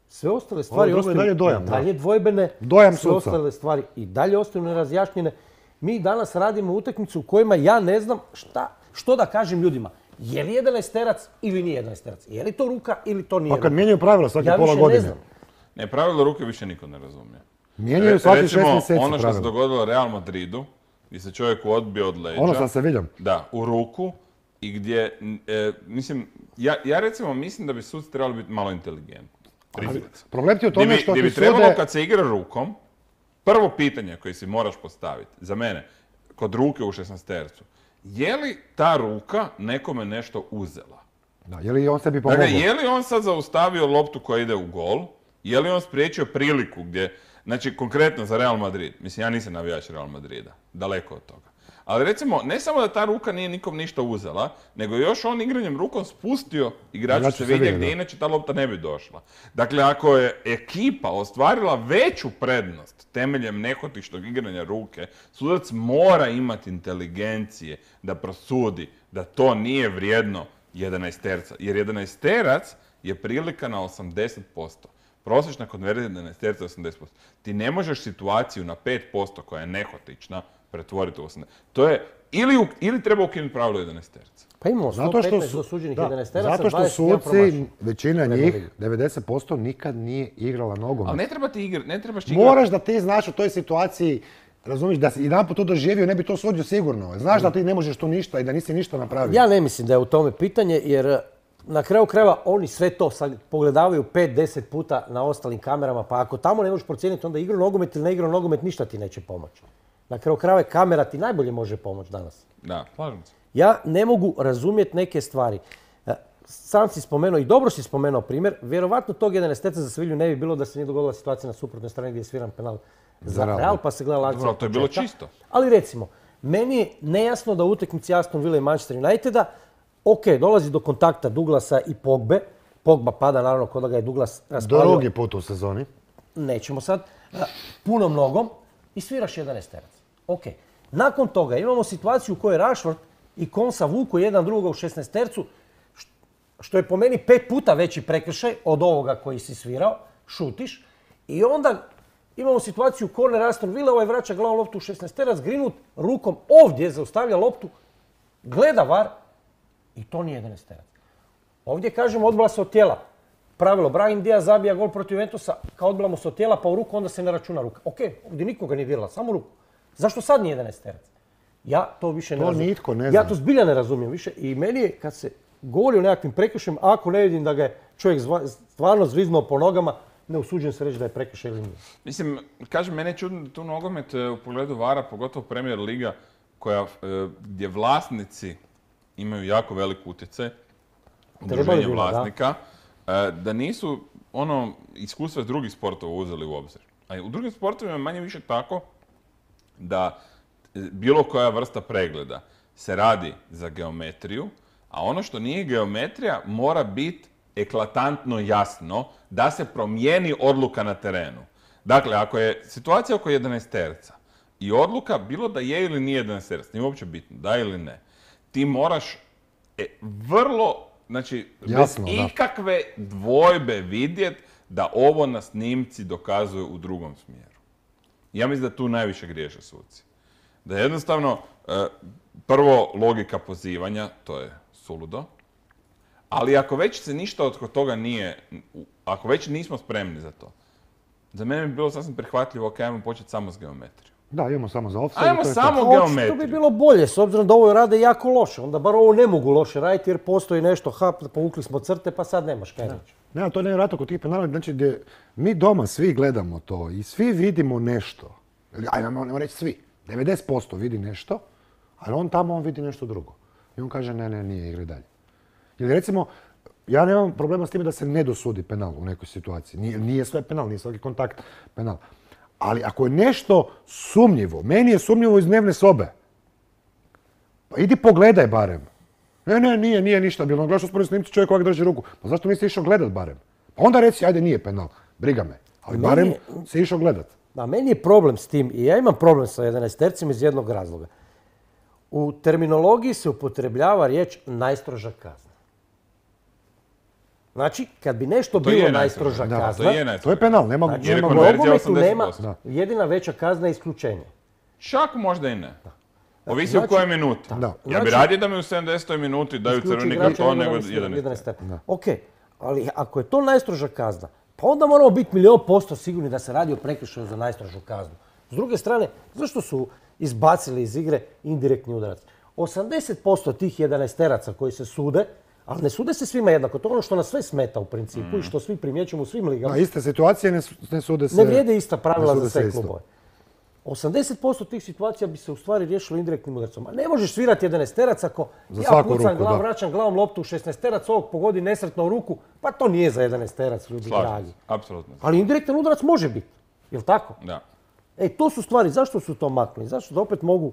Sve ostale stvari drugo je ostaju dalje dojam, i da. dalje dvojbene, Dojam sve suca. ostale stvari i dalje ostaju nerazjašnjene. Mi danas radimo utakmicu u kojima ja ne znam šta, što da kažem ljudima. Je li jedanaesterac ili nije jedanaesterac? Je li to ruka ili to nije Pa kad ruka? mijenjaju pravila svake Ja pola više ne godine. znam. Ne, pravilo ruke više niko ne razumije. Mijenjaju Re- svaki šest recimo, mjeseci ono što se pravila. dogodilo Real Madridu, gdje se čovjeku odbio od leđa. Ono sam se vidio. Da, u ruku i gdje, n- e, mislim, ja, ja recimo mislim da bi suci trebali biti malo inteligentni. Priznat se. Problem ti je u Gdje tome bi, što gdje ti bi trebalo sude... kad se igra rukom, prvo pitanje koje si moraš postaviti, za mene, kod ruke u šesnaestercu, je li ta ruka nekome nešto uzela? Da, je li on sebi pomogao? Dakle, je li on sad zaustavio loptu koja ide u gol? Je li on spriječio priliku gdje... Znači, konkretno za Real Madrid. Mislim, ja nisam navijač Real Madrida. Daleko od toga. Ali recimo, ne samo da ta ruka nije nikom ništa uzela, nego je još on igranjem rukom spustio igrača se vidje gdje inače ta lopta ne bi došla. Dakle, ako je ekipa ostvarila veću prednost temeljem nehotičnog igranja ruke, sudac mora imati inteligencije da prosudi da to nije vrijedno jedanaesterca. Jer jedanaesterac je prilika na osamdeset posto. Prosječna konverzija jedanaesterca je osamdeset posto. Ti ne možeš situaciju na pet posto koja je nehotična pretvoriti u osamdeset. To je, ili, u, ili treba ukinuti pravilo jedanaesterca. Pa imamo sto petnaest dosuđenih jedanaesteraca, zato što suci, većina njih, devedeset posto nikad nije igrala nogomet. Ali ne treba ti igrati, ne trebaš ti igrati. Moraš da ti znaš u toj situaciji, razumiješ, da si jedanput to doživio, ne bi to sudio sigurno. Znaš da ti ne možeš tu ništa i da nisi ništa napravio. Ja ne mislim da je u tome pitanje, jer na kraju krajeva oni sve to sad pogledavaju pet do deset puta na ostalim kamerama, pa ako tamo ne možeš procijeniti onda igru nogomet ili ne igru nogomet, ništa ti neće pomoći. Na kraju krajeva kamera ti najbolje može pomoći danas. Da, slažem se. Ja ne mogu razumjeti neke stvari. Sam si spomenuo i dobro si spomenuo primjer, vjerovatno tog jedanaesterca za Sevilju ne bi bilo da se nije dogodila situacija na suprotnoj strani gdje je sviran penal za Real, pa se gleda akcija. Dobro, to je bilo čisto. Ali recimo, meni je nejasno da u utakmici Aston Villa i Manchester Uniteda, ok, dolazi do kontakta Douglasa i Pogbe, Pogba pada naravno kod da ga je Douglas raspalio. Drugi put u sezoni. Nećemo sad. Punom nogom i sviraš jedanaesterac. Ok. Nakon toga imamo situaciju u kojoj Rashford i Konsa vuku jedan drugoga u šesnaestercu, što je po meni pet puta veći prekršaj od ovoga koji si svirao, šutiš. I onda imamo situaciju korner Aston Villa, ovaj vraća glavom loptu u šesnaesterac, Greenwood rukom ovdje zaustavlja loptu, gleda var i to nije jedanaesterac. Ovdje kažemo odbila se od tijela. Pravilo, Brahim Diaz zabija gol protiv Juventusa, kao odbila se od tijela pa u ruku, onda se ne računa ruka. Ok, ovdje nikoga nije dirala, samo ruku. Zašto sad nije jedanaesterac? Ja to više ne to razumijem. Nitko ne zna. Ja to zbilja ne razumijem više i meni je kad se govori o nekakvim prekršajima, ako ne vidim da ga je čovjek stvarno zviznuo po nogama, ne usuđujem se reći da je prekršaj ili nije. Mislim, kažem, mene je čudno da tu nogomet u pogledu vara, pogotovo Premier Liga, koja, gdje vlasnici imaju jako velik utjecaj, udruženje vlasnika, da. da nisu ono iskustva iz drugih sportova uzeli u obzir. A u drugim sportovima je manje više tako da bilo koja vrsta pregleda se radi za geometriju, a ono što nije geometrija mora biti eklatantno jasno da se promijeni odluka na terenu. Dakle, ako je situacija oko jedanaesterca i odluka bilo da je ili nije jedanaesterac, nije uopće bitno, da ili ne, ti moraš e, vrlo, znači, jasno, bez da. ikakve dvojbe vidjeti da ovo na snimci dokazuje u drugom smjeru. Ja mislim da tu najviše griješe suci. Da jednostavno, prvo, logika pozivanja, to je suludo, ali ako već se ništa od toga nije, ako već nismo spremni za to, za mene bi bilo sasvim prihvatljivo, ok, ajmo početi samo s geometrijom. Da, idemo samo za offside. Ajmo samo geometriju. To bi bilo bolje, s obzirom da ovo rade jako loše. Onda bar ovo ne mogu loše raditi jer postoji nešto, hap, povukli smo crte, pa sad nemaš kaj reći. Ne, to ne je vratno kod tih penala, znači gdje mi doma svi gledamo to i svi vidimo nešto. Ajde, nemo reći svi. devedeset posto vidi nešto, ali on tamo on vidi nešto drugo. I on kaže ne, ne, nije, igre dalje. Ili recimo, ja nemam problema s time da se ne dosudi penal u nekoj situaciji. Nije, nije sve penal, nije svaki kontakt penal. Ali ako je nešto sumnjivo, meni je sumnjivo iz dnevne sobe, pa idi pogledaj barem. Ne, ne, nije, nije ništa bilo. Gledaš usporedno snimci čovjek ovak drži ruku. Pa zašto nisi išao gledat barem? Pa onda reci, ajde, nije penal. Briga me. Ali Meni barem je- si išao gledat. Da, meni je problem s tim i ja imam problem sa jedanaestercima iz jednog razloga. U terminologiji se upotrebljava riječ najstroža kazna. Znači, kad bi nešto To bilo je najstroža najstroža. kazna, To je To je najstroža. penal, nema, znači, Jer je nema u konverzija nogometu osamdeset nema posto. Da. jedina veća kazna je isključenje. Čak možda i ne. Ovisi Znači- o kojoj minuti. Da. Ja bi Znači- radije da mi u sedamdesetoj minuti daju Isključi crveni igrača karton nego nego da mi jedan jedanaester. Ok, ali ako je to najstroža kazna, pa onda moramo biti milijon posto sigurni da se radi o prekršaju za najstrožu kaznu. S druge strane, zašto su izbacili iz igre indirektni udarac? osamdeset posto tih jedanaesteraca koji se sude, ali ne sude se svima jednako. To je ono što nas sve smeta u principu i što svi primjećujemo u svim ligama. Da, iste situacije ne, su- ne sude se... Ne vrijede ista pravila ne za sude se sve isto. klubove. osamdeset posto tih situacija bi se u stvari riješilo indirektnim udarcom. A ne možeš svirati jedanaesterac ako Za ja svaku pucam ruku, glavom, da. vraćam glavom loptu u šesnaesterac, ovog pogodi nesretno u ruku, pa to nije za jedanaesterac, ljudi Slažem dragi. se, apsolutno. Ali indirektan udarac može biti. Jel' tako? Da. E, to su stvari, zašto su to maknuli? Zašto da opet mogu,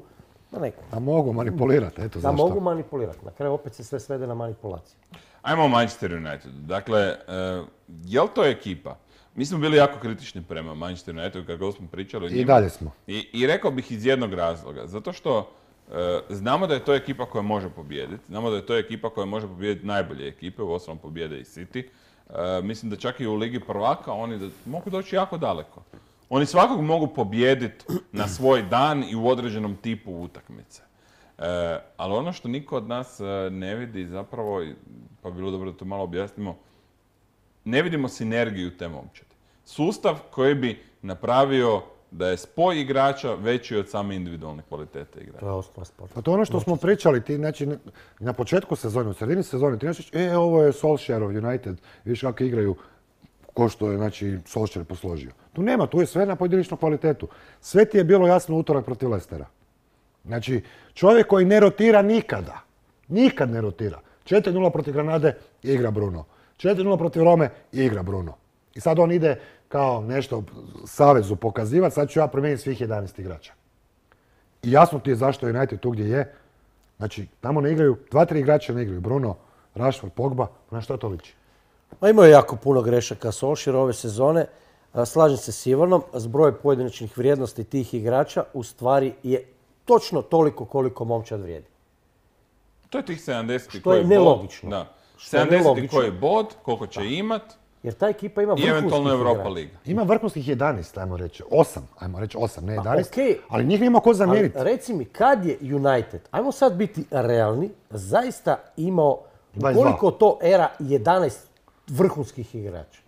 da neko, Da mogu manipulirati, eto da zašto. mogu manipulirati. Na kraju opet se sve svede na manipulaciju. Ajmo o Manchester United. Dakle, uh, je li to ekipa? Mi smo bili jako kritični prema Manchester Unitedu kad god smo pričali o njima. I dalje smo. I, I rekao bih iz jednog razloga. Zato što uh, znamo da je to ekipa koja može pobijediti. Znamo da je to ekipa koja može pobijediti najbolje ekipe, u osnovom pobjede i City. Uh, mislim da čak i u Ligi prvaka oni da, mogu doći jako daleko. Oni svakog mogu pobijediti na svoj dan i u određenom tipu utakmice. E, ali ono što niko od nas e, ne vidi zapravo, pa bi bilo dobro da to malo objasnimo, ne vidimo sinergiju te momčadi. Sustav koji bi napravio da je spoj igrača veći od same individualne kvalitete igrača. To je osnova sporta. Pa to je ono što smo pričali, ti, znači, na početku sezone, u sredini sezone, ti nećeš, e, ovo je Solskjaerov United, vidiš kako igraju, ko što je, znači, Solskjaer posložio. Tu nema, tu je sve na pojedinačnu kvalitetu. Sve ti je bilo jasno utorak protiv Lestera. Znači, čovjek koji ne rotira nikada, nikad ne rotira. četiri nula protiv Granade, igra Bruno. četiri nula protiv Rome, igra Bruno. I sad on ide kao nešto savezu pokazivati, sad ću ja promijeniti svih jedanaest igrača. I jasno ti je zašto je United tu gdje je. Znači, tamo ne igraju, dva, tri igrača ne igraju. Bruno, Rashford, Pogba, na što to liči? Ma imao je jako puno grešaka Solskjaer ove sezone. Slažem se s Ivanom, zbroj pojedinačnih vrijednosti tih igrača u stvari je točno toliko koliko momčad vrijedi. To je tih sedamdeset Što je nelogično. Da. Što je sedamdeset nelogično. koji bod, koliko će imat Jer ta ekipa ima i vrhunskih eventualno Europa igrača. Liga. Ima vrhunskih jedanaest, ajmo reći. osam, ajmo reći osam, ne jedanaest. okej. Ali njih nema ko Ali zamijeniti. reci mi, kad je United, ajmo sad biti realni, zaista imao dvadeset dva. koliko to era jedanaest vrhunskih igrača?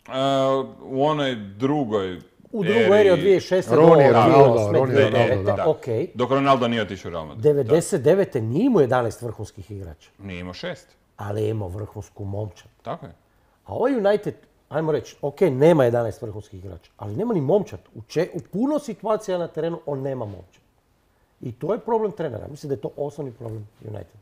Uh, u onoj drugoj U drugoj eri od dvije tisuće šeste do Ronnie, dvije Ronaldo, tisuće osme, Ronnie, dvije tisuće Ronaldo, devete, da. okej. Dok Ronaldo nije otišao u Real Madrid. devedeset devete nije imao jedanaest vrhunskih igrača, Da. Nije imao šest. ali je imao vrhunsku momčad. Tako je. A ovaj United, ajmo reći, ok, nema jedanaest vrhunskih igrača, ali nema ni momčad. U, če, u puno situacija na terenu on nema momčad. I to je problem trenera. Mislim da je to osnovni problem Uniteda.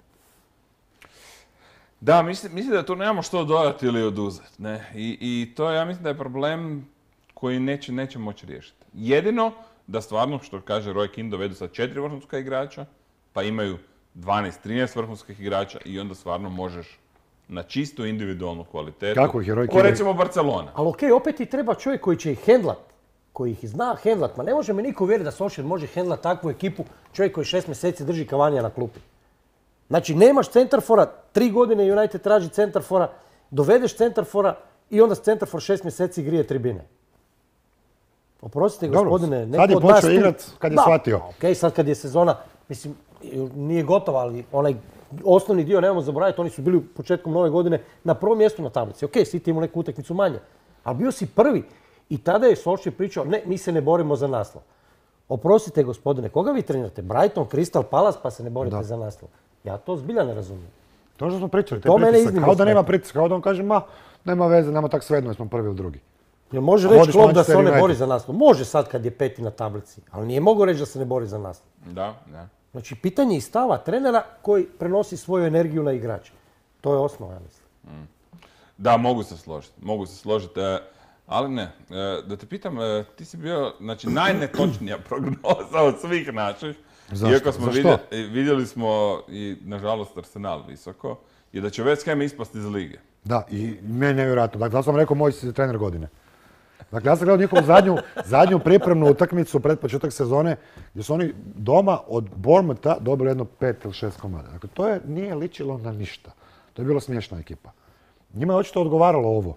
Da, mislim, mislim da tu nemamo što dodati ili oduzeti. Ne? I, I to ja mislim da je problem koji neće, neće moći riješiti. Jedino da stvarno, što kaže Roy Keane, dovedu sad četiri vrhunska igrača, pa imaju dvanaest trinaest vrhunskih igrača i onda stvarno možeš na čistu individualnu kvalitetu. Kako ih je Roy Ko Keane- recimo Barcelona. Ali ok, opet ti treba čovjek koji će ih hendlat, koji ih zna hendlat. Ma ne može mi niko uvjeriti da Solskjaer može hendlat takvu ekipu, čovjek koji šest mjeseci drži Cavanija na klupi. Znači, nemaš centarfora, tri godine United traži centarfora, dovedeš centarfora i onda centarfor šest mjeseci grije tribine. Oprostite, Dobro, gospodine, sad neko je od nas počeo tu- igrat kad je Da, shvatio. ok, sad kad je sezona, mislim, nije gotova, ali onaj osnovni dio nemamo zaboraviti, oni su bili početkom nove godine na prvom mjestu na tablici. Ok, City imao neku utakmicu manje, ali bio si prvi. I tada je Solskjaer pričao, ne, mi se ne borimo za naslov. Oprostite, gospodine, koga vi trenirate? Brighton, Crystal Palace, pa se ne borite Da. za naslov. Ja to zbilja ne razumijem. To što smo pričali, te To mene pritisak, iznimno kao da nema smeta. pritiska, kao da on kaže, ma, nema veze, nama tak svejedno, jer smo prvi ili drugi. Jel može A reći vodiš Klopp da se Manchester on ne United. bori za naslov? Može sad kad je peti na tablici, ali nije mogao reći da se ne bori za naslov. Da, da. Znači, pitanje i stava trenera koji prenosi svoju energiju na igrače. To je osnova, ja mislim. Da, mogu se složiti. Mogu se složiti. e, Ali ne, e, da te pitam, e, ti si bio, znači, najnetočnija prognoza od svih naših. Zašto? Iako smo Za što? vidjeli, e, vidjeli smo i, nažalost, Arsenal visoko, je da će West Ham ispasti iz lige. Da, i meni je nevjerojatno. Dakle, ja sam rekao, moj si trener godine. Dakle, ja sam gledao njihovu zadnju, zadnju pripremnu utakmicu pred početak sezone, gdje su oni doma od Bournemoutha dobili jedno pet ili šest komada. Dakle, to je, nije ličilo na ništa. To je bila smiješna ekipa. Njima je očito odgovaralo ovo.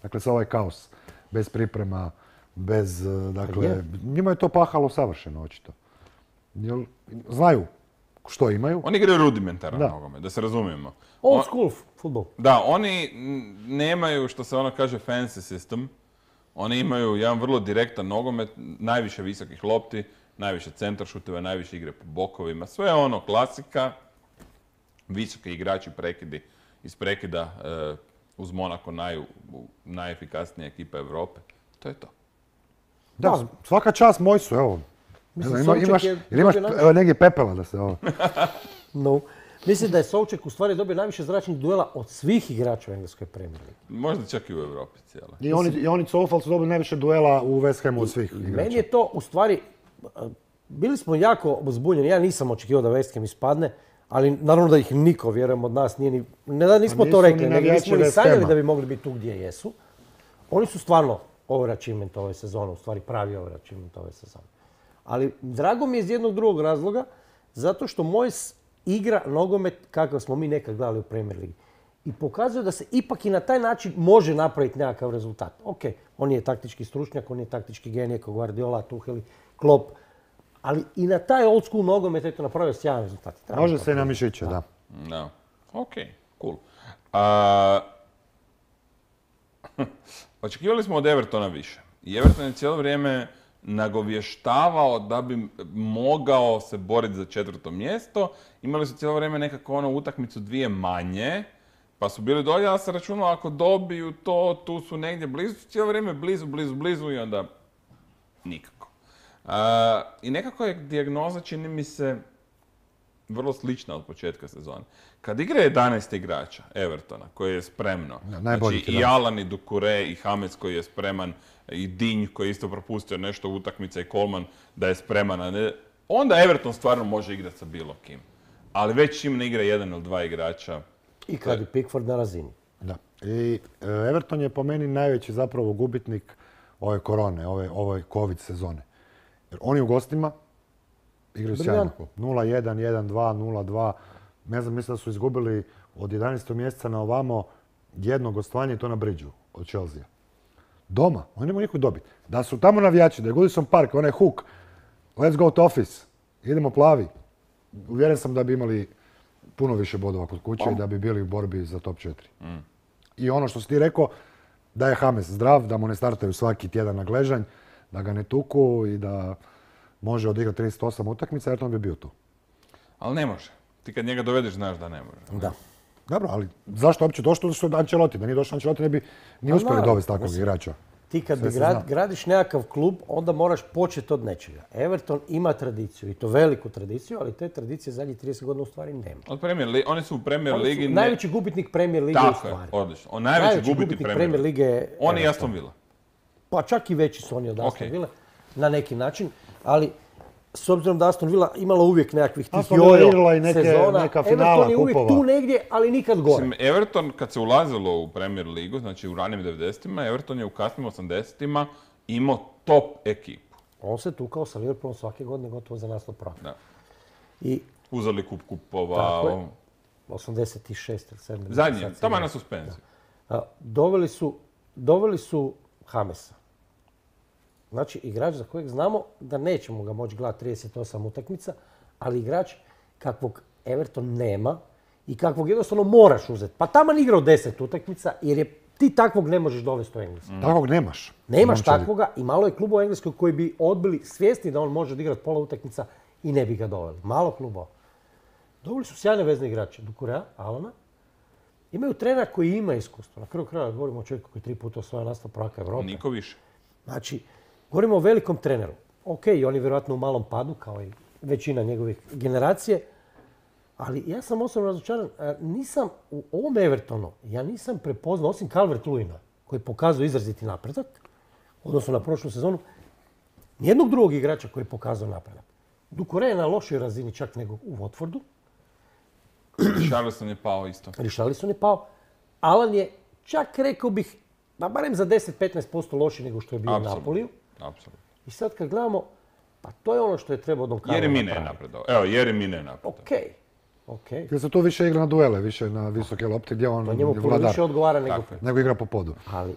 Dakle, sa ovaj kaos. Bez priprema, bez, eh, dakle, je. njima je to pahalo savršeno, očito. Jel, znaju što imaju. Oni igraju rudimentaran Da. nogomet, da se razumijemo. Old On- school futbol. Da, oni mm, nemaju, što se ono kaže, fancy system. Oni imaju jedan vrlo direktan nogomet, najviše visokih lopti, najviše centaršuteva, najviše igre po bokovima. Sve je ono klasika, visoki igrači prekidi iz prekida e, uz Monako naj, najefikasnija ekipa Europe. To je to. Da, Da. svaka čast moj su, evo. Mislim, Evo, ima- Sonček imaš, je jel imaš dobio nagradu. evo, negdje pepela da se ovo... No. Mislim da je Souček u stvari dobio najviše zračnih duela od svih igrača u engleskoj Premier Ligi. Možda čak i u Europi cijela. I oni, i oni Coufal su dobili najviše duela u West Hamu od svih igrača. Meni je to u stvari, bili smo jako zbunjeni. Ja nisam očekivao da West Ham ispadne, ali naravno da ih niko, vjerujem, od nas nije ni... Ne da nismo to rekli, nego nismo ni sanjali da bi mogli biti tu gdje jesu. Oni su stvarno overachievement ove sezone, u stvari pravi overachievement ove sezone. Ali drago mi je iz jednog drugog razloga, zato što Moyes igra nogomet kakav smo mi nekad gledali u Premier Ligi. I pokazuje da se ipak i na taj način može napraviti nekakav rezultat. Ok, on je taktički stručnjak, on je taktički genije, kao Guardiola, Tuchel, Klopp. Ali i na taj old school nogomet je to napravio sjajan rezultat. Treba Može se i na mišiće, da. Da. Ok, cool. A... Očekivali smo od Evertona više. I Everton je cijelo vrijeme nagovještavao da bi mogao se boriti za četvrto mjesto. Imali su cijelo vrijeme nekako ono utakmicu dvije manje, pa su bili dolje, ali se računalo ako dobiju to, tu su negdje blizu, cijelo vrijeme blizu, blizu, blizu i onda nikako. A, I nekako je dijagnoza, čini mi se, vrlo slična od početka sezone. Kad igra jedanaest igrača Evertona, koji je spremno, Ja, znači i Alan, i Doucouré, i James koji je spreman, i Dinj koji je isto propustio nešto utakmica i Coleman da je spreman, a ne, onda Everton stvarno može igrati sa bilo kim. Ali već im ne igra jedan ili dva igrača. I kad je Pickford na razini. Da. I e, Everton je po meni najveći zapravo gubitnik ove korone, ove, ove covid sezone. Jer oni u gostima igraju sjajno. nula jedan, jedan dva, nula dva. Ne znam, mislim da su izgubili od jedanaestog mjeseca na ovamo jedno gostovanje i to na Bridgeu od Chelsea. Doma, oni nemaju nikog dobiti. Da su tamo navijači, da je Goodison Park, onaj hook, let's go to office, idemo plavi. Uvjeren sam da bi imali puno više bodova kod kuće i da bi bili u borbi za top četiri. Mm. I ono što si ti rekao, da je James zdrav, da mu ne startaju svaki tjedan na gležanj, da ga ne tuku i da može odigrati trideset osam utakmica, jer on bi bio tu. Ali ne može. Ti kad njega dovedeš, znaš da ne može. Da. Dobro, ali zašto uopće došlo što je Ancelotti? Da nije došao Ancelotti, ne bi ni uspjeli dovesti takvog igrača. Ti kad Sve bi se grad, zna. gradiš nekakav klub, onda moraš početi od nečega. Everton ima tradiciju, i to veliku tradiciju, ali te tradicije zadnjih trideset godina u stvari nema. Od Premier Li- oni su u Premier Oni su Ligi... ne- najveći gubitnik Premier Lige u Tako je, stvari. odlično. On najveći, gubitnik Premier Lige. Lige je On i Everton. Aston Villa. Pa čak i veći su oni od Aston Ok. Villa, na neki način. Ali s obzirom da Aston Villa imala uvijek nekakvih tih Aston Villa jojo igrala i neke- sezona, neka finala Everton je uvijek kupova. tu negdje, ali nikad gore. Mislim, Everton, kad se ulazilo u Premier Ligu, znači u ranim devedesetima, Everton je u kasnim osamdesetima imao top ekipu. On se tukao sa Liverpoolom svake godine gotovo za naslov prvaka. Da. I Uzeli kup kupova. Tako je. ovo. osamdeset šest ili sedam. Zadnji, sad tamo je sigurno. na suspenziju. A, Doveli su, doveli su Jamesa. Znači, igrač za kojeg znamo da nećemo ga moći gledati trideset osam utakmica, ali igrač kakvog Everton nema i kakvog jednostavno moraš uzeti. Pa taman igrao deset utakmica jer je, ti takvog ne možeš dovesti u Englesku. Takvog nemaš. Nemaš Momčadi. takvoga i malo je klubova u Engleskoj koji bi odbili svjesni da on može odigrati pola utakmica i ne bi ga doveli. Malo klubova. Doveli su sjajne vezne igrače. Doucouré, Alana. Imaju trenera koji ima iskustvo. Na kraju kraja govorimo o čovjeku koji tri puta osvaja naslov prvaka Europe. Niko više. Znači, govorimo o velikom treneru. Ok, on je vjerojatno u malom padu, kao i većina njegovih generacije, ali ja sam osobno razočaran. A, Nisam u ovom Evertonu, ja nisam prepoznao, osim Calvert-Lewina, koji pokazuje izraziti napredak, odnosno na prošlu sezonu, nijednog drugog igrača koji je pokazao napredak. Doucouré je na lošoj razini čak nego u Watfordu, Charleston je pao isto. Richarlison je pao, Alan je čak rekao bih, pa barem za deset do petnaest posto loši nego što je bio u Apsolutno. Napoliju. Apsolutno. I sad kad gledamo, pa to je ono što je trebao Don Carlo Jer i Mine je napraviti. napredao. Evo, jer i Mine je napredao. Okej, okej. Jer se tu više igra na duele, više na visoke lopte gdje on To je njemu puno vladar. više odgovara nego... Tako je. Nego igra po podu. Ali,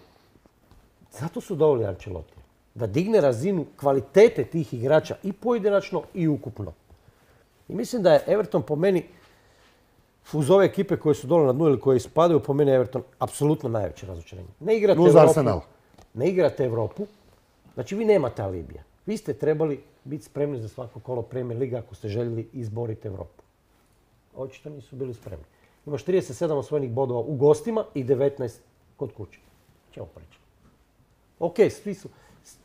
zato su doveli Ancelotti. Da digne razinu kvalitete tih igrača i pojedinačno i ukupno. I mislim da je Everton po meni, uz ove ekipe koje su dole na dnu ili koje ispadaju, po meni je Everton apsolutno najveće razočarenje. Ne igrate Uz Europu. Arsenal. Ne igrate Europu. Znači vi nemate alibija. Vi ste trebali biti spremni za svako kolo Premier Liga ako ste željeli izboriti Europu. Očito nisu bili spremni. Imaš trideset sedam osvojenih bodova u gostima i devetnaest kod kuće. Čemu pričam? Ok, svi su,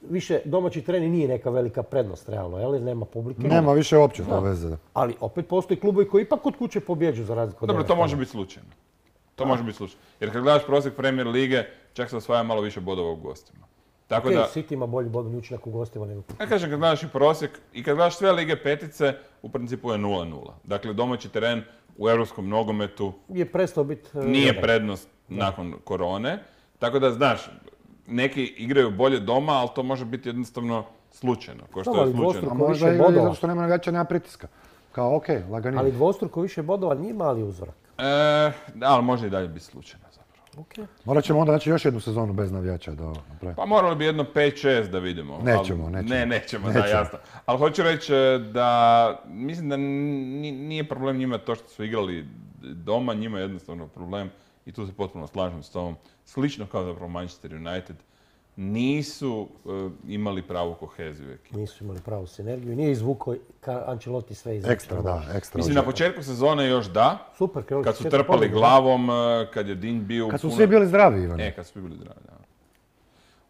više domaći teren nije neka velika prednost realno, jel? Nema publike. Nema više uopće to veze. Da. Ali opet postoji klubovi koji ipak kod kuće pobjeđu za razliku od Dobro, to Evertona. može biti slučajno. To može biti slučajno. Jer kad gledaš prosjek Premier lige, čak se osvaja malo više bodova u gostima. Tako Ok, da, City ima bolji bodovni učinak u gostima nego... ja kažem, kad gledaš i prosjek, i kad gledaš sve lige petice, u principu je nula nula. Dakle, domaći teren u europskom nogometu Je prestao biti... e, nije jedan. prednost nakon korone. Tako da, znaš, neki igraju bolje doma, ali to može biti jednostavno slučajno. Ko što Dobro, je ali slučajno. A dvostruko možda više i bodova. zato što nema navijača, nema pritiska. Kao, okej, okay, laganije. Ali dvostruko više bodova nije mali uzorak. E, da, ali može i dalje biti slučajno zapravo. Okay. Morat ćemo onda naći još jednu sezonu bez navijača da ovo napravimo. Pa moralo bi jedno pet šest da vidimo. Nećemo, ali, nećemo. Ne, nećemo, da, Nećemo. jasno. Ali hoću reći e, da mislim da ni- nije problem njima to što su igrali doma, njima je jednostavno problem, i tu se potpuno slažem s tom, slično kao zapravo Manchester United, nisu e, imali pravu koheziju u ekipi. Nisu imali pravu sinergiju, nije izvukao ka Ancelotti sve iz Ekstra, da, ekstra. Mislim, na početku sezone još da, Super, krenuli kad s su četiri trpali pobjede. glavom, e, kad je Dinj bio u Kad su puno- svi bili zdravi, Ivan. E, kad su svi bili zdravi, da.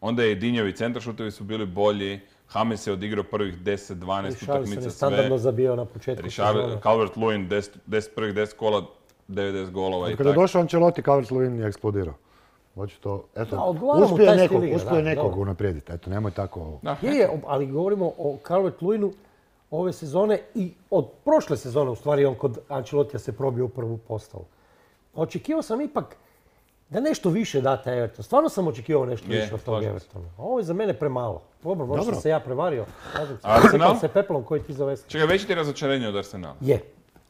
Onda je Dinjevi centaršutevi su bili bolji, James je odigrao prvih deset dvanaest Richarlison utakmica je sve. standardno zabijao na početku Richard, sezone. Calvert-Lewin, deset, deset prvih deset kola, devedeset golova i Kada je tako. došao Ancelotti, Calvert-Lewin je eksplodirao. Očito, eto, Da, odgovara mu uspije taj nekog, stil igre, uspije da, nekog dobro. unaprijediti. Eto, nemoj tako... Da, Je, je, ali govorimo o Calvert-Lewinu ove sezone i od prošle sezone, u stvari on kod Ancelotija se probio u prvu postavu. Očekivao sam ipak da nešto više date Everton. Stvarno sam očekivao nešto Je, više od tog slažem se. Evertona. A ovo je za mene premalo. Dobro, možda Dobro. sam se ja prevario. Slažem se. Arsenal? Sipam se peplom koji ti zove. Čekaj, veći ti razočarenje od Arsenala. Je.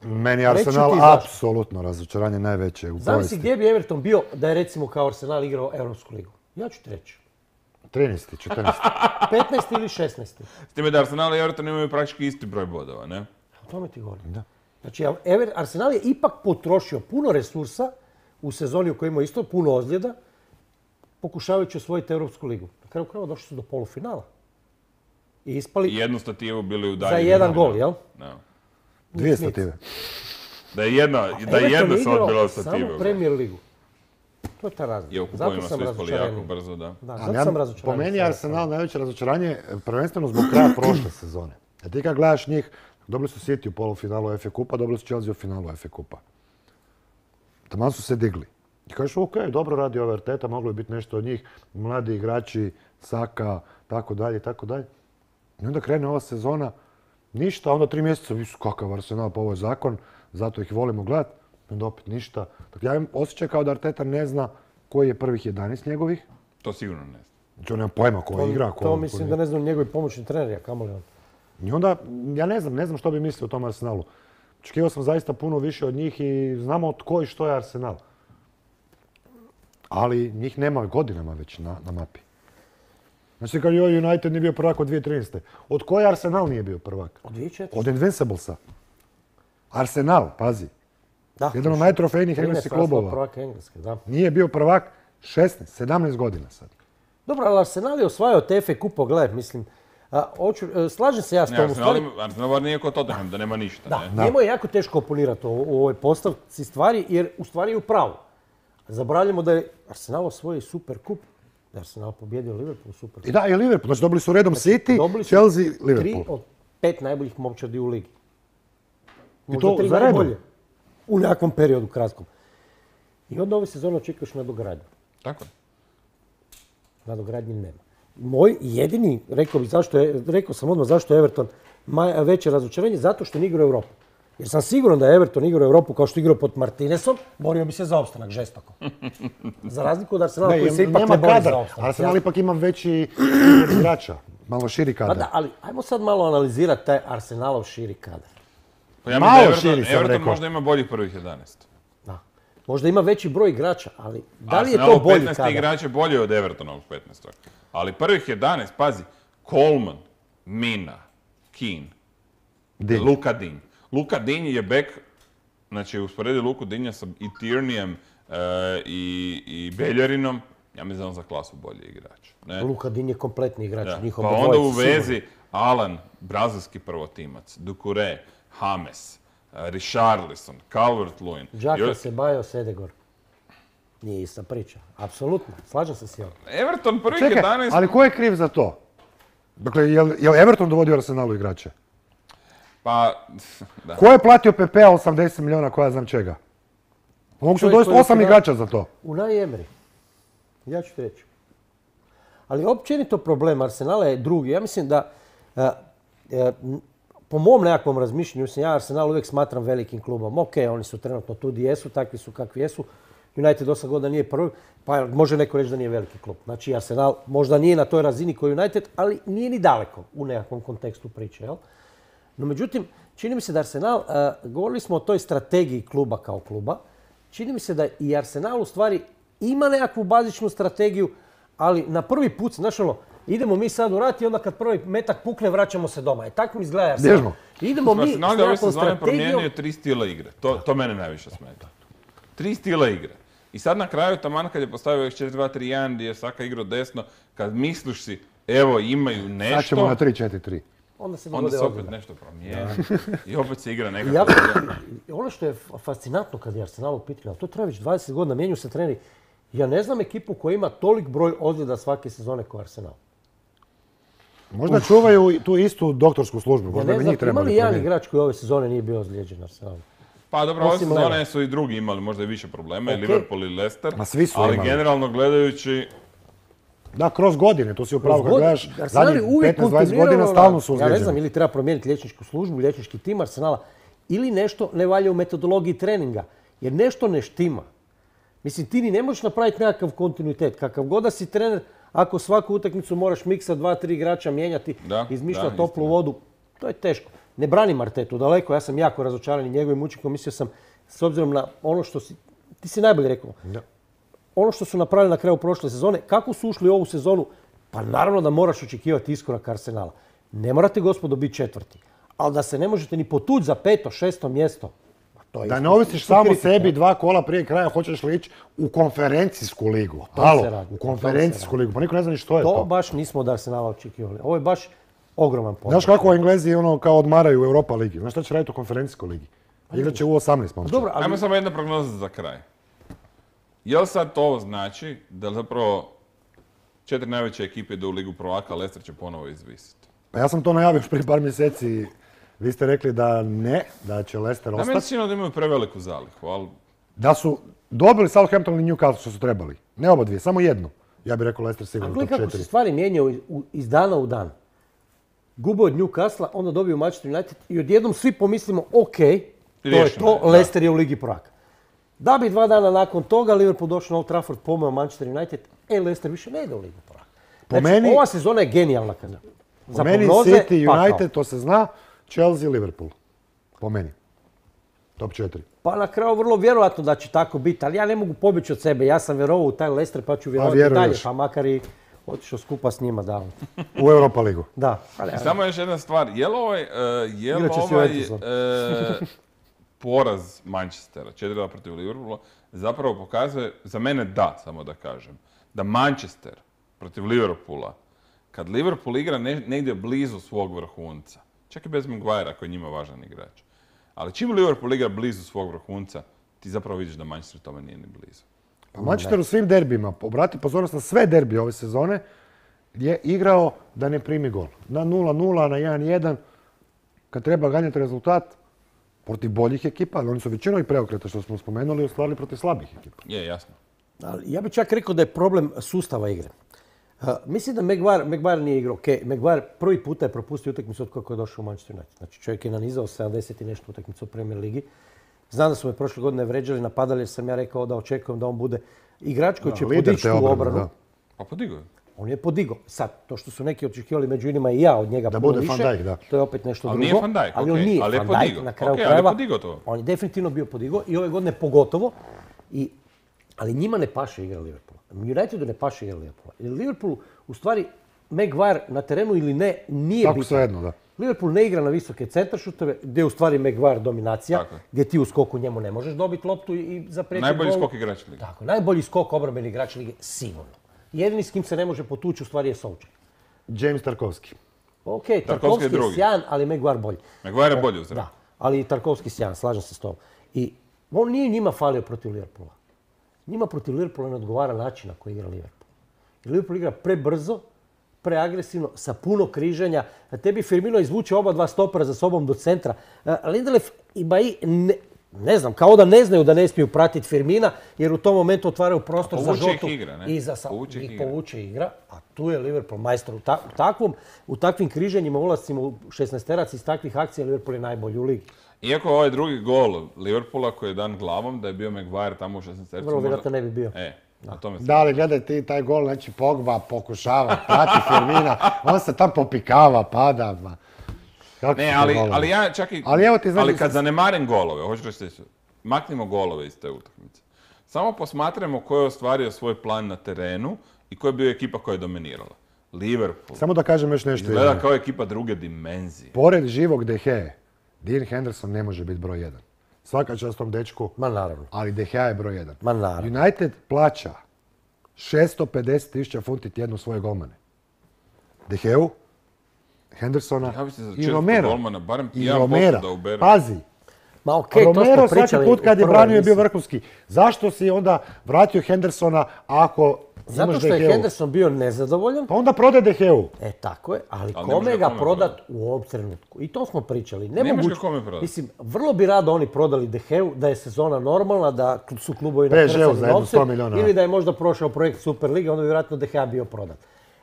Meni je Reći ću Arsenal ti zašto. apsolutno razočaranje najveće u Zamisli povijesti. gdje bi Everton bio da je recimo kao Arsenal igrao Europsku ligu. Ja ću ti reći. trinaesti, četrnaesti. petnaesti ili šesnaesti. S time da Arsenal i Everton imaju praktički isti broj bodova, ne? O tome ti govorim. Da. Znači, Ever- Arsenal je ipak potrošio puno resursa u sezoni u kojoj ima isto puno ozljeda, pokušavajući osvojiti Europsku ligu. Na kraju krajeva došli su do polufinala. I ispali I jednu stativu bili u za dalje. jedan gol, jel? Da. Dvije Smith. stative. Da je jedna, da je Everton jedna je se igrao odbila od samo stative. Premier ligu. To je ta razlika. I u Zato kupovima sam su ispali razočaran. jako brzo, da. Da, Ali zato ja- sam razočaran. po meni je Arsenal najveće razočaranje prvenstveno zbog kraja prošle sezone. A ti kad gledaš njih, dobili su City u polufinalu F A kupa, dobili su Chelsea u finalu F A kupa. Taman su se digli. I kažeš, ok, dobro radi ova Arteta, moglo je biti nešto od njih, mladi igrači, Saka, tako dalje, tako dalje. I onda krene ova sezona, ništa, onda tri mjeseca, visu kakav Arsenal, pa ovo je zakon, zato ih volimo gledati. I onda opet ništa. Dakle, ja imam osjećaj kao da Arteta ne zna koji je prvih jedanaest njegovih. To sigurno ne znam. Znači on nema pojma ko To, igra, ko... to ko mislim nije. da ne znam njegovi pomoćni treneri, a kamoli on. I onda, ja ne znam, ne znam što bi mislio o tom Arsenalu. Očekivao sam zaista puno više od njih i znamo tko i što je Arsenal. Ali njih nema godinama već na, na mapi. Znači kad joj United nije bio prvak od dvije tisuće trinaeste. Od koje Arsenal nije bio prvak? Od dvije tisuće četvrte. Od Invinciblesa. Arsenal, pazi. Da, Jedan od najtrofejnijih engleskih trinaest naslova klubova. prvaka Engleske, da. Nije bio prvak šesnaest, sedamnaest godina sad. Dobro, ali Arsenal je osvajao te F A kupo, gledaj, mislim. A, hoću, e, slažem se ja s Ne, tom. u Arsenal, stvari- ima- Arsenal bar nije kod Tottenham, da nema ništa, Da, ne? njemu je jako teško oponirati u, u ovoj postavci stvari, jer u stvari je u pravu. Zaboravljamo da je Arsenal osvojio Super kup, da je Arsenal pobjedio Liverpool u Super I kupu. da, i Liverpool. Znači dobili su redom City, Dobili su Chelsea, Tri Liverpool. od pet najboljih momčadi u ligi. I Možda to tri za redom. najbolje. U nekakvom periodu kratkom. I onda ove sezone očekuješ nadogradnju. Tako je. Nadogradnje nema. Moj jedini, rekao bih zašto je, rekao sam odmah zašto je Everton maj- veće razočarenje, zato što ne igra u Europu. Jer sam siguran da je Everton igrao u Europu kao što je igrao pod Martinesom, borio bi se za opstanak žestoko. Za razliku od Arsenala koji se ipak nema ne bori kadar. za opstanak. Arsenal Ja- ipak ima veći izbor igrača, malo širi Pa kadar. da, ali ajmo sad malo analizirati taj Arsenalov širi kadar. Pa ja Malo mislim da širi Everton, sam Everton rekao. možda ima boljih prvih jedanaest. Da. Možda ima veći broj igrača, ali da li je to Arsenalov bolji petnaest kadar? igrač je bolji od Evertonovog petnaest. Ali prvih jedanaest, pazi, Coleman, Mina, Keane, Dinj. Luka Dinj. Luka Dinj je bek, znači usporedi Luku Dinja sa i Tierneyem e, i, i Beljerinom, ja mislim da je on za klasu bolji igrač. Ne? Luka Din je kompletni igrač, Da. njihov Pa obojica, onda u sigurno. vezi Alan, brazilski prvotimac, Doucouré, James, e, Richarlison, Calvert-Lewin. Džaka Još- se bajo Sedegor. Nije ista priča. Apsolutno. Slažem se s njom. Everton prvih Čekaj, jedanaest... ali ko je kriv za to? Dakle, je li Everton dovodio Arsenalu igrače? Pa, da. Ko je platio P P A osamdeset milijuna, koja znam čega? Mogu su dovesti osam igrača za to. Unai Emery. Ja ću ti reći. Ali općenito problem Arsenala je drugi. Ja mislim da, a, a, po mom nekakvom razmišljenju, mislim, ja Arsenal uvijek smatram velikim klubom. Ok, oni su trenutno tu gdje jesu, takvi su kakvi jesu. United osam godina nije prvi, pa može neko reći da nije veliki klub. Znači Arsenal možda nije na toj razini koji United, ali nije ni daleko u nekakvom kontekstu priče. Jel? No međutim, čini mi se da Arsenal, a, govorili smo o toj strategiji kluba kao kluba, čini mi se da i Arsenal u stvari ima nekakvu bazičnu strategiju, ali na prvi put, znaš ono, idemo mi sad u rat i onda kad prvi metak pukne, vraćamo se doma. E tako mi izgleda Arsenal. Bježno. Idemo mi s Arsenal je ove nekakvom sezone strategijom. promijenio tri stila igre. To, to mene najviše smeta. Tri stila igre. I sad na kraju, taman kad je postavio četiri dva tri jedan gdje je Saka igrao desno, kad misliš si, evo imaju nešto, Sad ćemo na tri četiri tri. Onda se onda dogode se opet odgode. nešto promijeni i opet se igra I nekako. jako- ono što je fascinantno kad je Arsenal u pitanju, ali to traje već dvadeset godina, mijenjaju se treneri. Ja ne znam ekipu koja ima tolik broj ozljeda svake sezone kao Arsenal. Možda čuvaju tu istu doktorsku službu, Ja možda ne bi znam, njih ima li trebali jedan promijeniti. igrač koji ove sezone nije bio ozlijeđen Arsenalu? Pa dobro, ove Osim sezone Leva. su i drugi imali možda i više problema, i Ok. Liverpool i Leicester, Ma svi su ali imali. generalno gledajući, Da, kroz godine, to si upravo kad God- gledaš, Arsenal je zadnjih uvijek petnaest dvadeset kontinuirano godina stalno na- su Ja ne znam, ozlijeđeni. ili treba promijeniti liječničku službu, liječnički tim Arsenala, ili nešto ne valja u metodologiji treninga, jer nešto ne štima. Mislim, ti ni ne možeš napraviti nekakav kontinuitet. Kakav god da si trener, ako svaku utakmicu moraš miksa dva, tri igrača mijenjati, Da, izmišljati da, toplu istina. vodu, to je teško. Ne branim Artetu daleko, ja sam jako razočaran i njegovim učinkom. Mislio sam, s obzirom na ono što si, ti si najbolje rekao, Da. ono što su napravili na kraju prošle sezone, kako su ušli u ovu sezonu, pa naravno da moraš očekivati iskorak Arsenala. Ne morate, gospodo, biti četvrti, ali da se ne možete ni potući za peto, šesto mjesto, pa to je Da isto- ne ovisiš isto samo kritika. sebi dva kola prije kraja, hoćeš li ići u konferencijsku ligu. tom Halo, se radi, u o tom se konferencijsku ligu, pa niko ne zna ni što je To to. baš nismo od Arsenala očekivali. Ovo je baš ogroman pomak. Znaš kako Englezi ono kao odmaraju u Europa ligi? Znaš šta će raditi u konferencijskoj ligi? Igrat će u osamnaest momčad. Dobro, ali ajmo samo jedna prognoza za kraj. Jel sad to znači da zapravo četiri najveće ekipe idu u Ligu prvaka, a Leicester će ponovo izvisiti? Pa ja sam to najavio još prije par mjeseci. Vi ste rekli da ne, da će Leicester Da, meni se ostati. čini da imaju preveliku zalihu, ali Da su dobili Southampton i Newcastle što su trebali. Ne oba dvije, samo jednu. Ja bih rekao Leicester a sigurno gledaj top kako se četiri. stvari mijenjaju u- iz dana u dan. Gube od Newcastle, onda dobiju Manchester United i odjednom svi pomislimo, ok, to je Riješeno to, je, da. Leicester je u Ligi prvaka. Da bi dva dana nakon toga Liverpool došao na Old Trafford, pomeo Manchester United, e, Leicester više ne ide u Ligu prvaka. Po Znači, meni- ova sezona je genijalna kada. Po meni City, United, to se zna, Chelsea, Liverpool. Po meni. Top četiri. Pa na kraju vrlo vjerojatno da će tako biti, ali ja ne mogu pobjeći od sebe. Ja sam vjerovao u taj Leicester pa ću vjerovati i dalje, vjeruješ. pa makar i otišao skupa s njima da. U Europa ligu. Da, ali, samo još jedna stvar. Je li ovaj, e, je li Igrat će s ovaj Juventusom. e, poraz Manchestera, četiri dva protiv Liverpoola, zapravo pokazuje, za mene da, samo da kažem, da Manchester protiv Liverpoola, kad Liverpool igra ne- negdje blizu svog vrhunca, čak i bez Maguirea koji je njima važan igrač, ali čim Liverpool igra blizu svog vrhunca, ti zapravo vidiš da Manchester tome nije ni blizu. Pa Manchester u svim derbima, obrati pozornost na sve derbije ove sezone, je igrao da ne primi gol. Na nula nula, na jedan jedan, kad treba ganjati rezultat, protiv boljih ekipa, ali oni su većinom i preokreta što smo spomenuli, ostvarili protiv slabih ekipa. Je, jasno. ali ja bih čak rekao da je problem sustava igre. Uh, mislim da Maguire, Maguire nije igrao. Okay, Maguire prvi puta je propustio utakmicu od kako je došao u Manchester United. Znači čovjek je nanizao sedamdeset i nešto utakmicu u Premier Ligi. Znam da su me prošle godine vređali, napadali jer sam ja rekao da očekujem da on bude igrač koji Da, će lider podići te tu obrane, obranu. da. Pa podigao je. On je podigao. Sad, to što su neki očekivali među inima i ja od njega Da puno bude Van više, Dijk, da. to je opet nešto Ali drugo. nije Van Dijk, ali on okej, nije ali je Van Dijk, podigao. na kraju Okej, ali je krajeva. podigao to. On je definitivno bio podigao i ove godine pogotovo. I, ali njima ne paše igra Liverpoola. Unitedu ne paše igra Liverpoola. Jer Liverpool, u stvari, Maguire na terenu ili ne, nije Tako bitan. svejedno, da. Liverpool ne igra na visoke centaršuteve, gdje je u stvari Maguire dominacija, Tako je. gdje ti u skoku njemu ne možeš dobiti loptu i i zapriječiti Najbolji gol. skok igrač lige. Tako, najbolji skok obrambeni igrač lige, sigurno. Jedini s kim se ne može potući u stvari je Solskjaer. James Tarkovski. Ok, Tarkovski je Tarkovski je drugi. sjajan, ali Maguire bolji. Maguire je bolji u zraku. Da, ali i Tarkovski sjajan, slažem se s tobom. I on nije njima falio protiv Liverpoola. Njima protiv Liverpoola ne odgovara način na koji igra Liverpool. Jer Liverpool igra prebrzo, preagresivno, sa puno križanja. Da tebi Firmino izvuče oba dva stopera za sobom do centra. Lindelöf i Bailly, ne, ne znam, kao da ne znaju da ne smiju pratiti Firmina, jer u tom momentu otvaraju prostor za žotu. Povuče ih igra, ne? I za Povuče ih ih igra. povuče igra. A tu je Liverpool majstor. U, ta, u, takvom, u takvim križanjima, ulascima u šesnaesterac iz takvih akcija, Liverpool je najbolji u ligi. Iako ovaj drugi gol Liverpoola koji je dan glavom, da je bio Maguire tamo u šesnaestercu. Vrlo vjerojatno ne bi bio. E, na tome se... Da, ali gledaj ti taj gol, znači Pogba pokušava prati Firmina, on se tam popikava, pada. Ma. Kako Ne, su ali, golovi? ali ja čak i... Ali evo ti znači- ali kad zanemarim golove, hoću reći sljedeće, maknimo golove iz te utakmice. Samo posmatramo ko je ostvario svoj plan na terenu i ko je bio ekipa koja je dominirala. Liverpool. Samo da kažem još nešto. Izgleda Ivane. kao ekipa druge dimenzije. Pored živog De Gea, Dean Henderson ne može biti broj jedan. Svaka čast tom dečku, Ma naravno. ali De Gea je broj jedan. Ma naravno. United plaća šesto pedeset tisuća funti tjedno svoje golmane. De Geu, Hendersona Ja bi se za i četvrtog Romera. golmana barem I jedan posto Romera. da ubere. Pazi, Ma okej, to smo Romero svaki pričali put kad u je prvoj branio je bio emisiji. vrhunski. Zašto si onda vratio Hendersona ako Zato imaš što De je Geu? Henderson bio nezadovoljan. Pa onda prode De Geu. E, tako je, ali, Ali ne kome može ga kome prodat prodat. u ovom trenutku? I to smo pričali. Nemaš Nemoguće. ga kome prodat. Mislim, vrlo bi rado oni prodali De Geu, da je sezona normalna, da su klubovi P S G-u nakrcali za jedno novce, sto milijuna. ili da je možda prošao projekt Superliga, onda bi vjerojatno De Gea bio prodat.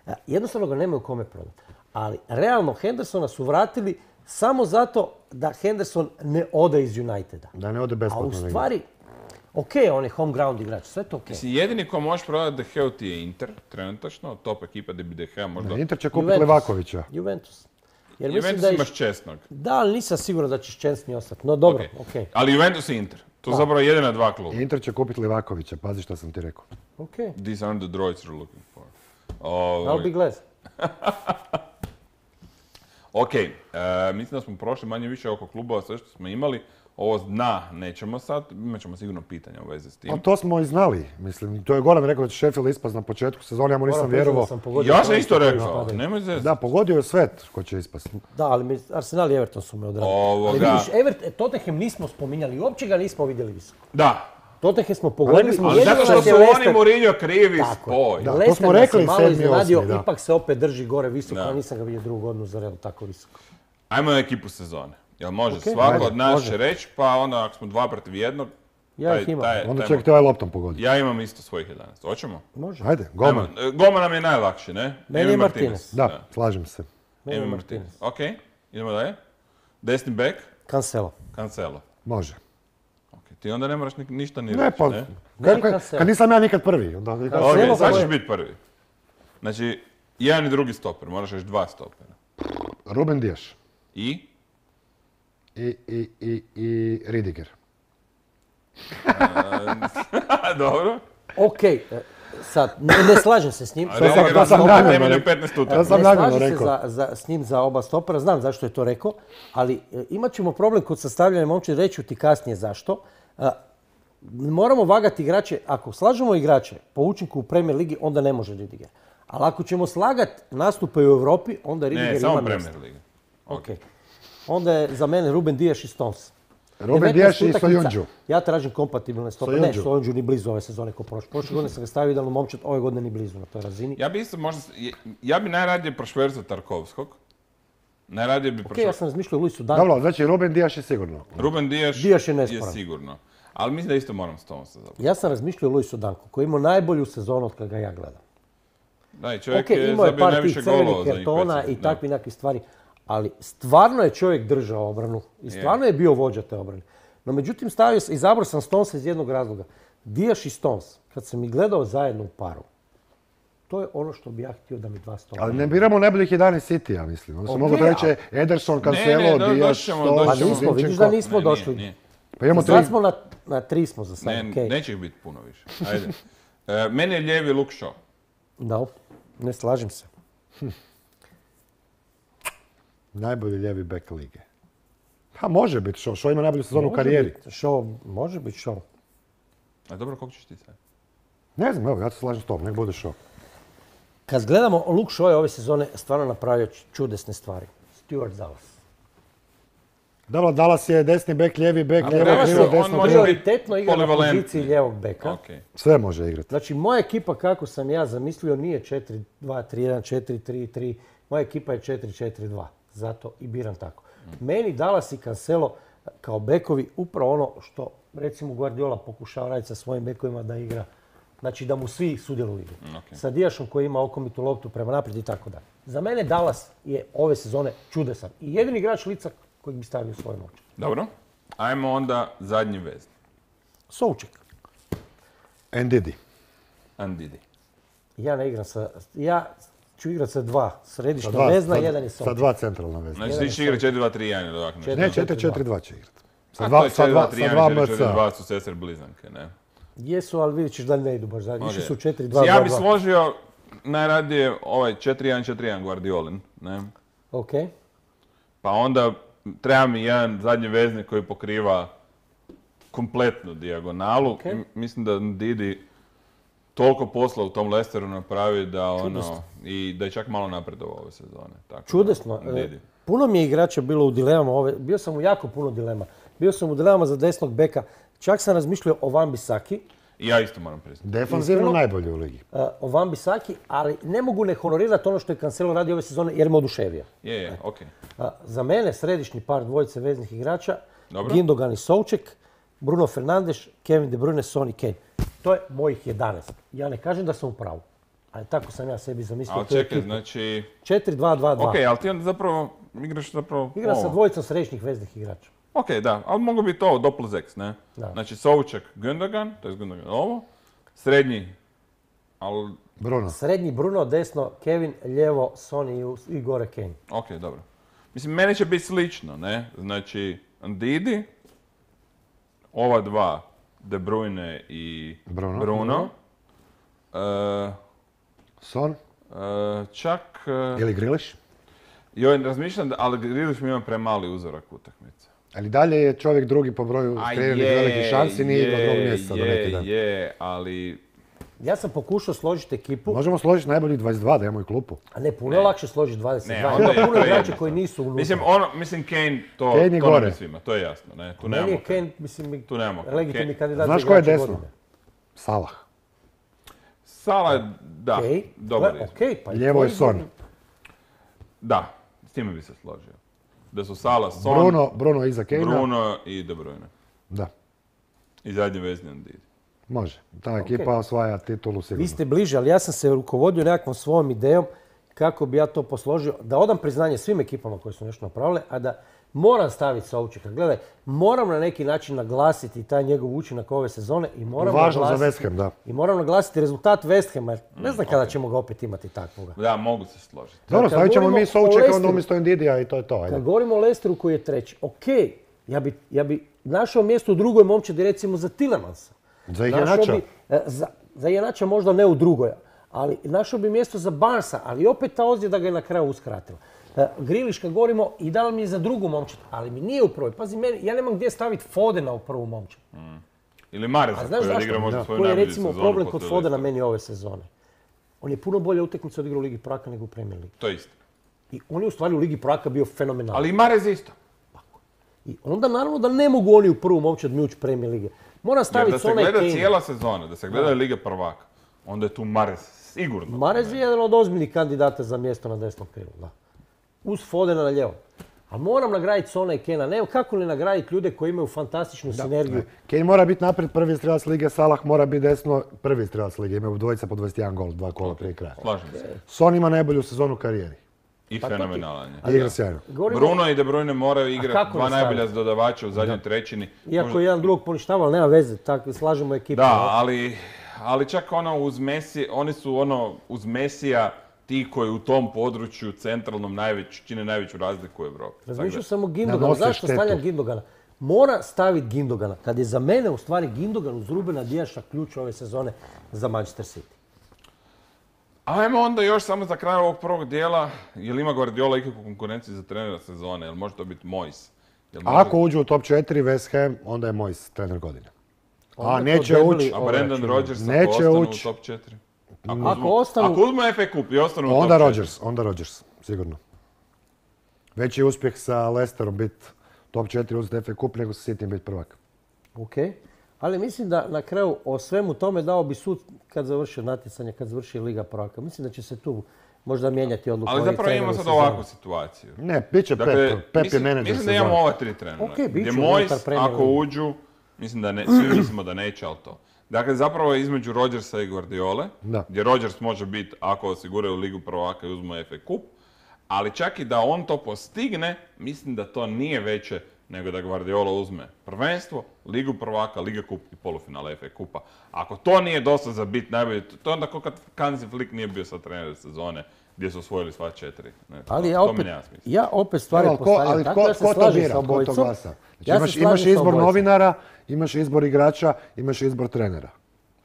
E, Jednostavno ga nemaju kome prodat. Ali realno Hendersona su vratili samo zato da Henderson ne ode iz Uniteda. Da ne ode A u besplatno negdje. stvari, ok, on je home ground igrač, sve to ok. Mislim, jedini ko možeš prodati De Geu ti je Inter, trenutačno, top ekipa gdje bi De Gea možda... Ne, Inter će kupiti Juventus. Levakovića. Juventus. Jer mislim Juventus da je... imaš česnog. Da, ali nisam siguran da će Ščensni ostati. No dobro, Ok. ok. Ali Juventus i Inter. To su zapravo jedina dva kluba. Inter će kupiti Levakovića, pazi što sam ti rekao. Ok. These are the droids you're looking for. I'll be Ovaj, glad. ok, e, mislim da smo prošli manje više oko klubova sve što smo imali. Ovo dna nećemo sad, imat ćemo sigurno pitanja u vezi s tim. Pa to smo i znali, mislim. To je Goran rekao da će Sheffield ispast na početku sezone, ja mu nisam Moram priznati da vjerovao. sam pogodio Ja sam projekte isto koji rekao, spadaju. nemoj zezati. Da, pogodio je sve ko će ispast. Da, ali mi, Arsenal i Everton su me odradili. Ovoga. Ali vidiš, Evert, e, Tottenham nismo spominjali, uopće ga nismo vidjeli visoko. Da, Tottenham smo pogodili. rekli smo- ali jedino zato što nas su je oni Leicester- Mourinho krivi Tako je. spoj. Da. to Leicester smo nas je rekli, malo sedmi, iznenadio, osmi, da. ipak se opet drži gore visoko, Da. a nisam ga vidio drugu godinu za redom tako visoko. Ajmo na ekipu sezone. Jel može? Ok, Svako ajde, od nas može. će reći, pa onda ako smo dva protiv jednog, Ja taj- ih imam. taj- Onda taj- će ti ovaj loptom pogoditi. ja imam isto svojih jedanaest. Hoćemo? Može. Ajde, Goman. Ajmo, e, Goma nam je najlakši, ne? Meni je Emi Martinez. Da, slažem se. Meni je Emi Martinez. Martinez. Ok, idemo dalje. Desni bek, Cancelo. Cancelo. Može. Ok, ti onda ne moraš ni- ništa ni Ne, reći, pa, ne? Meni kad, Cancelo. kad nisam ja nikad prvi. Onda, Cancelo. Ok, Cancelo sad za ćeš moj- biti prvi. Znači, jedan i drugi stoper, moraš reći dva stopera. Ruben Dias I? i, i, i, i Ridiger. Dobro. Ok, e, sad, ne, ne slažem se s njim. A sam- Ridiger to sam opet namjerno temelju rekao. petnaest Ja utakmica. sam Ne namjerno slažem se rekao. za, za, s njim za oba stopera, znam zašto je to rekao, ali e, imat ćemo problem kod sastavljanja momčadi, reći ću ti kasnije zašto. A, moramo vagati igrače, ako slažemo igrače po učinku u Premier Ligi, onda ne može Ridiger. Ali ako ćemo slagati nastupe u Europi, onda Ridiger Ne, ima samo mjesto. Premier Liga. Ok. Onda je za mene Ruben Dias i Stones. Ruben devetnaest Dias i utakmica. Soyuncu. Ja tražim kompatibilne stope. Ne, Soyuncu. Soyuncu ni blizu ove sezone ko prošle. Prošle godine sam ga stavio idealno momčad, ove godine ni blizu na toj razini. Ja bi isto možda, ja bi najradije prošverzao Tarkovskog. Najradije bi Ok, ja prošverzao. sam razmišljao o Luisu Danku. Dobro, znači Ruben Dias je sigurno. Ruben Dias, Dias je je nesporan. sigurno. Ali mislim da isto moram Stonesa zapravo. Ja sam razmišljao o Luisu Danku, koji je imao najbolju sezonu od kada ga ja gledam. Da, i čovjek Ok, je imao je zabio par najviše tih crvenih golova za njih kartona pet i sezona. takvi nekakve stvari, ali stvarno je čovjek držao obranu i stvarno je bio vođa te obrane. No međutim, stavio sam, izabrao sam Stonesa iz jednog razloga. Dias i Stones, kad sam ih gledao zajedno u paru, to je ono što bi ja htio da mi dva stopera. Ali ne biramo najboljih jedanaest City-a, mislim. Onda se Ok, mogu a- reći Ederson, Ne, Cancelo, ne, do- Dias, doći ćemo, Stones, Pa doći ćemo. nismo, vidiš Zinchenko. da nismo Ne, došli. nije, nije. Pa imamo Sad tri. smo na, na tri smo za sad, Ne, okej. neće ih biti puno više. Ajde. E, meni je lijevi Luke Shaw. Da, ne slažem se. Najbolji lijevi bek lige. Pa može biti Shaw. Shaw ima najbolju sezonu u Može karijeri. biti show, može biti show. A dobro, koliko ćeš ti sad? Ne znam, evo, ja se slažem s tom, nek bude Shaw. Kad gledamo, Luke Shaw je ove sezone stvarno napravio čudesne stvari. Stuart Dallas. Dobro, Dallas je desni bek, lijevi bek, A lijevo Dallas krilo, je- on desno može krilo. biti Prioritetno igra na polivalentni. poziciji lijevog beka. Ok. Sve može igrati. Znači, moja ekipa, kako sam ja zamislio, nije četiri dva tri jedan, četiri tri tri. Moja ekipa je četiri četiri dva. Zato i biram tako. Meni Dallas i Cancelo kao bekovi upravo ono što, recimo, Guardiola pokušava raditi sa svojim bekovima da igra. Znači, da mu svi sudjeluju u igri. Ok. Sa Dijašom koji ima okomitu loptu prema naprijed i tako dalje. Za mene Dallas je ove sezone čudesan. I jedini igrač lica kojeg bi stavio u svoje moće. Dobro. Ajmo onda zadnji vezni. Souček. Ndidi. Andidi. Ja ne igram sa... Ja ću igrati sa dva Sa središnja dva, vezna, sa- jedan je Sa Souček. dva centralna vezna. Znači Jedan ti će je igrati četiri dva tri jedan ili ovako nešto. Ne, četiri, četiri četiri dva će igrati. Sa A to dva, je sa četiri dva, dva tri sa jedan, dva četiri četiri M C. dva su sestre blizanke, ne? Jesu, ali vidjet ćeš da ne idu baš zajedno. Išli Ok. su četiri dva Ja dva bi dva. složio najradije ovaj četiri jedan četiri jedan Guardiolin, ne? Ok. Pa onda treba mi jedan zadnji vezni koji pokriva kompletnu dijagonalu. Ok. I mislim da Didi toliko posla u tom Leicesteru napravi da ono, Čudesno. i da je čak malo napredovao ove sezone. Tako da, Čudesno. E, Didi. Puno mi je igrača bilo u dilemama ove. Bio sam u jako puno dilema. Bio sam u dilemama za desnog beka. Čak sam razmišljao o Van Bissaki. I ja isto moram priznati. Defanzivno Iskreno? najbolji u ligi. uh, o Van Bissaki, ali ne mogu ne honorirati ono što je Cancelo radio ove sezone jer me oduševio. Je, je, okej. Uh, za mene središnji par dvojice veznih igrača, Dobro. Gindogan i Souček, Bruno Fernandes, Kevin De Bruyne, Son i Kane. To je mojih jedanaest. Ja ne kažem da sam u pravu, ali tako sam ja sebi zamislio Ali tu čekaj, ekipu. znači... četiri dva dva dva. Ok, ali ti onda zapravo igraš zapravo Igra sa ovo. dvojicom središnjih veznih igrača. Ok, da, ali mogu biti ovo Doppel X, ne? Da. Znači Souček, Gundogan, to je Gundogan ovo, srednji, ali Bruno. Srednji Bruno, desno Kevin, lijevo Son i, i gore Kane. ok, dobro. Mislim, meni će biti slično, ne? Znači, Ndidi, ova dva, De Bruyne i Bruno. Bruno. E, Son e, čak, e, ili Griliš. joj, razmišljam, da, ali Grealish mi ima premali uzorak utakmice. Ali dalje je čovjek drugi po broju A kreiranih je, velikih šansi, nije igrao je, drugog mjeseca do neki dan. Je, je, ali Ja sam pokušao složiti ekipu, Možemo složiti najboljih dvadeset dva da imamo i klupu. a ne, puno je lakše složiti dvadeset dva. Ne, onda Ima je puno to igrača jednostavno. koji nisu unutra. Mislim, ono, mislim Kane, to, Kane je to nam gore. je svima, to je jasno, ne? Tu Meni nemamo. je Kane, mislim, Tu nemamo. legitimni Kane- kandidat Znaš za ko je igrača desno? godine. Salah. Salah je, da, Okej, dobar gle, je. okej, pa i Lijevo je tvoji Son. godine. Da, s time bi se složio. Da su Salah, Son, Bruno, Bruno iza Kane. Bruno i De Bruyne. Da, I zadnji vezni Ndidi. može. Ta ekipa osvaja titulu sigurno. Vi ste bliže, ali ja sam se rukovodio nekakvom svojom idejom kako bi ja to posložio. Da odam priznanje svim ekipama koje su nešto napravile, a da moram staviti Součeka. Gledaj, moram na neki način naglasiti taj njegov učinak ove sezone i moram Važno za naglasiti, West Ham, da. i moram naglasiti rezultat West Hama, jer ne Mm, znam kada ćemo ga opet imati takvoga. Da, mogu se složiti. Dobro, Kad stavit ćemo govorimo mi o Součeka onda Leicesteru- umjesto Ndidija i to je to. Ajde. Kad govorimo o Leicesteru koji je treći, ok, ja bi, ja bi našao mjesto u drugoj momčadi recimo za Tielemansa. Za Našao Iheanacha. bi, e, Za, za Iheanacha možda ne u drugoj, ali našao bi mjesto za Barnesa, ali opet ta ozljeda ga je na kraju uskratila. E, Grealish kad govorimo i dao mi je za drugu momčad, ali mi nije u prvoj. Pazi, meni, ja nemam gdje staviti Fodena u prvu momčad. Ili Mareza A znaš koji zašto? odigra možda Da. svoju Koji je najbolju recimo sezonu problem kod poslije Fodena Leicestera. meni ove sezone. On je puno bolje utakmice odigrao u Ligi prvaka nego u Premier Ligi. To je isto. I on je u stvari u Ligi prvaka bio fenomenalan. Ali i Marez isto. I onda naravno da ne mogu oni u prvu momčad mi ući Premier Lige. Moram Jer staviti da se Sona i gleda Kane. cijela sezona, da se gleda Liga prvaka, onda je tu Marez sigurno. Marez je jedan od ozbiljnih kandidata za mjesto na desnom krilu, da. Uz Fodena na lijevo. A moram nagraditi Sona i Kena. Ne, kako ne nagraditi ljude koji imaju fantastičnu sinergiju. Kane mora biti naprijed prvi strelac lige, Salah mora biti desno prvi strelac lige. Imaju dvojica po dvadeset jedan gol, dva kola prije kraja. Slažem se. Son ima najbolju sezonu u karijeri. I Pa to ti- fenomenalan je. Igra sjajno. Govorimo, Bruno i De Bruyne moraju igrati kako dva ne staviti? najbolja dodavača u zadnjoj trećini. iako je jedan drugog poništava, ali nema veze, tako slažemo ekipu. Da, ali, ali čak ono uz Messi, oni su ono uz Mesija ti koji u tom području centralnom najveć, čine najveću razliku u Europi. Razmišljao sam o Gindoganu. Nanose Zašto štetu. stavljam Gindogana? Mora staviti Gindogana, kad je za mene u stvari Gindogan uz Rubena Dijaša ključ ove sezone za Manchester City. Ajmo onda još samo za kraj ovog prvog dijela, jel ima Guardiola ikakvu konkurenciju za trenera sezone, jel može to biti Moyes? Jel može- Ako uđu u top četiri West Ham, onda je moj trener godine. Onda A to neće debeli ući, A ovaj Brendan račun. Rodgers ako Neće ostanu ući. u top četiri? Ako ostanu- Ako uzmu F A Cup i ostanu u top onda četiri. Rodgers, onda Rodgers, sigurno. Veći uspjeh sa Leicesterom biti top četiri uzeti F A Cup nego se City biti prvak. Ok, ali mislim da na kraju o svemu tome dao bi sud kad završi natjecanje, kad završi Liga prvaka. Mislim da će se tu možda mijenjati odluku. Ali zapravo imamo sad ovakvu situaciju. Ne, bit će Dakle, Pep. Pep je mislim, menadžer mislim da imamo sezone. ova tri trenera. Ok, bit gdje će Moyes, unutar Premier ako lige. uđu, mislim da ne, svi mislimo da neće, ali to. Dakle, zapravo je između Rodgersa i Guardiole, Da. gdje Rodgers može biti, ako osiguraju Ligu prvaka i uzmu F A Cup, ali čak i da on to postigne, mislim da to nije veće nego da Guardiola uzme prvenstvo, Ligu prvaka, Liga kup i polufinale F A Kupa. Ako to nije dosta za bit najbolje, to je onda kao kad Hansi Flick nije bio sad trener sezone, gdje su osvojili sva četiri. Ne, Ali to, ja to mi opet, nema smisla. ja opet stvari Ali ko, postavljam ali tako, ko, ja se ko to slažem bira, sa ko to obojicom. glasa? Znači, Ja se imaš, slažem imaš sa izbor obojicom. novinara, imaš izbor igrača, imaš izbor trenera.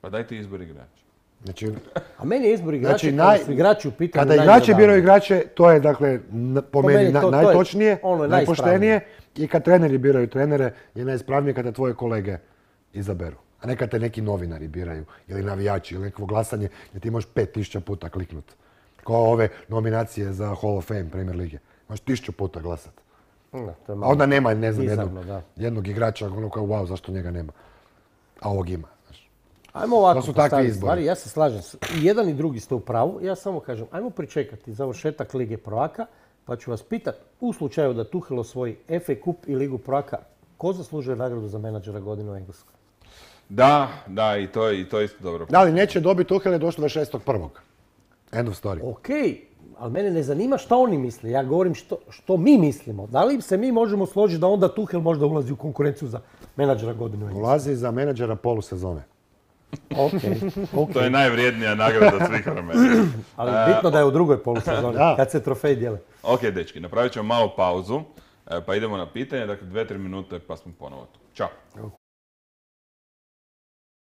Pa dajte izbor igrača. Znači, A meni je izbor igrača, Znači, kada naj- su igrači u pitanju kada igrači najgledaniji. biraju igrače, to je dakle n- po, Po meni, meni na- to- to je najtočnije, ono najpoštenije i kad treneri biraju trenere je najispravnije kada tvoje kolege izaberu. A ne kad te neki novinari biraju ili navijači ili nekakvo glasanje gdje ti možeš pet tisuća puta kliknut. Kao ove nominacije za Hall of Fame Premier Lige. Možeš tisuću puta glasat. Da, to je A malo onda nema, ne znam, bizarno, jednog, da. jednog igrača, ono kao wow, zašto njega nema. A ovog ima. Znaš. Ajmo ovako To su takvi postaviti izbori. stvari, ja se slažem. s- I jedan i drugi ste u pravu. Ja samo kažem, ajmo pričekati završetak Lige prvaka, pa ću vas pitati u slučaju da Tuchel osvoji F A Cup i Ligu prvaka, ko zaslužuje nagradu za menadžera godine u Engleskoj? Da, da, i to je, i to je isto dobro. Da, ali neće dobiti Tuchel je došlo do šestog prvog. End of story. Ok, ali mene ne zanima što oni misle. Ja govorim što, što mi mislimo. Da li se mi možemo složiti da onda Tuchel možda ulazi u konkurenciju za menadžera godine u Engleskoj? Ulazi za menadžera polusezone. Ok, ok. To je najvrijednija nagrada svih vremena. Ali bitno da je u drugoj polusezoni, Da. kad se trofej dijele. Ok, dečki, napravit ćemo malu pauzu, e, pa idemo na pitanje, dakle dve, tri minute pa smo ponovo tu. Ćao.